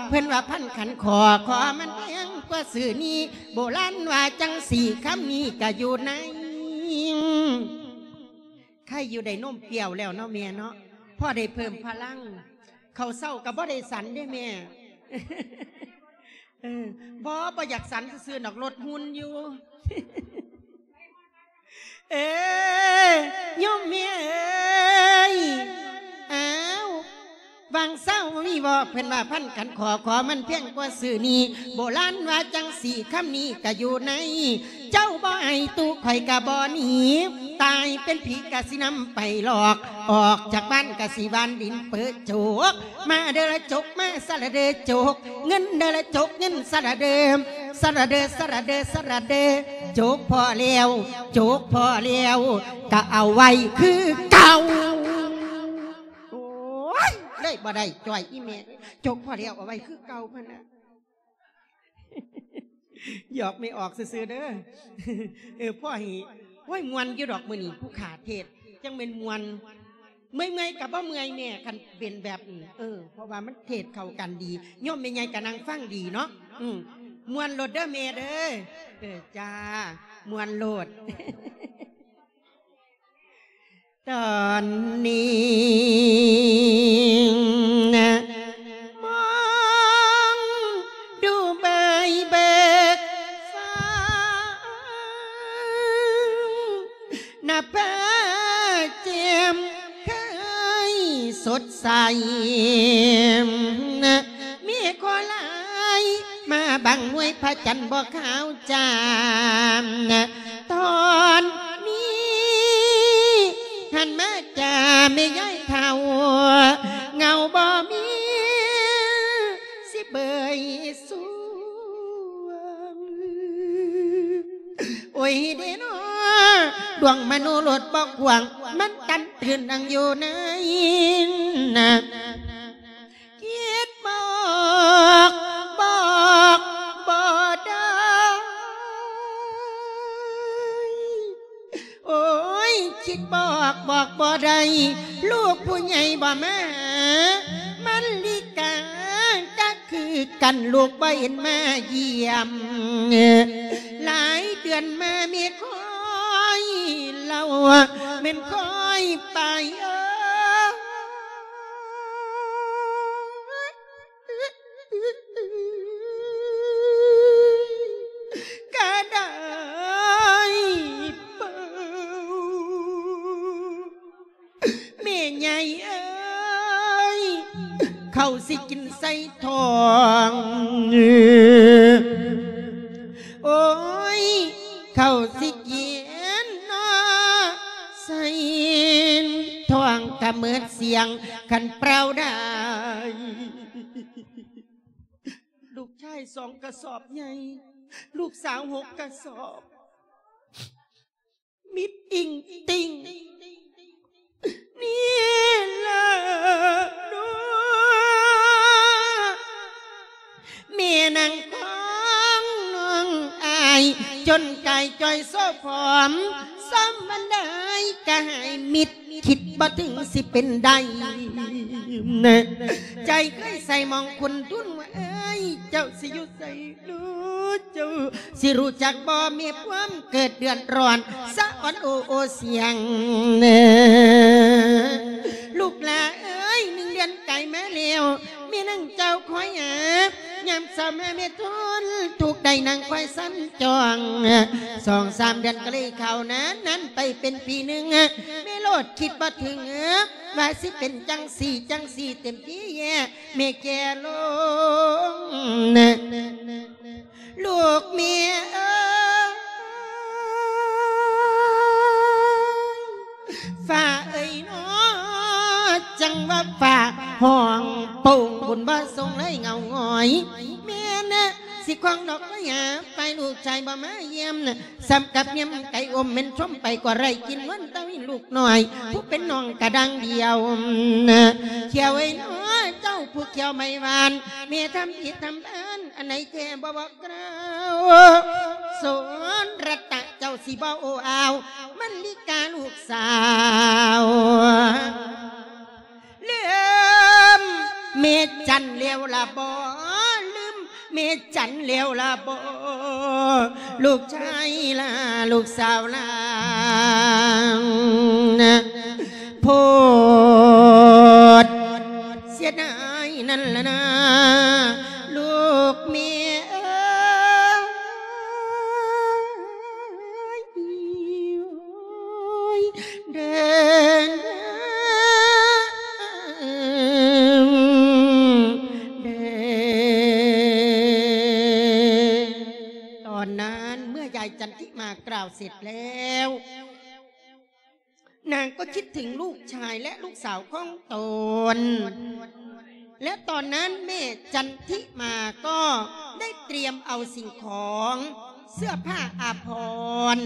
ເພິ່ນວ່າພັນຂັນຂໍ ຂໍມັນແພງກວ່າຊື້ນີ້ ໂບລານວ່າຈັ່ງຊີ້ ຄຳນີ້ກະຢູ່ໃນ ໃຄຢູ່ໄດ້ນົມປ່ຽວແລ້ວເນາະແມ່ເນາະ ພໍໄດ້ເພີ່ມພະລັງ ເຂົ້າເຊົ້າກໍບໍ່ໄດ້ສັນເດ້ແມ່ ເອີ ບໍ່ ບໍ່ຢາກສັນຊື່ໆດອກ ລົດຫຸ່ນຢູ່ ເອີ ໂຍມແມ່ເອີຍ ອ້າວ ຫວ່າງເຊົ້າມີບໍ່ ເພິ່ນວ່າພັນຂັນຂໍ ຂໍມັນແພງກວ່າຊື້ນີ້ ໂບລານວ່າຈັ່ງຊີ້ ຄຳນີ້ກະຢູ່ໃນ ເຈົ້າບໍ່ໃຫ້ຕູ້ຂ້ອຍກະບໍ່ໜີ ຕາຍເປັນຜີກະຊິນຳໄປຫຼອກ ອອກຈາກບ້ານກະຊິຫວ່ານດິນເປີະໂຈກ ມາເດີລະຈົກ ມາສະລະເດີໂຈກ ເງິນເດີລະຈົກ ເງິນສະລະເດີ ສະລະເດີ ສະລະເດີ ສະລະເດີ ໂຈກພໍແລ້ວ ໂຈກພໍແລ້ວ ກະເອົາໄວ້ຄືເກົ່າ. ໂອ້ຍ ເລີຍບໍ່ໄດ້ຈ່ອຍອີ່ແມ່ ໂຈກພໍແລ້ວ ເອົາໄວ້ຄືເກົ່າ ພະນະ. ຫຍອກແມ່ອອກຊື່ໆເດີ ເອີ ພໍໃຫ້ ໂອ້ຍ ມ່ວນຢູ່ດອກມື້ນີ້ ຜູ້ຂ້າເທດ ຈັ່ງແມ່ນມ່ວນ ເມື່ອຍໆກໍບໍ່ເມື່ອຍແມ່ ຄັນເປັນແບບນີ້ ເອີ ເພາະວ່າມັນເທດເຂົ້າກັນດີ ໂຍມແມ່ໃຫຍ່ກໍນັ່ງຟັງດີເນາະ ອື ມ່ວນໂລດເດີແມ່ເດີ ເອີ ຈ້າ ມ່ວນໂລດ. ຕອນນີ້ນະ ມອງດູໃບເບີກຟ້າ ນະຟ້າແຈ່ມເຄີຍສົດໃສ ເມຄອລາຍມາບັງນວຍ ພະຈັນບໍ່ຂາວຈ້າ ຕອນນີ້ຫັນມາຈາແມ່ຍາຍເຖົ້າ ເຫງົາບໍ່ມີຊິເບີຍສວງ ໂອ້ຍເດເນາະ ດວງມະໂນລົດບໍ່ຂວາງ ມັນຕັນຕື່ນອັງຢູ່ໃນນະ ຄິດບອກບອກບໍ່ໄດ້ ໂອ້ຍ ຄິດບອກບອກບໍ່ໄດ້ ລູກຜູ້ໃຫຍ່ບໍ່ມາຫາ ມັນລິກາກະຄືກັນ ລູກບໍ່ເຫັນມາຢ້ຽມ ຫຼາຍເດືອນມາແມ່ຄອຍເລົ່າ ແມ່ນຄອຍໄປເອີ ກະໄດ້ເປົ່າ ແມ່ໃຫຍ່ເອີຍ ເຂົ້າຊິກິນໃສ່ທ້ອງ ໂອ້ຍ ເຂົ້າຊິກິນເນາະ ໃສ່ທ້ອງກະເໝິດສຽງ ຄັນເປົ່າໄດ້ ລູກຊາຍສອງກະສອບໃຫຍ່ ລູກສາວຫົກກະສອບ ມິດອິງຕິ່ງ ນີ້ລະເນາະ ແມ່ນາງຂອງນ້ອງອ້າຍ ຈົນກາຍຈ່ອຍໂຊຜອມ ສ່ຳອັນໃດກະໃຫ້ມິດ ຄິດບໍ່ເຖິງຊິເປັນໄດ້ ໃຈເຄີຍໃສ່ໝອງຄຸນທຸນວ່າ ເອີຍ ເຈົ້າຊິຢູ່ໃສ ເຈົ້າຊິຮູ້ຈັກບໍ່ ມີຄວາມເກີດເດືອດຮ້ອນ ສະອອນໂອໂອສຽງ ລູກຫຼ້າເອີຍ ໜຶ່ງເດືອນກາຍມາແລ້ວ ແມ່ນາງເຈົ້າຄອຍຫາ ຍາມເຊົ້າມາແມ່ທຸນທຸກໄດ້ນັ່ງຄອຍສັນຈອງ ສອງສາມເດືອນກໍເລີຍເຂົ້ານານ ນານໄປເປັນປີໜຶ່ງ ແມ່ໂລດຄິດບໍ່ເຖິງ ວ່າຊິເປັນຈັ່ງຊີ້ຈັ່ງຊີ້ເຕັມທີ່ແຍ ແມ່ແກ່ລົງ ລູກແມ່ເອີຍ ຟ້າເອີຍເນາະ ຈັ່ງວ່າຟ້າຮ້ອງໂປ່ງ ບຸນບໍ່ສົ່ງເລີຍເຫງົາຫງອຍ ແມ່ນະ ຊິຄວາງດອກໄມ້ຫາ ໄປລູກຊາຍບໍ່ມາຢ້ຽມ ສ່ຳກັບຍາມໄກ່ອົມ ແມ່ນຊົມໄປກໍໄດ້ກິນ ວັນຕະວິນລູກນ້ອຍ ຜູ້ເປັນນ້ອງກະດັ່ງດຽວ ຂຽວເອີຍເນາະ ເຈົ້າຜູ້ຂຽວໄມ້ຫວານ ແມ່ທຳຜິດທຳພານ ອັນໃດແທ້ບໍ່ບອກກ່າວ ສົນລັດຕະ ຈົ້າຊິບໍ່ໂອ້ອາວ ມັນລິກາລູກສາວ ລືມແມ່ຈັນແລ້ວລະບໍ? ລືມແມ່ຈັນແລ້ວລະບໍ? ລູກຊາຍລະ ລູກສາວລະ ໂພດເສຍດາຍນັ້ນລະນາ ລູກແມ່ເອີຍ. ເດີນ ເດີນ ຕອນນັ້ນເມື່ອຍາຍຈັນທິມາກ່າວເສັດແລ້ວ ນາງກໍຄິດເຖິງລູກຊາຍ ແລະ ລູກສາວຂອງຕົນ ແລະ ຕອນນັ້ນແມ່ຈັນທິມາກໍໄດ້ຕຽມເອົາສິ່ງຂອງ ເສື້ອຜ້າອາພອນ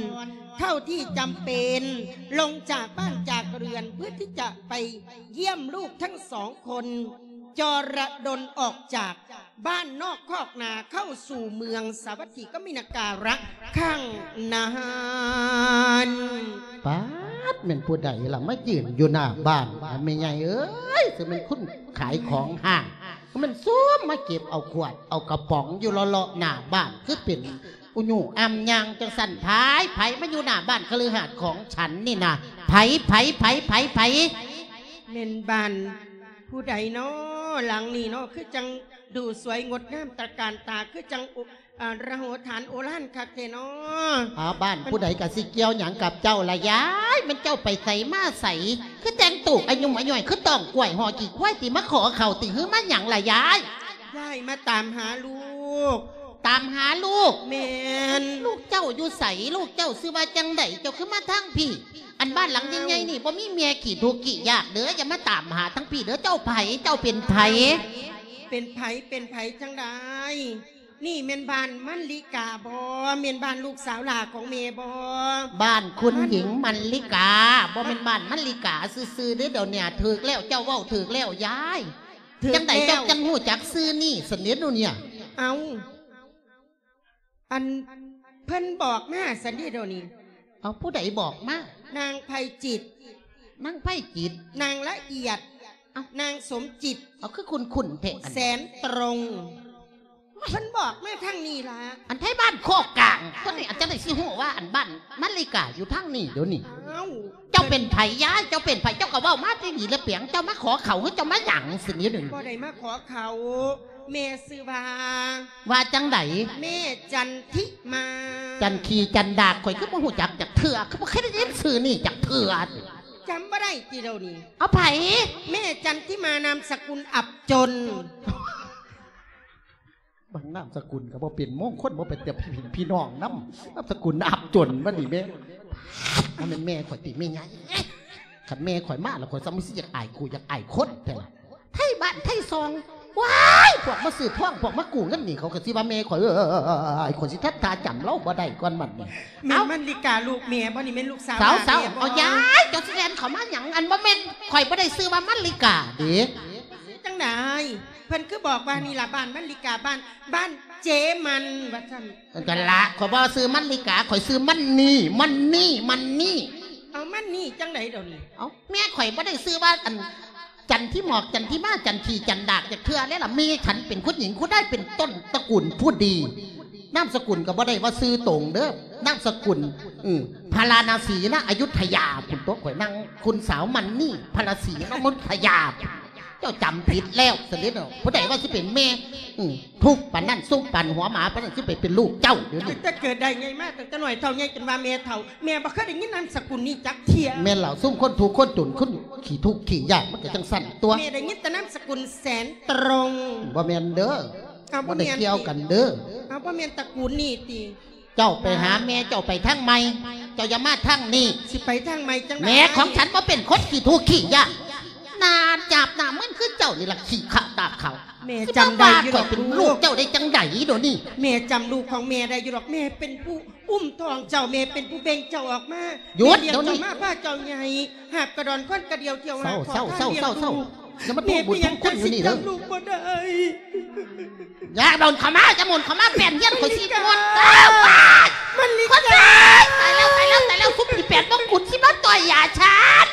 ເທົ່າທີ່ຈຳເປັນ ລົງຈາກບ້ານຈາກເຮືອນ ເພື່ອທີ່ຈະໄປຢ້ຽມລູກທັງສອງຄົນ ຈໍລະດົນອອກຈາກ ບ້ານນອກຄອກນາ ເຂົ້າສູ່ເມືອງສາວັດຖີກຳມະນະກາລະຄັ້ງນັ້ນ. ປາດ ແມ່ນຜູ້ໃດລະມາຢືນຢູ່ໜ້າບ້ານ ແມ່ໃຫຍ່ເອີຍ ຊິແມ່ນຄົນຂາຍຂອງຫ້າງ ມັນຊວມມາເກັບເອົາຂວດເອົາກະປ໋ອງຢູ່ເລາະໆໜ້າບ້ານ ຄືເປັນອຸຍູອຳຍ່າງຈັ່ງຊັ້ນ ໃຜ ໃຜມາຢູ່ໜ້າບ້ານຄະລືຫາດຂອງສັນນີ້ນະ ໃຜ ໃຜ ໃຜ ໃຜ ໃຜ? ແມ່ນບ້ານ ຜູ້ໃດນໍ ຫຼັງນີ້ນໍ ຄືຈັ່ງດູສວຍງົດງາມຕະການຕາ ຄືຈັ່ງ ໂອ ອາ ລະໂຫຖານໂອລານຄັກແທ້ນໍ. ອາ ບ້ານຜູ້ໃດກະຊິກ່ຽວຫຍັງກັບເຈົ້າລະຍາຍ? ແມ່ນເຈົ້າໄປໃສມາໃສ? ຄືແຕ່ງໂຕອາຍຸມອາຍ່ອຍ ຄືຕ້ອງກ້ວຍຫໍ່ຂີ້ຄວາຍ ຕິມາຂໍເຂົ້າຕິ ຫຼືມາຫຍັງລະຍາຍ? ຍາຍມາຕາມຫາລູກ. ຕາມຫາລູກ? ແມ່ນ. ລູກເຈົ້າຢູ່ໃສ? ລູກເຈົ້າຊື່ວ່າຈັ່ງໃດ? ເຈົ້າຄືມາທາງພີ້? ອັນບ້ານຫຼັງໃຫຍ່ໆນີ້ ບໍ່ມີແມ່ຂີ້ທຸກຂີ້ຍາກເດີ ຢ່າມາຕາມຫາທາງພີ້ເດີ. ເຈົ້າໃຜ? ເຈົ້າເປັນໃຜ? ເປັນໃຜ? ເປັນໃຜຈັ່ງໃດ? ນີ້ແມ່ນບ້ານມັນລິກາບໍ່? ແມ່ນບ້ານລູກສາວຫຼ້າຂອງແມ່ບໍ່? ບ້ານຄຸນຍິງມັນລິກາ ບໍ່ແມ່ນບ້ານມັນລິກາຊື່ໆເດ້. ດຽວນີ້ຖືກແລ້ວ ເຈົ້າເວົ້າຖືກແລ້ວຍາຍ. ຖືກແລ້ວ. ຈັ່ງໃດເຈົ້າຈັ່ງຮູ້ຈັກຊື່ນີ້ຊັ້ນເດະໂດນີ້? ເອົ້າ ອັນເພິ່ນບອກມາຊັ້ນເດະໂດນີ້. ເອົາ ຜູ້ໃດບອກມາ? ນາງໄພຈິດ. ນາງໄພຈິດ? ນາງລະອຽດ. ເອົ້າ ນາງສົມຈິດ. ເອົາ ຄືຄຸ້ນໆແທ້ ອັນແສນຕຣົງ. ເພິ່ນບອກມາທາງນີ້ລະ. ອັນໄທບ້ານໂຄກກາງ ຕົວນີ້ ອັນຈັ່ງໃດຊິຮູ້ວ່າອັນບ້ານມັນລິກາຢູ່ທາງນີ້ໂດນີ້? ເອົ້າ ເຈົ້າເປັນໃຜຍາຍ? ເຈົ້າເປັນໃຜ? ເຈົ້າກໍເວົ້າມາແຕ່ນີ້ລະເປຍງ ເຈົ້າມາຂໍເຂົ້າ ຫຼືເຈົ້າມາຫຍັງຊັ້ນເດະໂດນີ້? ບໍ່ໄດ້ມາຂໍເຂົ້າ. ແມ່ຊື່ວ່າ ວ່າຈັ່ງໃດ? ແມ່ຈັນທິມາ. ຈັນຂີ້ຈັນດາກ ຂ້ອຍຄືບໍ່ຮູ້ຈັກຈັກເທື່ອ ຄືບໍ່ເຄີຍໄດ້ຍິນຊື່ນີ້ຈັກເທື່ອ. ຈຳບໍ່ໄດ້ຕິໂດນີ້? ເອົາໃຜ? ແມ່ຈັນທິມາ ນາມສະກຸນອັບຈົນ. ບາງນາມສະກຸນກໍບໍ່ເປັນມົງຄົນ ບໍ່ເປັນແຕ່ພີ່ນ້ອງນຳ ນາມສະກຸນອັບຈົນ. ບັດນີ້ແມ່ ບໍ່ແມ່ນແມ່ຂ້ອຍຕິແມ່ໃຫຍ່? ຄັນແມ່ຂ້ອຍມາແລ້ວ ຂ້ອຍສ່ຳຊິຢາກອາຍຄູ່ຢາກອາຍຄົນແທ້ລະ. ໄທບ້ານໄທຊ່ອງ ວ້າຍ ພວກມາຊື້ທອງ ພວກມາກູ້ເງິນນີ້ ເຂົາກໍຊິວ່າແມ່ຂ້ອຍ. ເອີຍ ຂ້ອຍຊິທັດທ່າຈຳລາວບໍ່ໄດ້ກ່ອນບັດນີ້. ແມ່ນມັນລິກາລູກແມ່ບໍ່? ນີ້ແມ່ນລູກສາວ ສາວ ສາວ ແມ່ບໍ່? ເອົາຍາຍ ເຈົ້າຊິແລ່ນເຂົ້າມາຫຍັງ? ອັນບໍ່ແມ່ນ ຂ້ອຍບໍ່ໄດ້ຊື່ວ່າມັນລິກາເດ້. ຈັ່ງໃດ? ເພິ່ນຄືບອກວ່ານີ້ລະ ບ້ານມັນລິກາ ບ້ານ ບ້ານເຈມັນ ວ່າຊັ້ນ. ເອີ ນັ້ນລະ ຂ້ອຍບໍ່ຊື່ມັນລິກາ ຂ້ອຍຊື່ມັນນີ້ ມັນນີ້ ມັນນີ້. ເອົາ ມັນນີ້ຈັ່ງໃດດຽວນີ້? ເອົາ ແມ່ຂ້ອຍບໍ່ໄດ້ຊື່ວ່າ ອັນ ຈັນທິໝອກ ຈັນທິມາ ຈັນຂີ້ຈັນດາກຈັກເທື່ອເດ້ລະ. ແມ່ສັນເປັນຄຸນຍິງ ຄຸນຊາຍ ເປັນຕົ້ນຕະກຸນຜູ້ດີ. ນາມສະກຸນກໍບໍ່ໄດ້ວ່າຊື່ຕົງເດີ ນາມສະກຸນ ອື ພາລານາສີນະ ອະຍຸດທະຍາພຸ້ນຕົວະ. ຂ້ອຍນາງຄຸນສາວມັນນີ້ ພາລາສີນະ ອະຍຸດທະຍາ. ເຈົ້າຈຳຜິດແລ້ວ ສະເດັດເນາະ. ຜູ້ໃດວ່າຊິເປັນແມ່ ອື ທຸກປານນັ້ນ ສຸກປານຫົວໝາປານນັ້ນ ຊິໄປເປັນລູກເຈົ້າດຽວນີ້. ຕັ້ງແຕ່ເກີດໄດ້ໃຫຍ່ມາ ຕັ້ງແຕ່ນ້ອຍເທົ່າໃຫຍ່ຈົນວ່າແມ່ເຖົ້າ ແມ່ບໍ່ເຄີຍໄດ້ຍິນນາມສະກຸນນີ້ຈັກເທື່ອ. ແມ່ນລະ ຊຸມຄົນທຸກຄົນຈົນ ຄົນຂີ້ທຸກຂີ້ຍາກ ມັນກໍຈັ່ງຊັ້ນຕົວະ. ແມ່ໄດ້ຍິນແຕ່ນາມສະກຸນແສນຕຣົງ. ບໍ່ແມ່ນເດີ. ເອົາ ບໍ່ແມ່ນ ບໍ່ໄດ້ກ່ຽວກັນເດີ. ເອົາ ບໍ່ແມ່ນຕະກຸນນີ້ຕິ? ເຈົ້າໄປຫາແມ່ເຈົ້າໄປທາງໃໝ່ ເຈົ້າຢ່າມາທາງນີ້. ຊິໄປທາງໃໝ່ຈັ່ງໃດ? ແມ່ຂອງສັນບໍ່ເປັນຄົນຂີ້ທຸກຂີ້ຍາກ ໜ້າຈາບໜ້າມຶນຄືເຈົ້ານີ້ລະ ຂີ້ຂະຕາຂາວ. ແມ່ຈຳໄດ້ຢູ່ດອກ ຊິມາວ່າຂ້ອຍເປັນລູກເຈົ້າໄດ້ຈັ່ງໃດດຽວນີ້? ແມ່ຈຳລູກຂອງແມ່ໄດ້ຢູ່ດອກ ແມ່ເປັນຜູ້ອຸ້ມທ້ອງເຈົ້າ ແມ່ເປັນຜູ້ເບັ່ງເຈົ້າອອກມາ. ຢຸດດຽວນີ້ ແມ່ລ້ຽງເຈົ້າມາ ພາເຈົ້າໃຫຍ່ ຫາບກະດອນຄວັນກະດຽວ ທ່ຽວຫາ ຂໍທານລ້ຽງລູກ. ຢ່າມາທວງບຸນທວງຄຸນຢູ່ນີ້ເດີ. ຢ່າດົນເຂົ້າມາ ຢ່າໝູນເຂົ້າມາ ແປ້ນຮຽນຂ້ອຍຊິໝົດ. ມັນລິກາ ຕາຍແລ້ວ ຕາຍແລ້ວ ຕາຍແລ້ວ ຊຸມທີ່ແປດມົງກຸດຊິມາຕໍ່ຍຢາຊັ້ນ.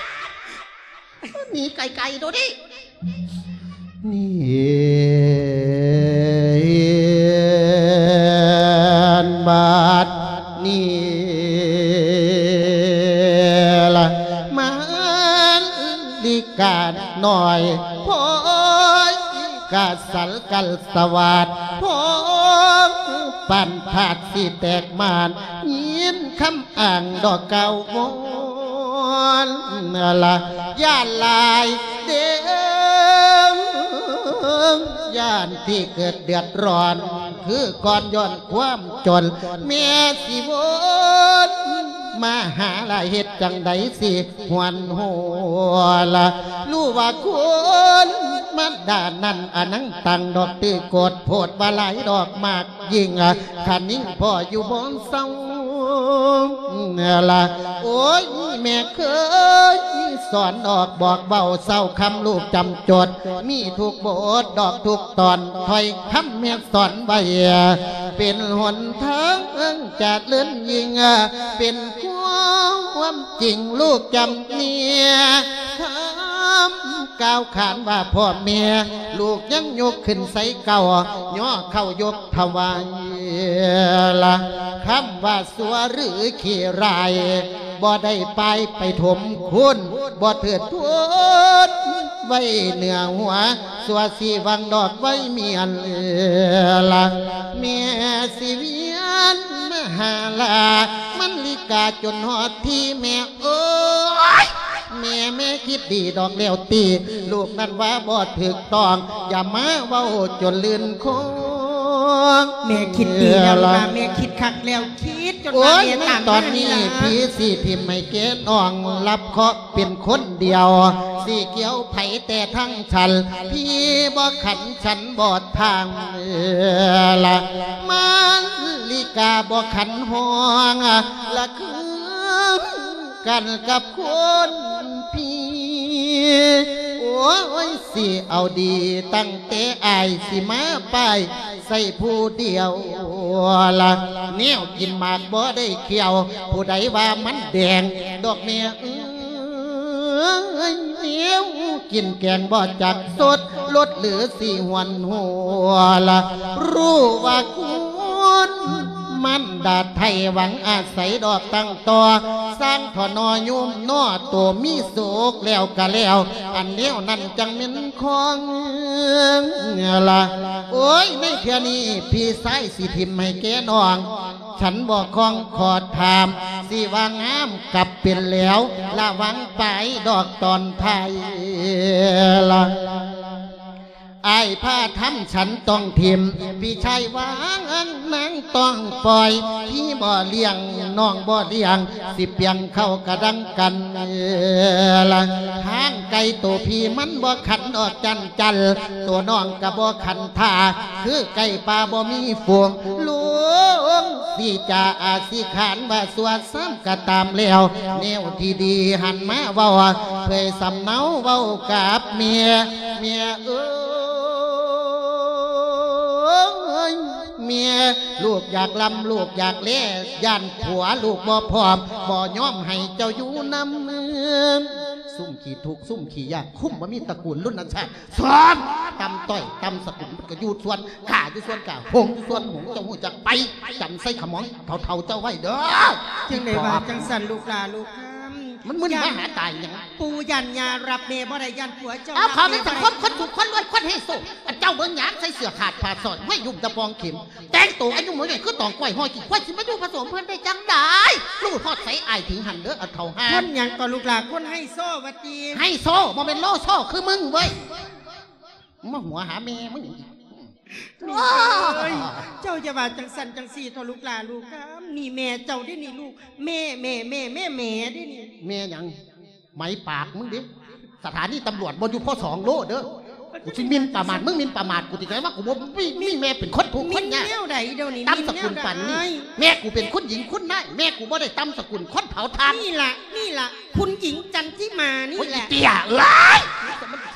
ໜີໄກໆ ໂດດນີ້. ນີ້ ບັດນີ້ລະ ມາລິການ້ອຍ ໂພຍກະສັນກັນສະຫວາດ ໂພງປັນທາດຊິແຕກໝານ ຍິນຄຳ ອ່າງດອກກາວວອນລະ ຢ້ານຫຼາຍເດີ້ ຢ້ານທີ່ເກີດເດືອດຮ້ອນ ຄືກ່ອນຍ້ອນຄວາມຈົນ ແມ່ຊິວົນມາຫາລະ ເຮັດຈັ່ງໃດຊິຫວນຫົວລະ ຮູ້ວ່າຄຸນມານດານັ້ນ ອະນັງຕັງດອກ ຕື້ໂກດໂພດວ່າຫຼາຍດອກ ມາກ ຍິ່ງຄະນິງພໍ່ຢູ່ບໍ່ເຊົາລະ ໂອ້ຍ ແມ່ເຄີຍສອນອອກບອກເວົ້າເຊົາຄຳລູກຈຳຈົດ ມີທຸກບົດດອກທຸກຕອນ ຖ້ອຍຄຳແມ່ສອນໄວ້ ເປັນຫົນທາງຈະເລີນຍິ່ງ ເປັນຄວາມຈິງລູກຈຳເນຍ ຄຳກ່າວຂານວ່າພໍ່ແມ່ ລູກຍັງຍົກຂຶ້ນໃສ່ເກົ່າ ຍໍເຂົ້າຍົກ ຖວາຍລະ ຄຳວ່າຊົ່ວຫຼືຂີ້ຮ້າຍ ບໍ່ໄດ້ປາຍໄປຖົມຄູນ ບໍ່ເທີດທູນໄວ້ເໜືອຫົວ ຊົ່ວຊິຫວັງດອກໄວ້ເມຍນລະ ແມ່ຊິວຽນມາຫາລາ ມັນລິກາຈົນຮອດທີ່ແມ່ ໂອ້ຍ ແມ່ ແມ່ຄິດດີດອກແລ້ວຕິ ລູກນັ້ນວ່າບໍ່ຖືກຕ້ອງ ຢ່າມາເວົ້າຈົນລື່ນຄົງ ແມ່ຄິດດີແລ້ວລະ ແມ່ຄິດຄັກແລ້ວ ຄິດຈົນວ່າ ໂອ້ຍ ແມ່ຕາມ ໃນຕອນນີ້ ພີ່ຊິຖິ້ມໃຫ້ແກ່ນ້ອງ ຮັບເຄາະເປັນຄົນດຽວ ຊິກ່ຽວໃຜແຕ່ທັງສັນ ພີ່ບໍ່ຂັນ ສັນບໍ່ທາງລະ ມາລິກາບໍ່ຂັນຫ້ອງ ລະຄື ກັນກັບຄົນພີ່ ໂອ້ຍ ຊິເອົາດີຕັ້ງແຕ່ອ້າຍ ຊິມາປ້າຍໃສ່ຜູ້ດຽວລະ ແນວກິນໝາກບໍ່ໄດ້ຂ້ຽວ ຜູ້ໃດວ່າມັນແດງ ດອກແມ່ເອີຍ ແນວກິນແກງບໍ່ຈັກສົດ ລົດຫຼືຊິຫວນຫົວລະ ຮູ້ວ່າຄຸນ ມັນດາໄທຫວັງອາໄສດອກຕັ້ງຕໍ່ ສ້າງທໍ່ນໍໂຍມນໍ ໂຕມີໂສກແລ້ວກະແລ້ວ ອັນແນວນັ້ນຈັ່ງແມ່ນຂອງລະ ໂອ້ຍ ໃນເທື່ອນີ້ພີ່ຊາຍຊິຖິ້ມໃຫ້ແກ່ນ້ອງ ສັນບໍ່ຄອງຂໍຖາມ ຊິວ່າງາມກັບເປັນແລ້ວ ລະຫວ່າງປາຍດອກຕອນທ້າຍລະ ອ້າຍພາທຳສັນຕ້ອງຖິ້ມ ພີ່ຊາຍວ່າງນາງຕ້ອງປ່ອຍ ພີ່ບໍ່ລ້ຽງ ນ້ອງບໍ່ລ້ຽງ ຊິປ່ຽງເຂົ້າກະດັງກັນລະ ທາງໄກໂຕພີ່ມັນບໍ່ຂັນດອກຈັນຈັນ ໂຕນ້ອງກະບໍ່ຂັນທ່າ ຄືໄກ່ປ່າບໍ່ມີຝູງ ລຸງຊິຈາອາຊິຂານວ່າຊົ່ວຊ້ຳ ກະຕາມແລ້ວ ແນວທີ່ດີຫັນມາເວົ້າ ເຜີຍສຳເນົາເວົ້າກັບແມ່ ແມ່ເອີຍ ແມ່ ລູກຢາກລ່ຳ ລູກຢາກແລ ຢ້ານຜົວລູກບໍ່ພ້ອມ ບໍ່ຍອມໃຫ້ເຈົ້າຢູ່ນຳ ຊຸມຂີ້ທຸກ ຊຸມຂີ້ຍາກ ຄຸ້ມບໍ່ມີຕະກູນລຸນນະຊາດ ສອນ ຕ່ຳຕ້ອຍ ຕ່ຳສະກຸນ ມັນກະຢູ່ສວນກ້າ ຢູ່ສວນກ້າ ຫົງຢູ່ສວນຫົງ ເຈົ້າຮູ້ຈັກໄປ ຈຳໃສ່ຂະໝອງເຖົ້າໆເຈົ້າໄວ້ເດີ. ຈັ່ງໃດວ່າຈັ່ງຊັ້ນລູກຫຼ້າລູກຄຳ ມັນມຶນມາຫາຕາຍຫຍັງ? ປູ່ຢ້ານຍ່າຮັບແມ່ບໍ່ໄດ້ ຢ້ານຜົວເຈົ້າ ເອົາ ເຂົາແມ່ນສັງຄົມຄົນທຸກຄົນລວຍຄົນໄຮໂຊ ອັນເຈົ້າເບິ່ງຫຍັງ ໃສ່ເສື້ອຂາດຜ້າຊ້ອຍ ຫ້ອຍ ຫຍຸ້ມຕະປອງເຂັມ ແຕ່ງໂຕອາຍຸບໍ່ໃຫຍ່ຄືຕອງກ້ວຍ ຫ້ອຍຂີ້ຄວາຍ ຊິມາຢູ່ຜະສົມເພິ່ນໄດ້ຈັ່ງໃດ? ຮູ້ຮອດໃສອ້າຍເຖິງຫັ້ນເດີ ອັນເຖົ້າຫ່າ ຄົນຫຍັງກໍລູກຫຼ້າ ຄົນໄຮໂຊວ່າຕິ ໄຮໂຊ ບໍ່ແມ່ນໂລໂຊຄືມຶງເວີຍ. ມາຫົວຫາແມ່ມຶງອີກ. ແມ່ເອີຍ ເຈົ້າຢ່າວ່າຈັ່ງຊັ້ນຈັ່ງຊີ້ເຖາະລູກຫຼ້າລູກຄຳ ນີ້ແມ່ເຈົ້າເດ້ນີ້ລູກ ແມ່ ແມ່ ແມ່ ແມ່ ແມ່ເດ້ນີ້. ແມ່ຫຍັງ? ໄໝປາກມຶງເດ້ ສະຖານີຕຳຫຼວດບໍ່ຢູ່ພໍສອງໂລເດີ. ກູຊິໝິ່ນປະໝາດ ມຶງໝິ່ນປະໝາດກູຕິ ໄດ້ວ່າກູບໍ່ມີ ມີແມ່ເປັນຄົນທຸກຄົນຍາກ. ແນວໃດດຽວນີ້ ຕ່ຳສະກຸນປານນີ້ ແມ່ກູເປັນຄຸນຍິງຄຸນນາຍ ແມ່ກູບໍ່ໄດ້ຕ່ຳສະກຸນຄົນເຜົາຖ່ານ. ນີ້ລະ ນີ້ລະ ຄຸນຍິງຈັນທິມານີ້ແຫຼະ. ໂອ້ຍ ອີເຕ້ຍເອີຍ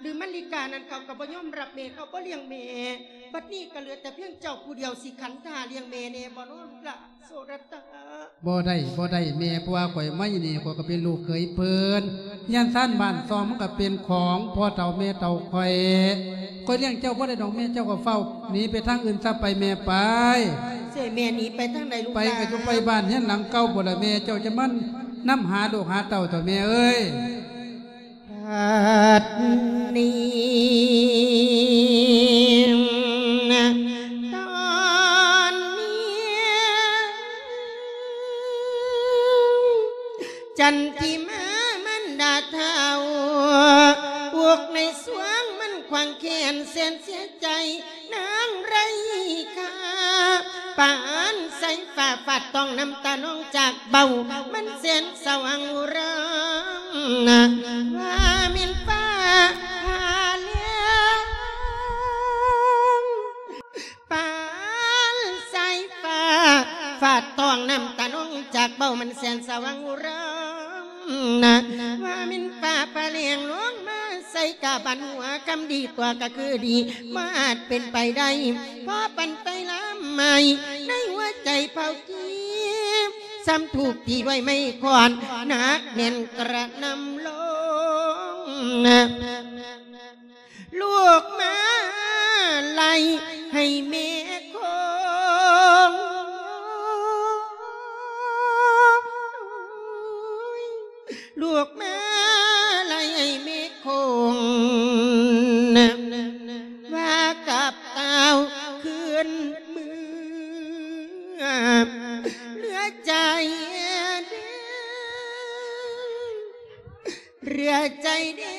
ຫຼືມະລິການັ້ນ ເຂົາກໍບໍ່ຍອມຮັບແມ່ ເຂົາບໍ່ລ້ຽງແມ່ ບັດນີ້ກໍເຫຼືອແຕ່ພຽງເຈົ້າຜູ້ດຽວ ຊິຂັນທາລ້ຽງແມ່ແດ່ບໍ່ນໍລະໂສລະຕາ? ບໍ່ໄດ້ ບໍ່ໄດ້ແມ່ ເພາະວ່າຂ້ອຍມາຢູ່ນີ້ ຂ້ອຍກໍເປັນລູກເຂີຍເພິ່ນ ເຮືອນຊານບ້ານຊ່ອງມັນກໍເປັນຂອງພໍ່ເຖົ້າແມ່ເຖົ້າຂ້ອຍ ຂ້ອຍລ້ຽງເຈົ້າບໍ່ໄດ້ດອກແມ່ ເຈົ້າກໍເຝົ້າໜີໄປທາງອື່ນຊະໄປແມ່ໄປ. ເສຍແມ່ໜີໄປທາງໃດລູກຫຼານ? ໄປກໍຢູ່ໄປບ້ານເຮືອນຫຼັງເກົ່າພຸ້ນລະແມ່ ເຈົ້າຈະມານຳຫາລູກຫາເຕົ້າເຖາະແມ່ເອີຍ. ບັດນີ້ ຕອນນີ້ ຈັນທິມາມານດາເຖົ້າ ອົກໃນສວງມັນຂວາງແຂນແສນເສຍໃຈ ນາງໄຮ້ຄ່າ ປານສາຍຟ້າຟາດຕ້ອງ ນ້ຳຕານອງຈາກເບົາ ມັນແສນສະຫວ່າງອຸຣາ ວ່າແມ່ນຟ້າຜ່າແລງ ປານສາຍຟ້າຟາດຕ້ອງ ນ້ຳຕານອງຈາກເບົາ ມັນແສນສະຫວ່າງອຸຣາ ວ່າແມ່ນຟ້າຜ່າແລງລົງມາໃສ່ກະບານຫົວ ຄຳດີຕົວະກະຄືດີ ບໍ່ອາດເປັນໄປໄດ້ ພໍປັນໄຟລາມໄໝ້ ໃນຫົວໃຈເຜົາກີ ຊ້ຳຖືກຕີດ້ວຍໄມ້ຄ້ອນ ໜັກແໜ້ນກະໜ່ຳລົງ ລູກມາໄລ່ໃຫ້ແມ່ຄົງ ລູກມາໄລ່ໃຫ້ແມ່ຄົງ ວ່າກັບຕ່າວຄືນເມືອ ເຫຼືອໃຈເດ້ ເຫຼືອໃຈເດ້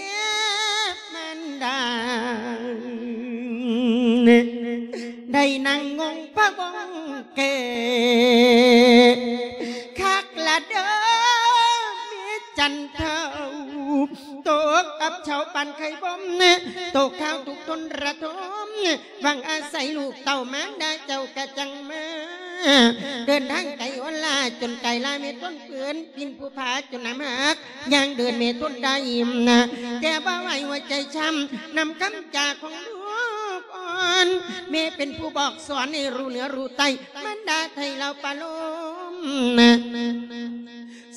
ມານດາ ໄດ້ນັ່ງງົງພະວົງເກີ ຄັກລະເດີແມ່ຈັນເຖົ້າ ຕົກອັບເຊົາປານໄຂ່ບົ່ມ ຕົກຄາວທຸກທົນລະທົມ ຫວັງອາໄສລູກເຕົ້າມານດາເຈົ້າກະຈັ່ງມາ ເດີນທາງໄກໂອນລາ ຈົນກາຍລາແມ່ທົນເພິ່ນ ປິ່ນພູຜາຈົນນ້ຳຫັກ ຍ່າງເດີນແມ່ທົນໄດ້ນະ ແຕ່ບໍ່ໄຫວຫົວໃຈຊ້ຳ ນຳຄຳຈາຂອງລູກອ່ອນ ແມ່ເປັນຜູ້ບອກສອນໃຫ້ຮູ້ເໜືອຮູ້ໃຕ້ ມານດາໄຖ່ເຫຼົ່າປະໂລມນະ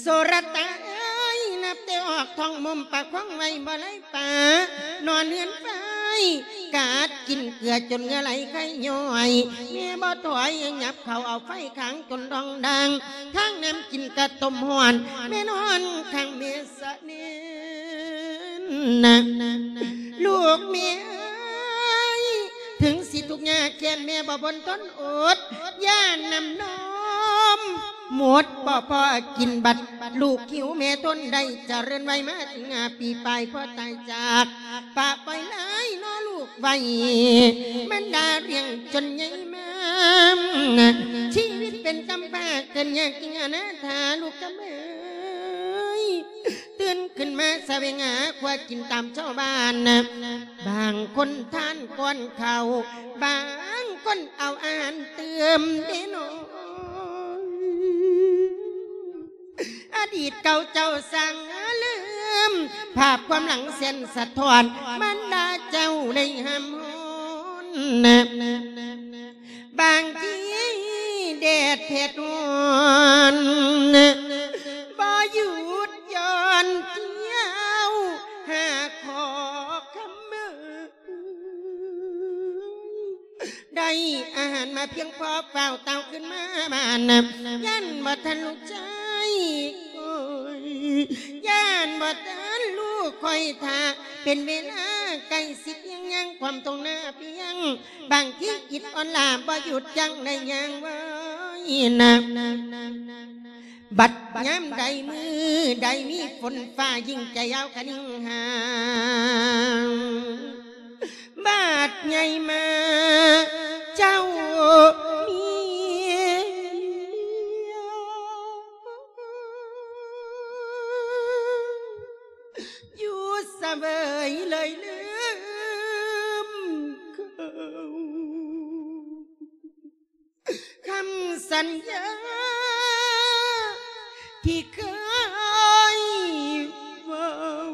ໂສລະຕາເອີຍ ນັບແຕ່ອອກທ້ອງມົມປະຄອງໄວ້ບໍ່ໄດ້ປາ ນອນເຮືອນໄຟ ກາດກິນເກືອຈົນເຫື່ອໄຫຼໄຄຍ້ອຍ ແມ່ບໍ່ຖອຍຍັບເຂົ້າເອົາໄຟຄ້າງຈົນດອງດາງ ທາງນ້ຳກິນກະຕົ້ມຮ້ອນ ແມ່ນອນຂ້າງແມ່ສະເໜັນນະ ລູກແມ່ເອີຍ ເຖິງຊິທຸກຍາກແຄ້ນແມ່ບໍ່ບົນທົນອົດ ຢ້ານນ້ຳນົມໝົດບໍ່ພໍກິນ ບັດລູກຫິວແມ່ທົນໄດ້ຈະເລີນໄວມາເຖິງຫ້າປີປາຍ ພໍຕາຍຈາກປະປ່ອຍຫຼາຍນໍລູກໄວ້ ມານດາລ້ຽງຈົນໃຫຍ່ມາ ຊີວິດເປັນກຳພ້າເກີດຍາກຈິງອະນາຖາ ລູກກຳເອີຍ ຕື່ນຂຶ້ນມາສະແຫວງຫາຄົວກິນຕາມຊາວບ້ານ ບາງຄົນທານກ່ອນເຂົ້າ ບາງຄົນເອົາອາຫານຕື່ມເດ້ນ້ອງ ອະດີດເກົ່າເຈົ້າຊ່າງລືມ ພາບຄວາມຫຼັງເສັ້ນສະທ້ອນ ມານດາເຈົ້າໄດ້ຫ້າມຮ້ອນ ບາງທີແດດເຜັດຮ້ອນ ບໍ່ຢຸດຢ່ອນທ່ຽວຫາຂໍຄຳເອີຍ ໄດ້ອາຫານມາພຽງພໍ ຟ້າວຕ່າວຂຶ້ນມາບ້ານ ຢ້ານບໍ່ທັນລູກຊາຍ ໂອ້ຍ ຢ້ານບໍ່ທັນລູກຂ້ອຍຖ້າ ເປັນເວລາໃກ້ຊິທ່ຽງ ຍ່າງຄວາມທົ່ງໜ້າພຽງ ບາງທີອິດອ່ອນລ້າ ບໍ່ຢຸດຢັ້ງໄດ້ຍ່າງໄວນະ ບັດຍາມໃດມື້ໃດມີຝົນຟ້າ ຍິ່ງໃຈຍາວຄະນິງຫາ ບາດໃຫຍ່ມາເຈົ້າເມຍ ຢູ່ສະເຫວີຍເລີຍລືມເຂົາ ຄຳສັນຍາທີ່ເຄີຍເວົ້າ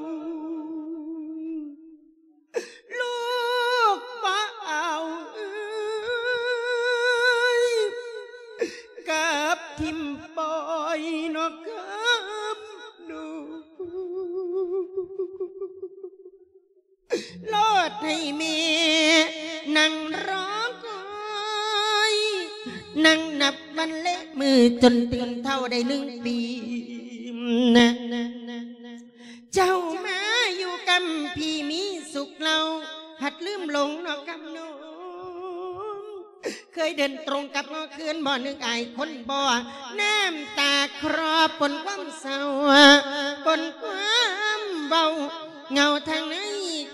ໃຫ້ແມ່ນັ່ງລໍຄອຍ ນັ່ງນັບວັນແລະມື້ ຈົນເຖິງເທົ່າໄດ້ໜຶ່ງປີນະ. ເຈົ້າມາຢູ່ກຳພີມີສຸກເລົ່າ ພັດລືມຫຼົງເນາະຄຳນ້ອງ ເຄີຍເດີນຕົງກັບຫໍຄືນບໍ່ ນຶກອາຍຄົນບໍ່ ນ້ຳຕາຄລອປົນຄວາມເສົ້າ ປົນຄວາມເວົ້າ ເຫງົາທາງໃນ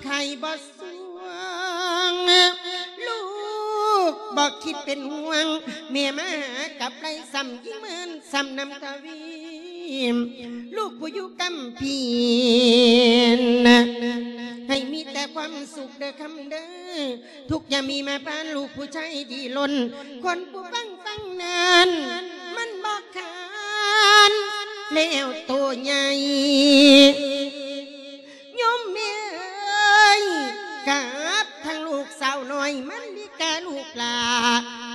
ໄຂ້ບໍ່ສວງ ລູກບໍ່ຄິດເປັນຫ່ວງ ແມ່ມາຫາກັບໄລ ຊ້ຳຍິ່ງເມີນຊ້ຳນຳທະວີ ລູກຜູ້ຢູ່ກຳພີນະ ໃຫ້ມີແຕ່ຄວາມສຸກເດີຄຳເດີ ທຸກຢ່າມີມາຜ່ານ ລູກຜູ້ຊາຍດີລົ້ນ ຄົນຜູ້ຟັງຟັງນັ້ນ ມັນບໍ່ຄານ ແລ້ວໂຕໃຫຍ່ ໂຍມແມ່ເອີຍ ກັບທັງລູກສາວນ້ອຍ ມັນລິກາລູກຫຼ້າ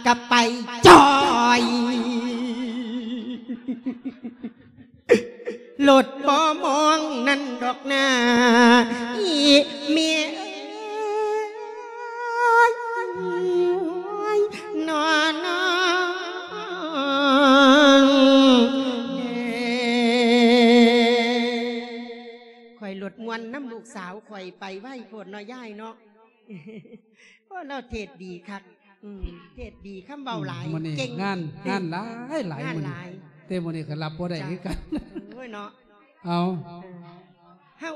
ກະໄປຈ່ອຍ ລົດບໍ່ມອງນັ້ນດອກນາ ອີ່ແມ່ເອີຍ ນອນອງເດ. ຂ້ອຍລົດມ່ວນນຳລູກສາວຂ້ອຍ ໄປໄວໂພດເນາະຍາຍເນາະ. ໂອ້ ລາວເທດດີຄັກ ອືມ ເທດດີ ຄຳເວົ້າຫຼາຍ ອືມ ມື້ນີ້ເກັ່ງ ງານ ເກັ່ງ ງານຫຼາຍໆ ງານຫຼາຍ ມື້ນີ້ ແຕ່ມື້ນີ້ກໍຮັບບໍ່ໄດ້ຄືກັນ ໂອ້ຍເນາະ ເອົາ ເອີ ເຮົາ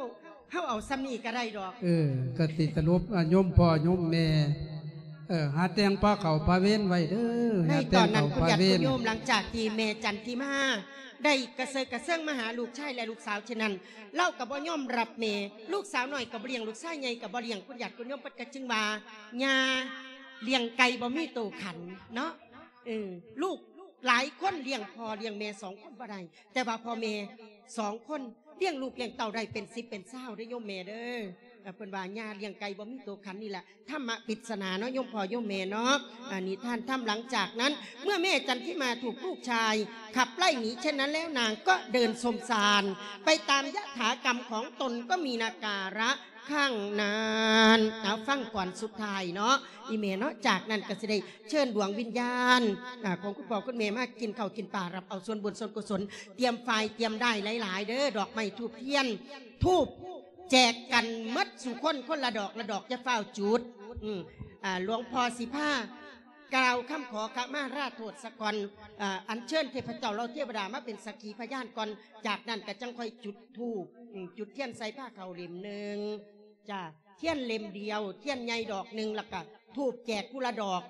ເຮົາເອົາສ່ຳນີ້ກໍໄດ້ດອກ ເອີ ກໍຊິສະຫຼຸບ ອາ ໂຍມພໍ່ໂຍມແມ່ ເອີ ຫາແຕ່ງພາເຂົ້າພາເວັນໄວ້ເດີ ໃນຕອນນັ້ນ ຫາແຕ່ງເຂົ້າພາເວັນ ຄຸນຍາດຄຸນໂຍມ ຫຼັງຈາກທີ່ແມ່ຈັນທິມາໄດ້ກະເຊີກະເຊີງມາຫາລູກຊາຍ ແລະ ລູກສາວ ເຊັ່ນນັ້ນ ລາວກໍບໍ່ຍອມຮັບແມ່ ລູກສາວນ້ອຍກໍບໍ່ລ້ຽງ ລູກຊາຍໃຫຍ່ກໍບໍ່ລ້ຽງ ຄຸນຍາດຄຸນໂຍມເພິ່ນກໍຈຶ່ງວ່າ ຍ່າລ້ຽງໄກ່ບໍ່ມີໂຕຂັນເນາະ ເອີ ລູກຫຼາຍຄົນລ້ຽງພໍ່ລ້ຽງແມ່ສອງຄົນບໍ່ໄດ້ ແຕ່ວ່າພໍ່ແມ່ສອງຄົນລ້ຽງລູກລ້ຽງເຕົ້າໄດ້ເປັນສິບເປັນຊາວເດີໂຍມແມ່ເດີ. ເພິ່ນວ່າຍ່າລ້ຽງໄກ່ບໍ່ມີໂຕຂັນ ນີ້ລະ ທຳມະປິດສະໜາເນາະ ໂຍມພໍ່ໂຍມແມ່ເນາະ ອາ ນິທານທຳ. ຫຼັງຈາກນັ້ນ ເມື່ອແມ່ຈັນທິມາຖືກລູກຊາຍຂັບໄລ່ໜີເຊັ່ນນັ້ນແລ້ວ ນາງກໍເດີນສົມສານໄປຕາມຍະຖາກຳຂອງຕົນ ກໍມີນາກາລະຄັ້ງນັ້ນ. ເອົາ ຟັງກ່ອນສຸດທ້າຍເນາະ ອີ່ແມ່ເນາະ. ຈາກນັ້ນກໍຊິໄດ້ເຊີນດວງວິນຍານ ອາ ຂອງຄຸນພໍ່ຄຸນແມ່ມາກິນເຂົ້າກິນປາ ຮັບເອົາສ່ວນບຸນສ່ວນກຸສົນ ຕຽມຝ້າຍຕຽມດ້າຍຫຼາຍໆເດີ ດອກໄມ້ທູບທຽນ ທູບ ແຈກກັນໝົດສູ່ຄົນ ຄົນລະດອກລະດອກ ຢ່າຟ້າວຈູດ. ອືມ ອາ ຫຼວງພໍ່ຊິພາກ່າວຄຳຂໍຂະມາລາໂທດສະກ່ອນ ອາ ອັນເຊີນເທບພະເຈົ້າເຫຼົ່າເທວະດາມາເປັນສັກຂີພະຍານກ່ອນ. ຈາກນັ້ນກໍຈັ່ງຄ່ອຍຈຸດທູບ ອືມ ຈຸດທຽນໃສ່ພາເຂົ້າເຫຼັ້ມໜຶ່ງ ຈ້າ ທຽນເຫຼັ້ມດຽວ ທຽນໃຫຍ່ດອກໜຶ່ງ ແລ້ວກໍທູບແຈກຜູ້ລະດອກ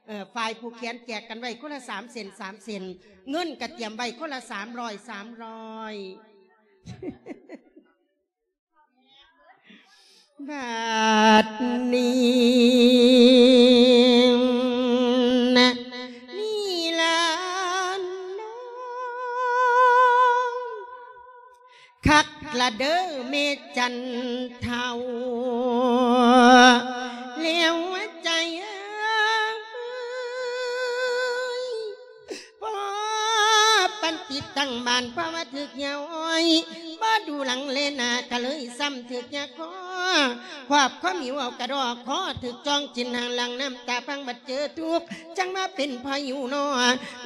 ເອີ ຝ່າຍຜູ້ຂຽນແຈກກັນໄວ້ຄົນລະສາມເສັ້ນ ສາມເສັ້ນ ເງິນກໍຕຽມໄວ້ຄົນລະສາມຮ້ອຍ ສາມຮ້ອຍ ບາດນີ້ນະ ນີ້ລະນ້ອງ ຄັກລະເດີແມ່ຈັນເຖົ້າ ແລ້ວຫົວໃຈເອີຍ ພໍປັນຕິດຕັ້ງບ້ານ ເພາະວ່າຖືກເຫຍື່ອອ້ອຍ ບໍ່ດູຫຼັງແລໜ້າ ກະເລີຍຊ້ຳຖືກເຫຍື່ອຄໍ ຄວາບຄວາມຫິວເອົາກະດໍ້ຄໍ ຖືກຈອງຈິນຫາງຫຼັງ ນ້ຳຕາພັງບັດເຈີທຸກ ຈັ່ງມາເປັນພາຍຸໜໍ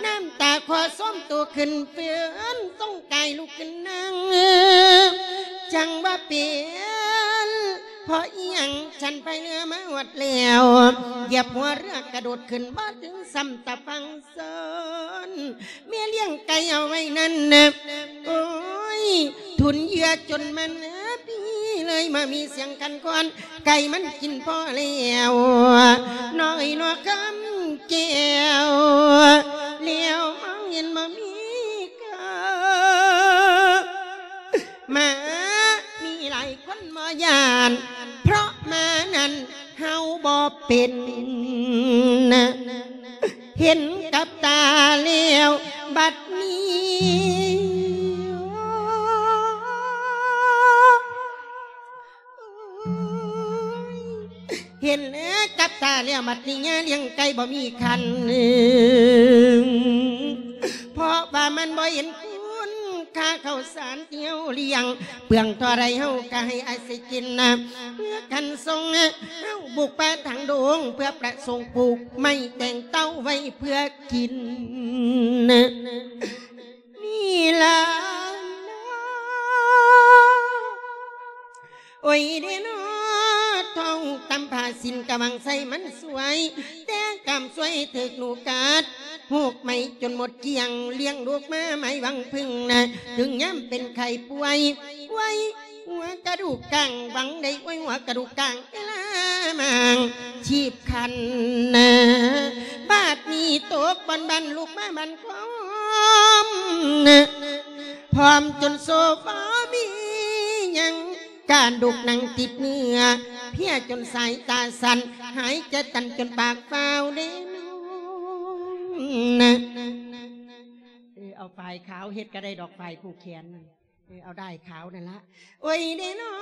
ນ້ຳຕາຄໍຊອມໂຕຂຶ້ນເຟືອນ ສົ່ງກາຍລຸກຂຶ້ນນັ່ງ ຈັ່ງວ່າເປັນເພາະອີ່ຫຍັງ ຊັ້ນພາຍເຮືອມາຮອດແລ້ວ ຢຽບຫົວເຮືອກະໂດດຂຶ້ນ ບໍ່ເຖິງຊ້ຳຕາຝັ່ງ ເຊີນ ແມ່ລ້ຽງໄກ່ເອົາໄວ້ນັ້ນນະ ໂອ້ຍ ທຸນເຫຍື່ອຈົນມັນປີ ເລີຍມາມີສຽງຂັນຄອນ ໄກ່ມັນກິນພໍແລ້ວ ນ້ອຍນອກຄຳແກ້ວ ແລ້ວມອງເຫັນບໍ່ມີກາ ໝາມີຫຼາຍຄົນບໍ່ຢ້ານ ເພາະໝານັ້ນເຫົ່າບໍ່ເປັນ ເຫັນກັບຕາແລ້ວບັດນີ້ ເຫັນກັບຕາແລ້ວບັດນີ້ ຍ່າລ້ຽງໄກ່ບໍ່ມີຂັນ ເພາະວ່າມັນບໍ່ເຫັນຄຸນຄ່າ ເຂົ້າສານທີ່ເຮົາລ້ຽງ ເປືອງທໍ່ໃດເຮົາກໍໃຫ້ອາໄສກິນນະ ເພື່ອກັນສົ່ງເຮົາບຸກປ່າທາງດົງ ເພື່ອປະສົງປູກໄມ້ແຕ່ງເຕົາໄວ້ເພື່ອກິນນະ ນີ້ລະເນາະ ໂອ້ຍເດເນາະ ທ້ອງຕຳຜ້າສິ້ນກະຫວັງໃສ່ມັນສວຍ ແຕ່ກຳສວຍຖືກໜູກັດ ໂຮກໄໝຈົນໝົດກ້ຽງ ລ້ຽງລູກມາໄໝຫວັງເພິ່ງນະ ເຖິງຍາມເປັນໄຂ້ປ່ວຍ ອວຍຫົວກະດູກກ້າງ ຫວັງໄດ້ອວຍຫົວກະດູກກ້າງ ເວລາມາງຊີບຄັນນະ ບາດນີ້ຕົກບ່ອນບ້ານ ລຸກມາບ້ານຄອມນະ ພ້ອມຈົນໂຊບໍ່ມີຫຍັງ ການດຸກໜັງຕິດເນື້ອ ເພຍຈົນສາຍຕາສັ້ນ ຫາຍໃຈຕັນຈົນປາກຟ້າວເດນອງນະ ເອີ ເອົາຝ້າຍຂາວເຮັດກໍໄດ້ດອກ ຝ້າຍຜູກແຂນ ເອີ ເອົາດ້າຍຂາວນັ້ນລະ ໂອ້ຍເດເນາະ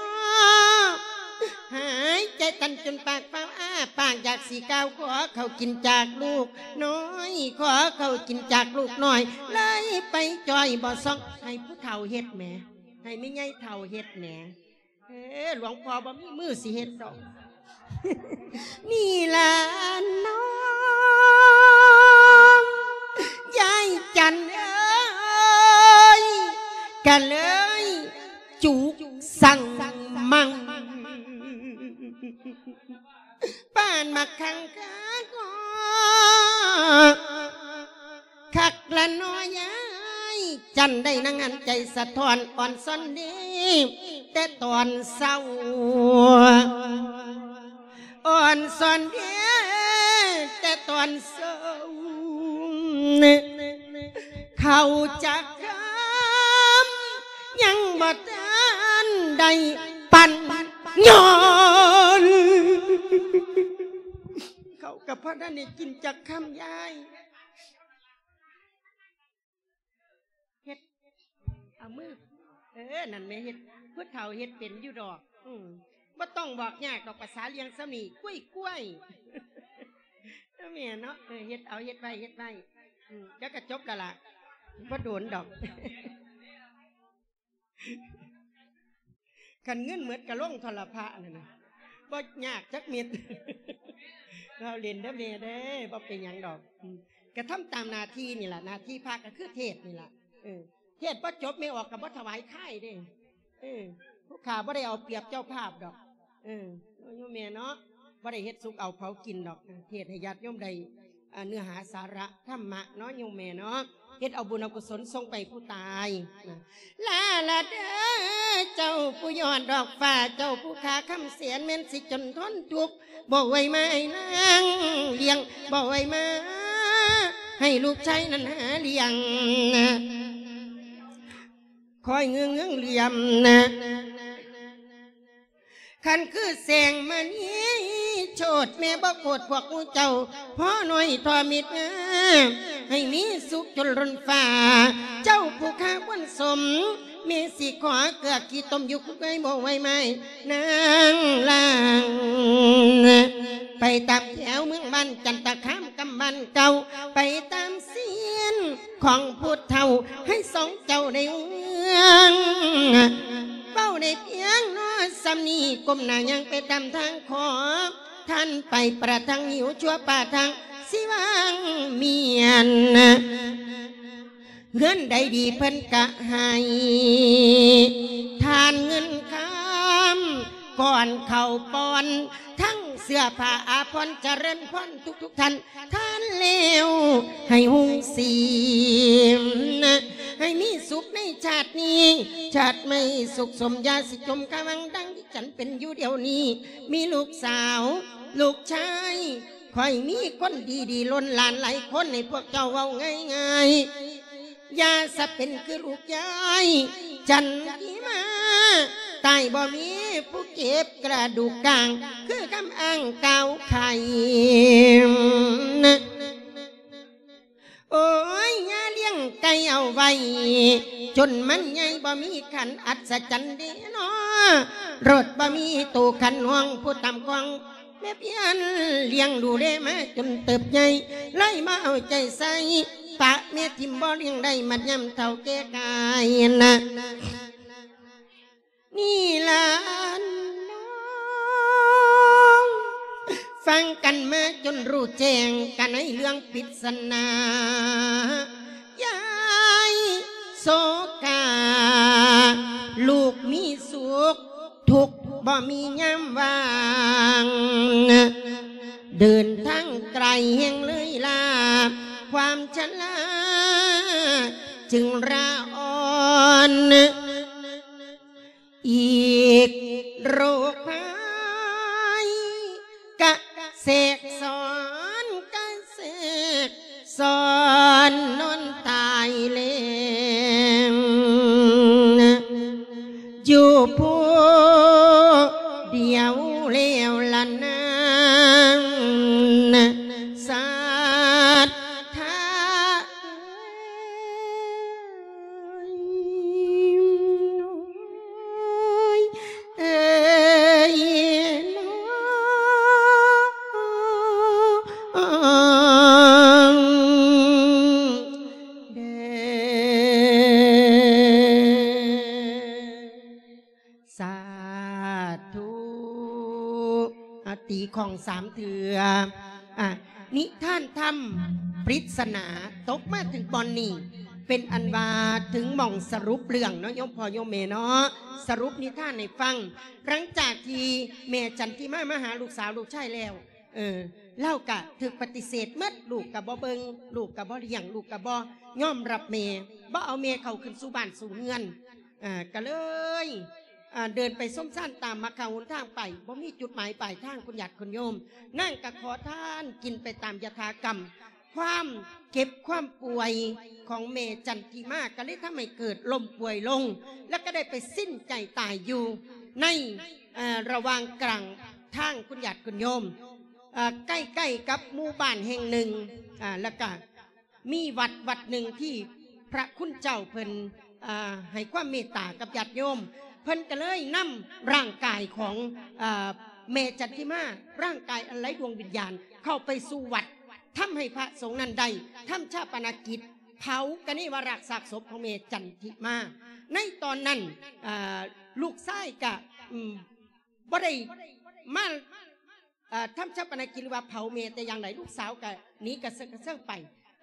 ຫາຍໃຈຕັນຈົນປາກຟ້າວອ້າປາກ ຢາກຊິກ່າວຂໍເຂົ້າກິນຈາກລູກນ້ອຍ ຂໍເຂົ້າກິນຈາກລູກນ້ອຍ ເລີຍໄປຈ່ອຍບໍ່ສ່ອງ ໃຫ້ຜູ້ເຖົ້າເຮັດແໝ ໃຫ້ແມ່ໃຫຍ່ເຖົ້າເຮັດແໝ. ເອີ ຫຼວງພໍ່ບໍ່ມີມືຊິເຮັດດອກ ນີ້ລະນ້ອງ ຍາຍຈັນເອີຍ ກະເລີຍຈຸກສັງມັງ ປານໝາກຂັງຄາກໍ ຄັກລະເນາະຍາຍຈັນ ໄດ້ນັ່ງຫັນໃຈສະທ້ອນ ອ່ອນຊອນເດແຕ່ຕອນເຊົ້າ ອ່ອນຊອນເດແຕ່ຕອນເຊົ້າ ເຂົ້າຈັກຄຳຍັງບໍ່ທັນໄດ້ປັ້ນຍ້ອນ ເຂົ້າກໍບໍ່ທັນໄດ້ກິນຈັກຄຳຍາຍ. ເຮັດ ເອົາມື ເອີ ນັ້ນແມ່ເຮັດ ຜູ້ເຖົ້າເຮັດເປັນຢູ່ດອກ ອືມ ບໍ່ຕ້ອງບອກຍາກດອກ ພາສາລ້ຽງສ່ຳນີ້ ກ້ວຍໆ ເອີ ແມ່ນເນາະ ເອີ ເຮັດເອົາ ເຮັດໄວ້ ເຮັດໄວ້ ອືມ ດຽວກໍຈົບແລ້ວລະ ບໍ່ດົນດອກ. ຄັນເງິນໝົດກໍລົງໂທລະພະນັ້ນນະ ບໍ່ຍາກຈັກເມັດ ເວົ້າຫຼິ້ນເດີແມ່ເດີ ບໍ່ເປັນຫຍັງດອກ ອືມ ກະທຳຕາມໜ້າທີ່ນີ້ລະ ໜ້າທີ່ພະກໍຄືເທດນີ້ລະ ເອີ ເທດບໍ່ຈົບແມ່ອອກກໍບໍ່ຖວາຍຄາຍເດ້ ເອີ ຜູ້ຂ້າບໍ່ໄດ້ເອົາປຽບເຈົ້າພາບດອກ ເອີ ໂຍມແມ່ເນາະ ບໍ່ໄດ້ເຮັດສຸກເອົາເຜົາກິນດອກ ເທດໃຫ້ຍາດໂຍມໄດ້ ອ່າ ເນື້ອຫາສາລະທຳມະເນາະໂຍມແມ່ເນາະ ເຮັດເອົາບຸນເອົາກຸສົນສົ່ງໄປຜູ້ຕາຍນະ ລາລາເດີ ເຈົ້າຜູ້ຍອດດອກຟ້າ ເຈົ້າຜູ້ຄ່າຄຳແສນ ແມ່ນຊິຈົນທົນທຸກ ບໍ່ໄຫວມາໃຫ້ນາງລ້ຽງ ບໍ່ໄຫວມາໃຫ້ລູກຊາຍນັ້ນຫາລ້ຽງນະ ຄອຍເງືອງໆຫຼຽມນະ ຄັນຄືແສງມະນີໂຊດ ແມ່ບໍ່ໂຄດພວກໝູ່ເຈົ້າ ພໍໜ້ອຍທໍ່ມິດງາມ ໃຫ້ມີສຸກຈົນລົ້ນຟ້າ ເຈົ້າຜູ້ຂ້າຄວນສົມ ແມ່ຊິຂໍເກືອຂີ້ຕົມຢູ່ຄຸກເອີຍ ບໍ່ໄຫວມາໃຫ້ນາງລ້າງ ໄປຕາມແຖວເມືອງບ້ານຈັນຕະຄາມ ກຳບ້ານເກົ່າ ໄປຕາມຊຽນ ຂອງຜູ້ເຖົ້າໃຫ້ສອງເຈົ້າໄດ້ເມືອງ ເວົ້າໄດ້ພຽງເນາະສ່ຳນີ້ ກົ້ມໜ້າຍ່າງໄປຕາມທາງ ຂໍທ່ານໄປປະທັງຫິວຊົ່ວປະທັງຊິວາງມຽນ ເຮືອນໃດດີເພິ່ນກະໃຫ້ ທານເງິນຄຳ ກ່ອນເຂົ້າປ່ອນ ທັງເສື້ອຜ້າອາພອນ ຈະເລີນພອນທຸກໆທ່ານ ທ່ານແລ້ວໃຫ້ຮຸ່ງສີມ ໃຫ້ມີສຸກໃນຊາດນີ້ ຊາດໃໝ່ສຸກສົມ ຢ່າຊິຈົມຄາວັງ ດັ່ງທີ່ຈັນເປັນຢູ່ດຽວນີ້ ມີລູກສາວ ລູກຊາຍ ຂ້ອຍມີຄົນດີໆ ລົ້ນຫຼານຫຼາຍຄົນ ໃຫ້ພວກເຈົ້າເວົ້າງ່າຍໆ ຢ່າສະເປັນຄືລູກຍາຍຈັນທິມາ ຕາຍບໍ່ມີຜູ້ເກັບກະດູກກາງ ຄືຄຳອ້າງກ່າວໄຂນະ ໂອ້ຍ ຢ່າລ້ຽງໄກ່ເອົາໄວ້ ຈົນມັນໃຫຍ່ບໍ່ມີຂັນ ອັດສະຈັນເດເນາະ ລົດບໍ່ມີຕູ້ຂັນ ຫ້ອງຜູ້ຕຳຂອງ ແມ່ພຽນລ້ຽງດູແລມາຈົນເຕີບໃຫຍ່ ເລີຍມາເອົາໃຈໃສ່ ປະແມ່ຖິ້ມບໍ່ລ້ຽງໄດ້ ມັດຍາມເຖົ້າແກ່ກາຍນະ ນີ້ລະນ້ອງ ຟັງກັນມາຈົນຮູ້ແຈ້ງ ກັນໃນເລື່ອງປິດສະໜາ ຢາຍໂສກາ ລູກມີສຸກ ທຸກບໍ່ມີຍາມວ່າງ ເດີນທາງໄກແຮງເລີຍລາ ຄວາມຊະລາຈຶ່ງລາອ່ອນ ອີກໂລກໄພກະແຊກຊ້ອນ ກະແຊກຊ້ອນນອນຕາຍແລງ ຢູ່ຜູ້ດຽວແລ້ວລະນາງ ສັດທາເອີຍ ເອີຍ ເອີຍ ເດີ ສາທຸ ອາ ຕີຂ້ອງສາມເທື່ອ ອາ ນິທານທຳ ປຣິດສະໜາ ຕົກມາເຖິງບ່ອນນີ້ ເປັນອັນວ່າເຖິງໝ່ອງສະຫຼຸບເລື່ອງເນາະ ໂຍມພໍ່ໂຍມແມ່ເນາະ ສະຫຼຸບນິທານໃຫ້ຟັງ ຫຼັງຈາກທີ່ແມ່ຈັນທິມາມາຫາລູກສາວລູກຊາຍແລ້ວ ເອີ ລາວກະຖືກປະຕິເສດໝົດ ລູກກະບໍ່ເບິ່ງ ລູກກະບໍ່ລ້ຽງ ລູກກະບໍ່ຍອມຮັບແມ່ ບໍ່ເອົາແມ່ເຂົ້າຂຶ້ນສູ່ບ້ານສູ່ເຮືອນ ເອີ ກະເລີຍ ເດີນໄປຊົມຊານຕາມມັກຄະຫົນທາງໄປ ບໍ່ມີຈຸດໝາຍປາຍທາງ ຄຸນຍາດຄຸນໂຍມ ນາງກະຂໍທານກິນໄປຕາມຍະຖາກຳ ຄວາມເຈັບຄວາມປ່ວຍຂອງແມ່ຈັນທິມາ ກະເລີຍທຳໃຫ້ເກີດລົ້ມປ່ວຍລົງ ແລ້ວກະໄດ້ໄປສິ້ນໃຈຕາຍຢູ່ໃນ ເອີ ລະຫວ່າງກາງທາງ ຄຸນຍາດຄຸນໂຍມ ເອີ ໃກ້ໆກັບໝູ່ບ້ານແຫ່ງໜຶ່ງ ອາ ແລ້ວກະມີວັດວັດໜຶ່ງທີ່ພະຄຸນເຈົ້າເພິ່ນ ອາ ໃຫ້ຄວາມເມດຕາກັບຍາດໂຍມ ເພິ່ນກະເລີຍນຳຮ່າງກາຍຂອງ ອາ ແມ່ຈັນທິມາ ຮ່າງກາຍອັນໄຮ້ດວງວິນຍານ ເຂົ້າໄປສູ່ວັດ ທຳໃຫ້ພະສົງນັ້ນໄດ້ທຳຊາປະນະກິດ ເຜົາກະນິວະລາກຊາກສົບຂອງແມ່ຈັນທິມາ ໃນຕອນນັ້ນ ອາ ລູກຊາຍກະ ອາ ບໍ່ໄດ້ມາ ເອີ ທຳຊາປະນະກິດ ຫຼືວ່າເຜົາແມ່ແຕ່ຢ່າງໃດ ລູກສາວກະໜີກະເຊີກກະເຊີງໄປ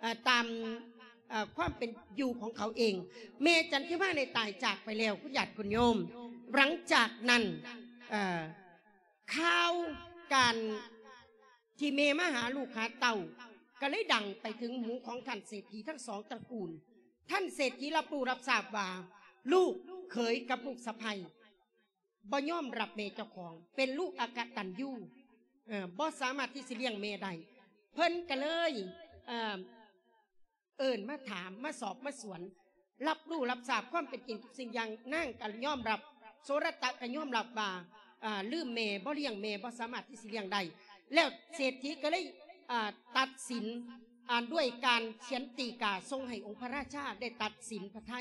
ເອີ ຕາມ ເອີ ຄວາມເປັນຢູ່ຂອງເຂົາເອງ ແມ່ຈັນທິມາໄດ້ຕາຍຈາກໄປແລ້ວ ຄຸນຍາດຄຸນໂຍມ ຫຼັງຈາກນັ້ນ ເອີ ຂ່າວການທີ່ແມ່ມາຫາລູກຫາເຕົ້າ ກະເລີຍດັງໄປເຖິງຫູຂອງທ່ານເສດຖີທັງສອງຕະກູນ ທ່ານເສດຖີຮັບຮູ້ຮັບຊາບວ່າ ລູກເຂີຍກັບລູກສະໃພ້ ບໍ່ຍອມຮັບແມ່ເຈົ້າຂອງ ເປັນລູກອະກະຕັນຍູ ເອີ ບໍ່ສາມາດທີ່ຊິລ້ຽງແມ່ໄດ້ ເພິ່ນກະເລີຍ ເອີ ເອີ້ນມາຖາມ ມາສອບມາສວນ ຮັບຮູ້ຮັບຊາບຄວາມເປັນຈິງທຸກສິ່ງຢ່າງ ນາງກະຍອມຮັບ ໂສລະຕະກະຍອມຮັບວ່າ ອາ ລືມແມ່ ບໍ່ລ້ຽງແມ່ ບໍ່ສາມາດທີ່ຊິລ້ຽງໄດ້ ແລ້ວເສດຖີກະເລີຍ ອາ ຕັດສິນ ອາ ດ້ວຍການຂຽນຕີກາສົ່ງໃຫ້ອົງພະລາຊາໄດ້ຕັດສິນພະໄທ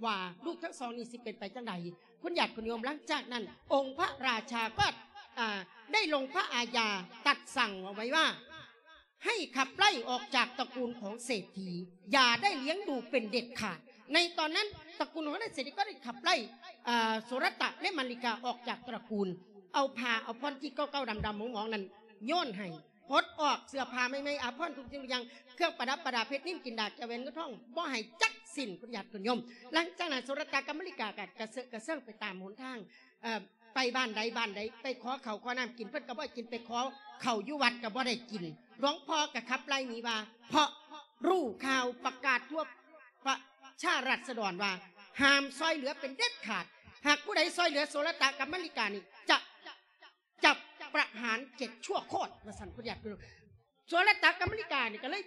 ວ່າລູກທັງສອງນີ້ຊິເປັນໄປຈັ່ງໃດ ຄຸນຍາດຄຸນໂຍມ. ຫຼັງຈາກນັ້ນ ອົງພະລາຊາກໍ ອາ ໄດ້ລົງພະອາຍາຕັດສັ່ງເອົາໄວ້ວ່າ ໃຫ້ຂັບໄລ່ອອກຈາກຕະກູນຂອງເສດຖີ ຢ່າໄດ້ລ້ຽງດູເປັນເດັດຂາດ. ໃນຕອນນັ້ນຕະກູນຂອງນາຍເສດຖີກໍໄດ້ຂັບໄລ່ ອາ ໂສລະຕະ ແລະ ມະລິກາອອກຈາກຕະກູນ ເອົາຜ້າເອົາຜ່ອນທີ່ເກົ່າໆດຳໆໝອງໆນັ້ນໂຍນໃຫ້ ປົດອອກເສື້ອຜ້າໃໝ່ໆ ອາພອນທຸກສິ່ງທຸກຢ່າງ ເຄື່ອງປະດັບປະດາ ເພັດນິນ ກິນດາ ແກ້ວແຫວນເງິນທອງ ບໍ່ໃຫ້ຈັກສິ້ນ ຄຸນຍາດຄຸນໂຍມ. ຫຼັງຈາກນັ້ນ ໂສລະຕະກັບມະລິກາກໍກະເຊີກກະເຊີງໄປຕາມຫົນທາງ ເອີ ໄປບ້ານໃດບ້ານໃດ ໄປຂໍເຂົ້າຂໍນ້ຳກິນ ເພິ່ນກໍບໍ່ໃຫ້ກິນ ໄປຂໍເຂົ້າຢູ່ວັດກໍບໍ່ໄດ້ກິນ. ຫຼວງພໍ່ກໍຂັບໄລ່ໜີວ່າ ເພາະຮູ້ຂ່າວປະກາດທົ່ວປະຊາລາຊະດອນວ່າ ຫ້າມຊ່ອຍເຫຼືອເປັນເດັດຂາດ ຫາກຜູ້ໃດຊ່ອຍເຫຼືອໂສລະຕະກັບມະລິການີ້ ຈະ ຈັບປະຫານເຈັດຊົ່ວໂຄດ ວ່າຊັ້ນ ເພິ່ນຢາກ ໂສລະຕະກັບມະລິການີ້ກໍເລີຍ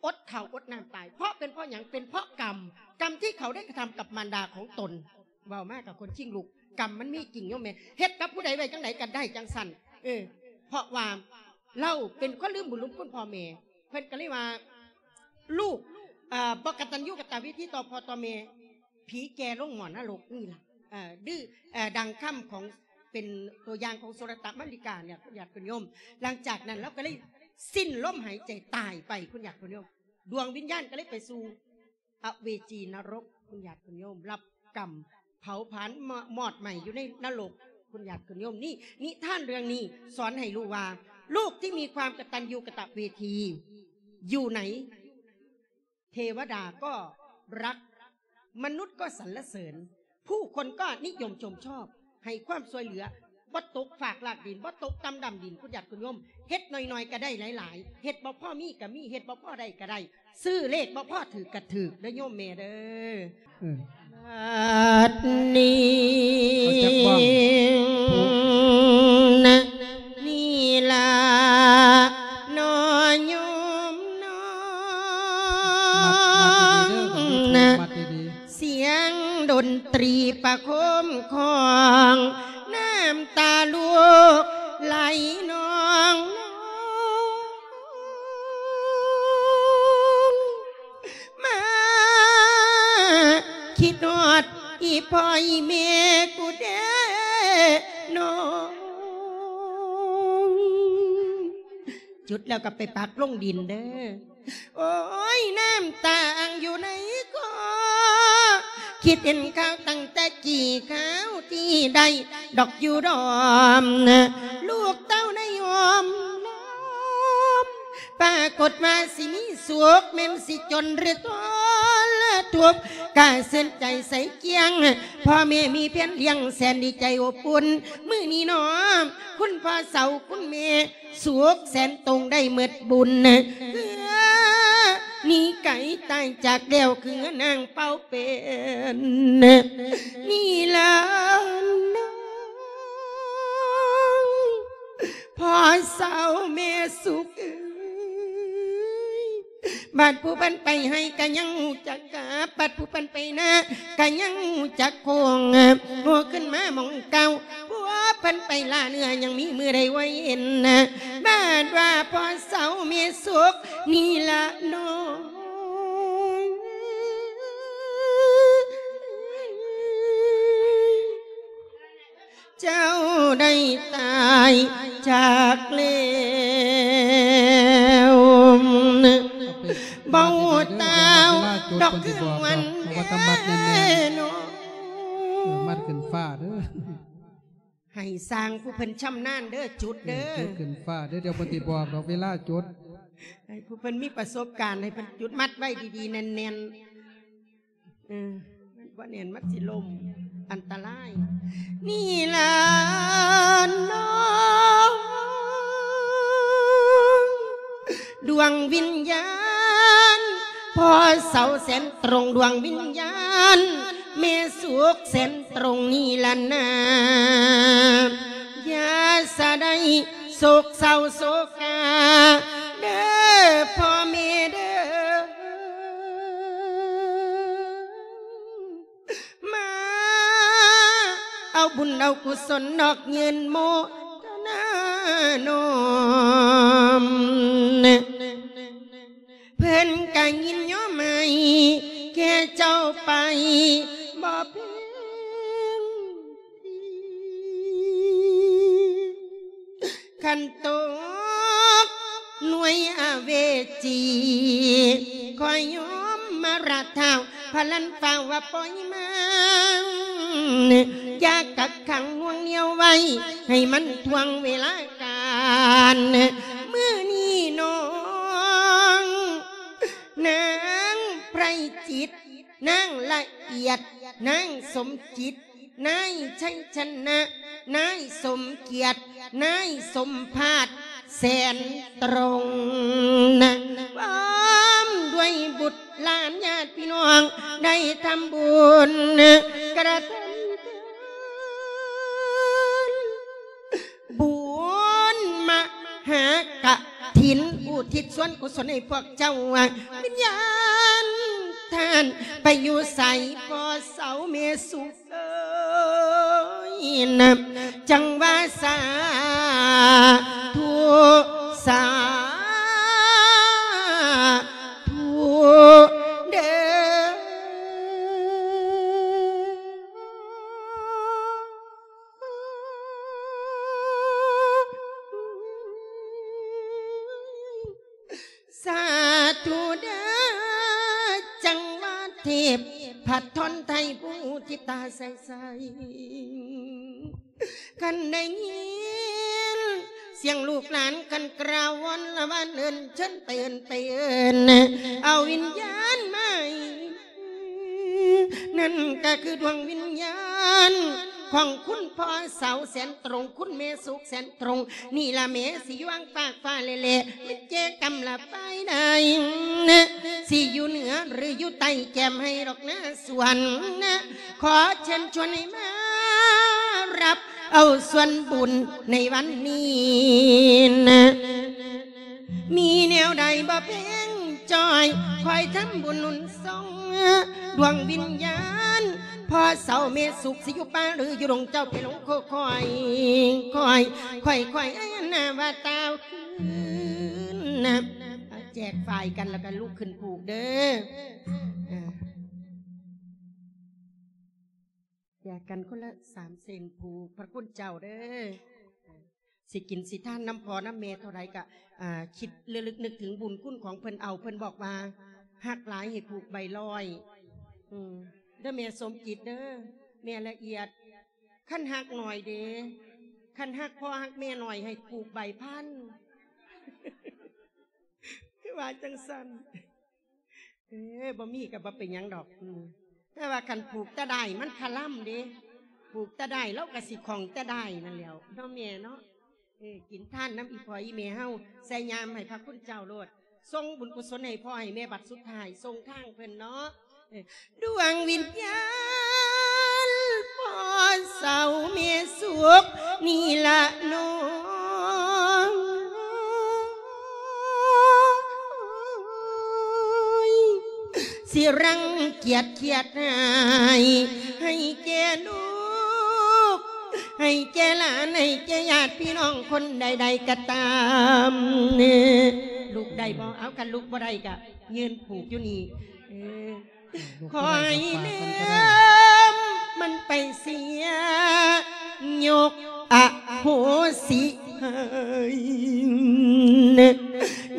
ອົດເຂົ້າອົດນ້ຳຕາຍ. ເພາະເປັນເພາະຫຍັງ? ເປັນເພາະກຳ ກຳທີ່ເຂົາໄດ້ກະທຳກັບມານດາຂອງຕົນ. ເວົ້າມາກໍຂົນຄີງລຸກ ກຳມັນມີຈິງໂຍມແມ່ ເຮັດກັບຜູ້ໃດໄວ້ຈັ່ງໃດກໍໄດ້ຈັ່ງຊັ້ນ. ເອີ ເພາະວ່າລາວເປັນຄົນລືມບຸນລືມຄຸນພໍ່ແມ່ ເພິ່ນກໍເລີຍວ່າ ລູກ ເອີ ບໍ່ກະຕັນຍູກະຕະເວທີຕໍ່ພໍ່ຕໍ່ແມ່ ຜີແກ່ລົງໝໍນະລົກນີ້ລະ ເອີ ດື້ ເອີ ດັ່ງຄຳຂອງ ເປັນຕົວຢ່າງຂອງໂສລະຕະມະລິກາເນຍ ຄຸນຍາດຄຸນໂຍມ. ຫຼັງຈາກນັ້ນລາວກໍເລີຍສິ້ນລົມຫາຍໃຈຕາຍໄປ ຄຸນຍາດຄຸນໂຍມ. ດວງວິນຍານກໍເລີຍໄປສູ່ອະເວຈີນະລົກ ຄຸນຍາດຄຸນໂຍມ ຮັບກຳເຜົາຜານມອດໄໝ້ຢູ່ໃນນະລົກ ຄຸນຍາດຄຸນໂຍມ. ນີ້ ນິທານເລື່ອງນີ້ສອນໃຫ້ຮູ້ວ່າ ລູກທີ່ມີຄວາມກະຕັນຍູກະຕະເວທີຢູ່ໃນ ເທວະດາກໍຮັກ ມະນຸດກໍສັນລະເສີນ ຜູ້ຄົນກໍນິຍົມຊົມຊອບ ໃຫ້ຄວາມຊ່ວຍເຫຼືອ ບໍ່ຕົກຟາກລາກດິນ ບໍ່ຕົກຕ່ຳດຳດິນ ຄຸນຍາດຄຸນໂຍມ. ເຮັດໜ້ອຍໆກໍໄດ້ຫຼາຍໆ ເຮັດບໍ່ພໍມີກໍມີ ເຮັດບໍ່ພໍໄດ້ກໍໄດ້ ຊື້ເລກບໍ່ພໍຖືກກໍຖືກເດີໂຍມແມ່ເດີ. ເອີ ບັດນີ້ ເອົາຈັກບ້ອງ ນີ້ລະ ນໍໂຍມນໍ ມັດ ມັດດີໆເດີ ມັດດີໆ ສຽງດົນຕຣີປະໂຄມຄອງ ນ້ຳຕາລູກໄຫຼນອງ ມາຄິດຮອດອີ່ພໍ່ອີ່ແມ່ກູເດ້ນ້ອງ. ຈຸດແລ້ວກໍໄປປັກລົງດິນເດີ. ໂອ້ຍ ນ້ຳຕາອ່າງຢູ່ໃນຄໍ ຄິດເຫັນຂ່າວຕັ້ງແຕ່ກີ້ ຂ່າວທີ່ໄດ້ດອກຢູ່ດອມ ລູກເຕົ້າໄດ້ຫອມລອມ ປາກົດວ່າຊິມີສຸກ ແມ່ນຊິຈົນຫຼືທໍລະທຸກ ກະເຊື່ອນໃຈໃສກຽງ ພໍ່ແມ່ມີພຽງລ້ຽງ ແສນດີໃຈອົບອຸ່ນ. ມື້ນີ້ນ້ອ ຄຸນພໍ່ເຖົ້າ ຄຸນແມ່ ສຸກແສນຕົງໄດ້ໝົດບຸນ ເຮືອໜີໄກຕາຍຈາກແລ້ວ ຄືນາງເປົ່າເປັນ ນີ້ລະນ້ອງ ພໍ່ເຖົ້າແມ່ສຸກເອີຍ. ບາດຜູ້ເພິ່ນໄປໄຮ່ກະຍັງຮູ້ຈັກກັບ ບາດຜູ້ເພິ່ນໄປນາກະຍັງຮູ້ຈັກໂຄ້ງ ໂຫ ຂຶ້ນມາໝ່ອງເກົ່າ ຜູ້ເພິ່ນໄປລ່າເນື້ອ ຍັງມີມື້ໄດ້ໄວ້ເຫັນ ບາດວ່າພໍ່ເຖົ້າແມ່ສຸກນີ້ລະນ້ອງ ເຈົ້າໄດ້ຕາຍຈາກແລ້ວ ບໍ່ຕາວດອກຄືງວັນ ເອົາໄປມັດແນ່ໆ ເນາະ ເອີ ມັດຂຶ້ນຟ້າເດີ ໃຫ້ຊ່າງຜູ້ເພິ່ນຊຳນານເດີ ຈຸດເດີ ເອີ ຈຸດຂຶ້ນຟ້າເດີ ດຽວເພິ່ນຊິບອກດອກເວລາຈຸດ ໃຫ້ຜູ້ເພິ່ນມີປະສົບການ ໃຫ້ເພິ່ນຈຸດມັດໄວ້ດີໆ ແໜ້ນໆ. ເອີ ມັນບໍ່ແໜ້ນ ມັນຊິລົ້ມ ອັນຕະລາຍ ນີ້ລະນ້ອງ ດວງວິນຍານ ພໍ່ເຖົ້າແສນຕົງ ດວງວິນຍານ ແມ່ສຸກແສນຕົງນີ້ລະນາ ຢ່າສະໄດ້ໂສກເສົ້າໂສກາ ເດີພໍ່ແມ່ເດີ ມາເອົາບຸນເອົາກຸສົນ ນອກຍື່ນໂມທະນານ້ອມ ເພິ່ນກະຍິນຍອມໃຫ້ແກ່ເຈົ້າໄປບໍ່ເພິ່ງ ຄັນຕົກໜ່ວຍອະເວຈີ ຂໍຍອມມາລາທ້າວ ພະລັນຟ້າວວ່າປ່ອຍມາ ຢ່າກັກຂັງໜ່ວງໜຽວໄວ້ ໃຫ້ມັນຖ່ວງເວລາການ ມື້ນີ້ນ້ອງ ນາງໄພຈິດ ນາງລະອຽດ ນາງສົມຈິດ ນາຍໄຊຊະນະ ນາຍສົມກຽດ ນາຍສົມພາດ ແສນຕຣົງນະ ພ້ອມດ້ວຍບຸດຫຼານຍາດພີ່ນ້ອງ ໄດ້ທຳບຸນກະລະທຳທານ ບຸນມະຫາກະ ຖິນ ອຸທິດສ່ວນກຸສົນໃຫ້ພວກເຈົ້າ ວິນຍານທ່ານໄປຢູ່ໃສ ພໍ່ເຖົ້າແມ່ສຸກເອີຍ ຈັ່ງວ່າສາທຸ ສາທຸເດີ. ສາທຸເດີ ບ ພັດທອນໄທຜູ້ທີ່ຕາໃສໆ ຄັນໄດ້ຍິນສຽງລູກຫຼານກັນກາວວອນລະວານເອີ້ນເຊີນໄປເອີ້ນໄປເອີ້ນ ເອົາວິນຍານມາໃຫ້ ນັ້ນກໍຄືດວງວິນຍານຂອງຄຸນພໍ່ເສົາແສນຕົງ ຄຸນແມ່ສຸກແສນຕົງ ນີ້ລະແມ່ຊິຢູ່ຫວ່າງຟາກຟ້າແລະ ແມ່ນເຈກຳລະໄປໃດ ຊິຢູ່ເໜືອຫຼືຢູ່ໃຕ້ແກ້ມໃຫ້ດອກນາສວນ ຂໍເຊີນຊວນໃຫ້ມາຮັບເອົາສ່ວນບຸນໃນວັນນີ້ ມີແນວໃດບໍ່ເພງຈ່ອຍ ຄອຍທຳບຸນໜູນສົ່ງ ດວງວິນຍານພໍ່ເສົາແມ່ສຸກ ຊິຢູ່ປ່າຫຼືຢູ່ດົງ ເຈົ້າໄປລົງໂຄຄອຍ ຄ່ອຍ ຄ່ອຍ ຄ່ອຍ ອັນນາວ່າຕາວຄືນນະ ແຈກຝ້າຍກັນແລ້ວກໍລຸກຂຶ້ນຜູກເດີ ແຈກກັນຄົນລະສາມເສັ້ນຜູກ ພະຄຸນເຈົ້າເດີ ຊິກິນຊິທານນຳພໍ່ນຳແມ່ເທົ່າໃດກະ ອ່າ ຄິດລະລຶກນຶກເຖິງບຸນຄຸນຂອງເພິ່ນເອົາ ເພິ່ນບອກວ່າ ຮັກຫຼາຍໃຫ້ຜູກໃບຮ້ອຍ ອືມ ເດີແມ່ສົມຈິດເດີ ແມ່ລະອຽດ ຄັນຮັກໜ້ອຍເດ ຄັນຮັກພໍ່ຮັກແມ່ໜ້ອຍໃຫ້ຜູກໃບພັນ ຄືວ່າຈັ່ງຊັ້ນ. ເອີ ບໍ່ມີກໍບໍ່ເປັນຫຍັງດອກ ອືມ ແຕ່ວ່າຄັນຜູກແຕ່ດ້າຍມັນຄະລຳເດ້ ຜູກແຕ່ດ້າຍລາວກໍຊິຂອງແຕ່ດ້າຍນັ້ນແຫຼ້ວເນາະແມ່ເນາະ ເອີ ກິນທານນຳອີ່ພໍ່ອີ່ແມ່ເຮົາ ໃສ່ຍາມໃຫ້ພະຄຸນເຈົ້າໂລດ ສົ່ງບຸນກຸສົນໃຫ້ພໍ່ໃຫ້ແມ່ ບັດສຸດທ້າຍສົ່ງທາງເພິ່ນເນາະ ເອີ ດວງວິນຍານພໍ່ເຖົ້າແມ່ສຸກນີ້ລະນ້ອງ ຊິລັງກຽດຄຽດຮ້າຍ ໃຫ້ແກ່ລູກ ໃຫ້ແກ່ຫຼານ ໃຫ້ແກ່ຍາດພີ່ນ້ອງຄົນໃດໆກໍຕາມ ລຸກໄດ້ບໍ່? ເອົາ ຄັນລຸກບໍ່ໄດ້ກໍຢືນຜູກຢູ່ນີ້ ເອີ ຄ່ອຍລືມມັນໄປເສຍ ຍົກອະໂຫສິໃຫ້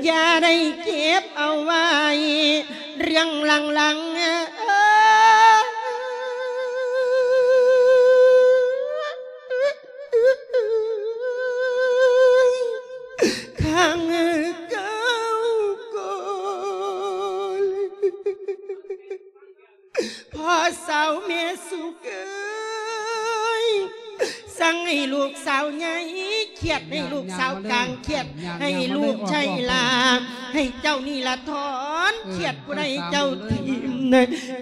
ຢ່າໄດ້ເກັບເອົາໄວ້ເລື່ອງຫຼັງໆ ເອີຍ ຄັ້ງເກົ່າກ່ອນ ພໍ່ເຖົ້າແມ່ສຸກເອີຍ ສັ່ງໃຫ້ລູກສາວໃຫຍ່ ຄຽດໃຫ້ລູກສາວກາງ ຄຽດໃຫ້ລູກໄຊລາ ໃຫ້ເຈົ້ານີ້ລະຖອນ ເອີ ຄຽດຜູ້ໃດເຈົ້າຖິ້ມ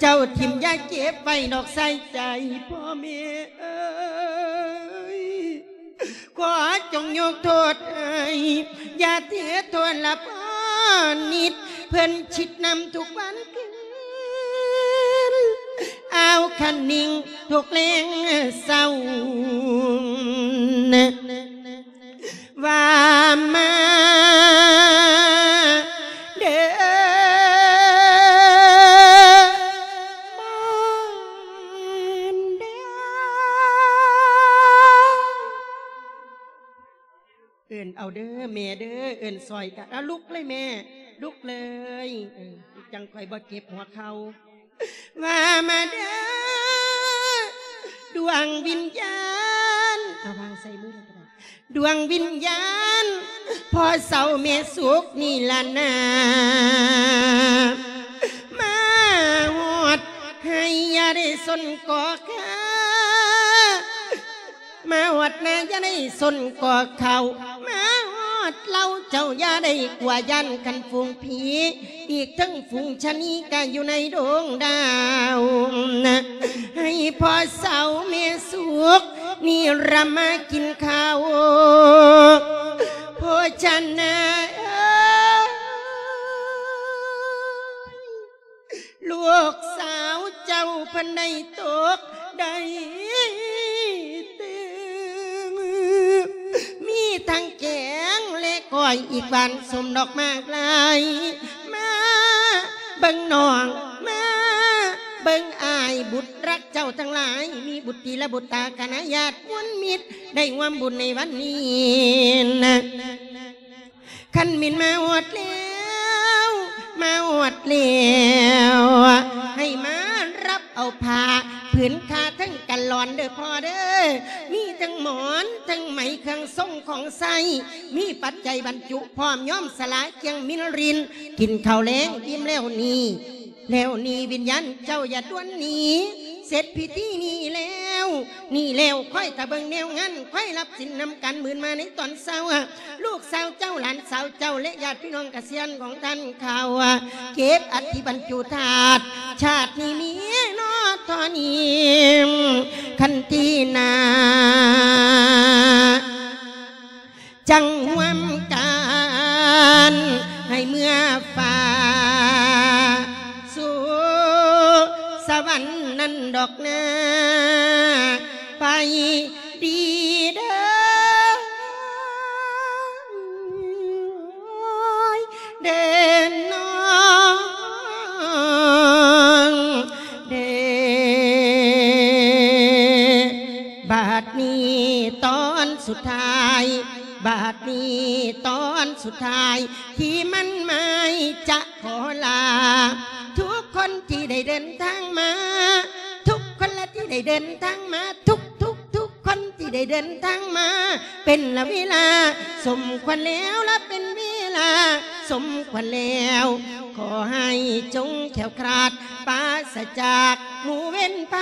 ເຈົ້າຖິ້ມຢ່າເກັບໄວ້ນອກໃສ່ໃຈ ພໍ່ແມ່ເອີຍ ຂໍຈົ່ງຍົກໂທດໃຫ້ ຢ່າຖືໂທດລະພໍ່ນິດ ເພິ່ນຄິດນຳທຸກວັນຄືນ ອ້າວຄັນນິ່ງທຸກແລງເຊົ້າ ວ່າມາເດີ ມາເດີ ເອີ້ນເອົາເດີແມ່ເດີ ເອີ້ນຊ່ອຍກັນ ເອົາ ລຸກເລີຍແມ່ ລຸກເລີຍ ເອີ ຈັ່ງຂ້ອຍບໍ່ເຈັບຫົວເຂົ່າ ວ່າມາເດີ ດວງວິນຍານ ເອົາວາງໃສ່ມືແລ້ວກໍໄດ້ ດວງວິນຍານພໍ່ເຖົ້າແມ່ສຸກນີ້ລະນາ ມາຮອດໄຮ່ຢ່າໄດ້ສົນກໍຂ້າ ມາຮອດນາຢ່າໄດ້ສົນກໍເຂົ້າ ມາຮອດເລົ້າເຈົ້າຢ່າໄດ້ກົວຢ້ານ ຄັນຝູງຜີ ອີກທັງຝູງຊະນີກະຢູ່ໃນດວງດາວ ໃຫ້ພໍ່ເຖົ້າແມ່ສຸກນີ້ລະມາກິນເຂົ້າ ໂພຊະນາເອີຍ ລູກສາວເຈົ້າເພິ່ນໄດ້ຕົກໄດ້ຕື່ນ ມີທັງແກງແລະກ້ອຍ ອີກຫວານສົມດອກໝາກຫຼາຍ ມາເບິ່ງນ້ອງ ມາເບິ່ງອ້າຍ ບຸດຮັກເຈົ້າທັງຫຼາຍ ມີບຸດຕີລະບຸດຕາຄະນະຍາດມົນມິດ ໄດ້ຮ່ວມບຸນໃນວັນນີ້ນະ. ຄັນແມ່ນມາຮອດແລ້ວ ມາຮອດແລ້ວ ໃຫ້ມາ ໃຊ້ ມີປັດໄຈບັນຈຸພ້ອມ ຍອມສະຫຼາຍຄຽງມິນລິນ ກິນເຂົ້າແລງອີ່ມແລ້ວນີ້ ແລ້ວນີ້ວິນຍານເຈົ້າຢ່າດ່ວນໜີ ເສັດພິທີນີ້ແລ້ວ ນີ້ແລ້ວ ຄອຍຖ້າເບິ່ງແນວງານ ຄອຍຮັບສິນນຳກັນ ມື້ມາໃນຕອນເຊົ້າ ລູກສາວເຈົ້າ ຫຼານສາວເຈົ້າ ແລະ ຍາດພີ່ນ້ອງກະສຽນຂອງທ່ານເຂົ້າ ເກັບອັດຖິບັນຈຸທາດ ຊາດນີ້ມີເນາະເທົ່ານີ້ ຄັນທີໜ້າ ຈັ່ງຮ່ວມກັນໃຫ້ເມືອຟ້າ ສູ່ສະຫວັນນັ້ນດອກນາ ໄປດີເດີ ເດີນ້ອງເດີ. ບາດນີ້ຕອນສຸດທ້າຍ ບາດນີ້ຕອນສຸດທ້າຍ ທີ່ໝັ້ນໝາຍຈະຂໍລາ ທຸກຄົນທີ່ໄດ້ເດີນທາງມາ ທຸກຄົນລະທີ່ໄດ້ເດີນທາງມາ ທຸກໆ ທຸກຄົນທີ່ໄດ້ເດີນທາງມາ ເປັນລະເວລາສົມຄວນແລ້ວ ລະເປັນເວລາສົມຄວນແລ້ວ ຂໍໃຫ້ຈົ່ງແຄ້ວຄລາດ ປາສະຈາກໝູ່ເວນໄພ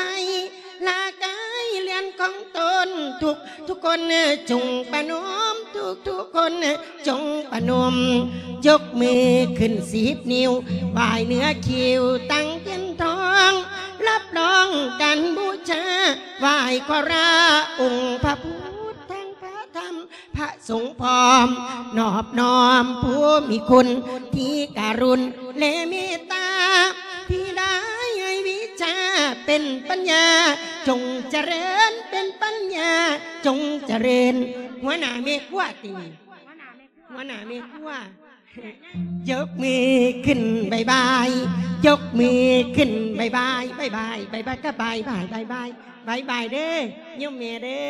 ລາກາຍເຮືອນຂອງຕົນ ທຸກທຸກຄົນຈົ່ງປະນມ ທຸກທຸກຄົນຈົ່ງປະນົມ ຍົກມືຂຶ້ນສິບນິ້ວ ບາຍເໜືອຄິ້ວຕັ້ງຕຽນທອງ ຮັບຮອງການບູຊາ ໄຫວ້ຂໍລາອົງພະພຸດ ທັງພະທຳ ພະສົງພ້ອມ ນອບນ້ອມຜູ້ມີຄຸນທີ່ກະລຸນ ແລະເມດຕາ ທີ່ໄດ້ໃຫ້ວິຊາເປັນປັນຍາ ຈົ່ງຈະເລີນເປັນປັນຍາ ຈົ່ງຈະເລີນ. ຫົວໜ້າແມ່ຄົວຕິ ຫົວໜ້າແມ່ຄົວ ຍົກມືຂຶ້ນບາຍບາຍ ຍົກມືຂຶ້ນບາຍບາຍ ບາຍບາຍ ບາຍບາຍ ກະບາຍບາຍ ບາຍບາຍ ບາຍບາຍເດີ ໂຍມແມ່ເດີ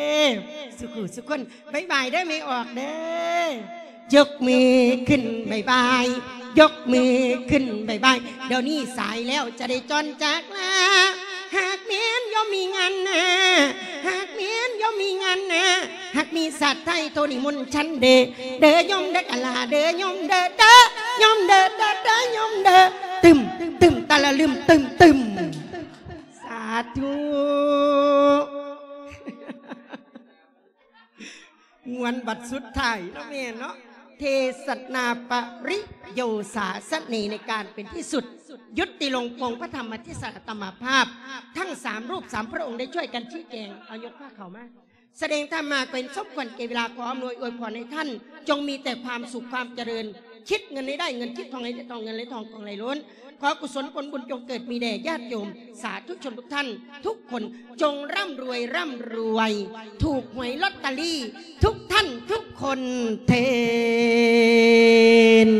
ສຸຂູສຸຄົນ ບາຍບາຍເດີ ແມ່ອອກເດີ ຍົກມືຂຶ້ນບາຍບາຍ ຍົກມືຂຶ້ນບາຍບາຍ ດຽວນີ້ສາຍແລ້ວ ຈະໄດ້ຈອນຈາກລາ ຫາກແມ່ນໂຍມມີງານໜ້າ ຫາກແມ່ນໂຍມມີງານໜ້າ ຫາກມີຊາດໄທໂທນິມົນສັນເດີ ເດີໂຍມເດີກະລາ ເດີໂຍມເດີ ເດີໂຍມເດີ ເດີ ເດີໂຍມເດີ ຕຶມ ຕຶມ ຕະລະລຶມ ຕຶມ ຕຶມ ສາທຸ. ມ່ວນບັດສຸດທ້າຍເນາະແມ່ເນາະ ເທສະນາປະລິໂຍສາສະເນ ໃນການເປັນທີ່ສຸດ ຢຸດຕິລົງ ອົງພະທຳມະເທສະນາຕາມະພາບ ທັງສາມຮູບສາມພະອົງໄດ້ຊ່ວຍກັນຊີ້ແຈງ ເອົາຍົກພາເຂົ້າມາ ສະແດງທຳມາເປັນສົມຄວນແກ່ເວລາ ຂໍອຳນວຍອວຍພອນໃຫ້ທ່ານ ຈົ່ງມີແຕ່ຄວາມສຸກຄວາມຈະເລີນ ຄິດເງິນໃຫ້ໄດ້ເງິນ ຄິດທອງໃຫ້ໄດ້ທອງ ເງິນໄຫຼທອງ ທອງໄຫຼລົ້ນ ຂໍກຸສົນຜົນບຸນຈົ່ງເກີດມີແດ່ຍາດໂຍມ ສາທຸຊົນທຸກທ່ານທຸກຄົນ ຈົ່ງຮ່ຳລວຍ ຮ່ຳລວຍ ຖືກຫວຍລອດຕະລີທຸກທ່ານທຸກຄົນເທີ້ນ.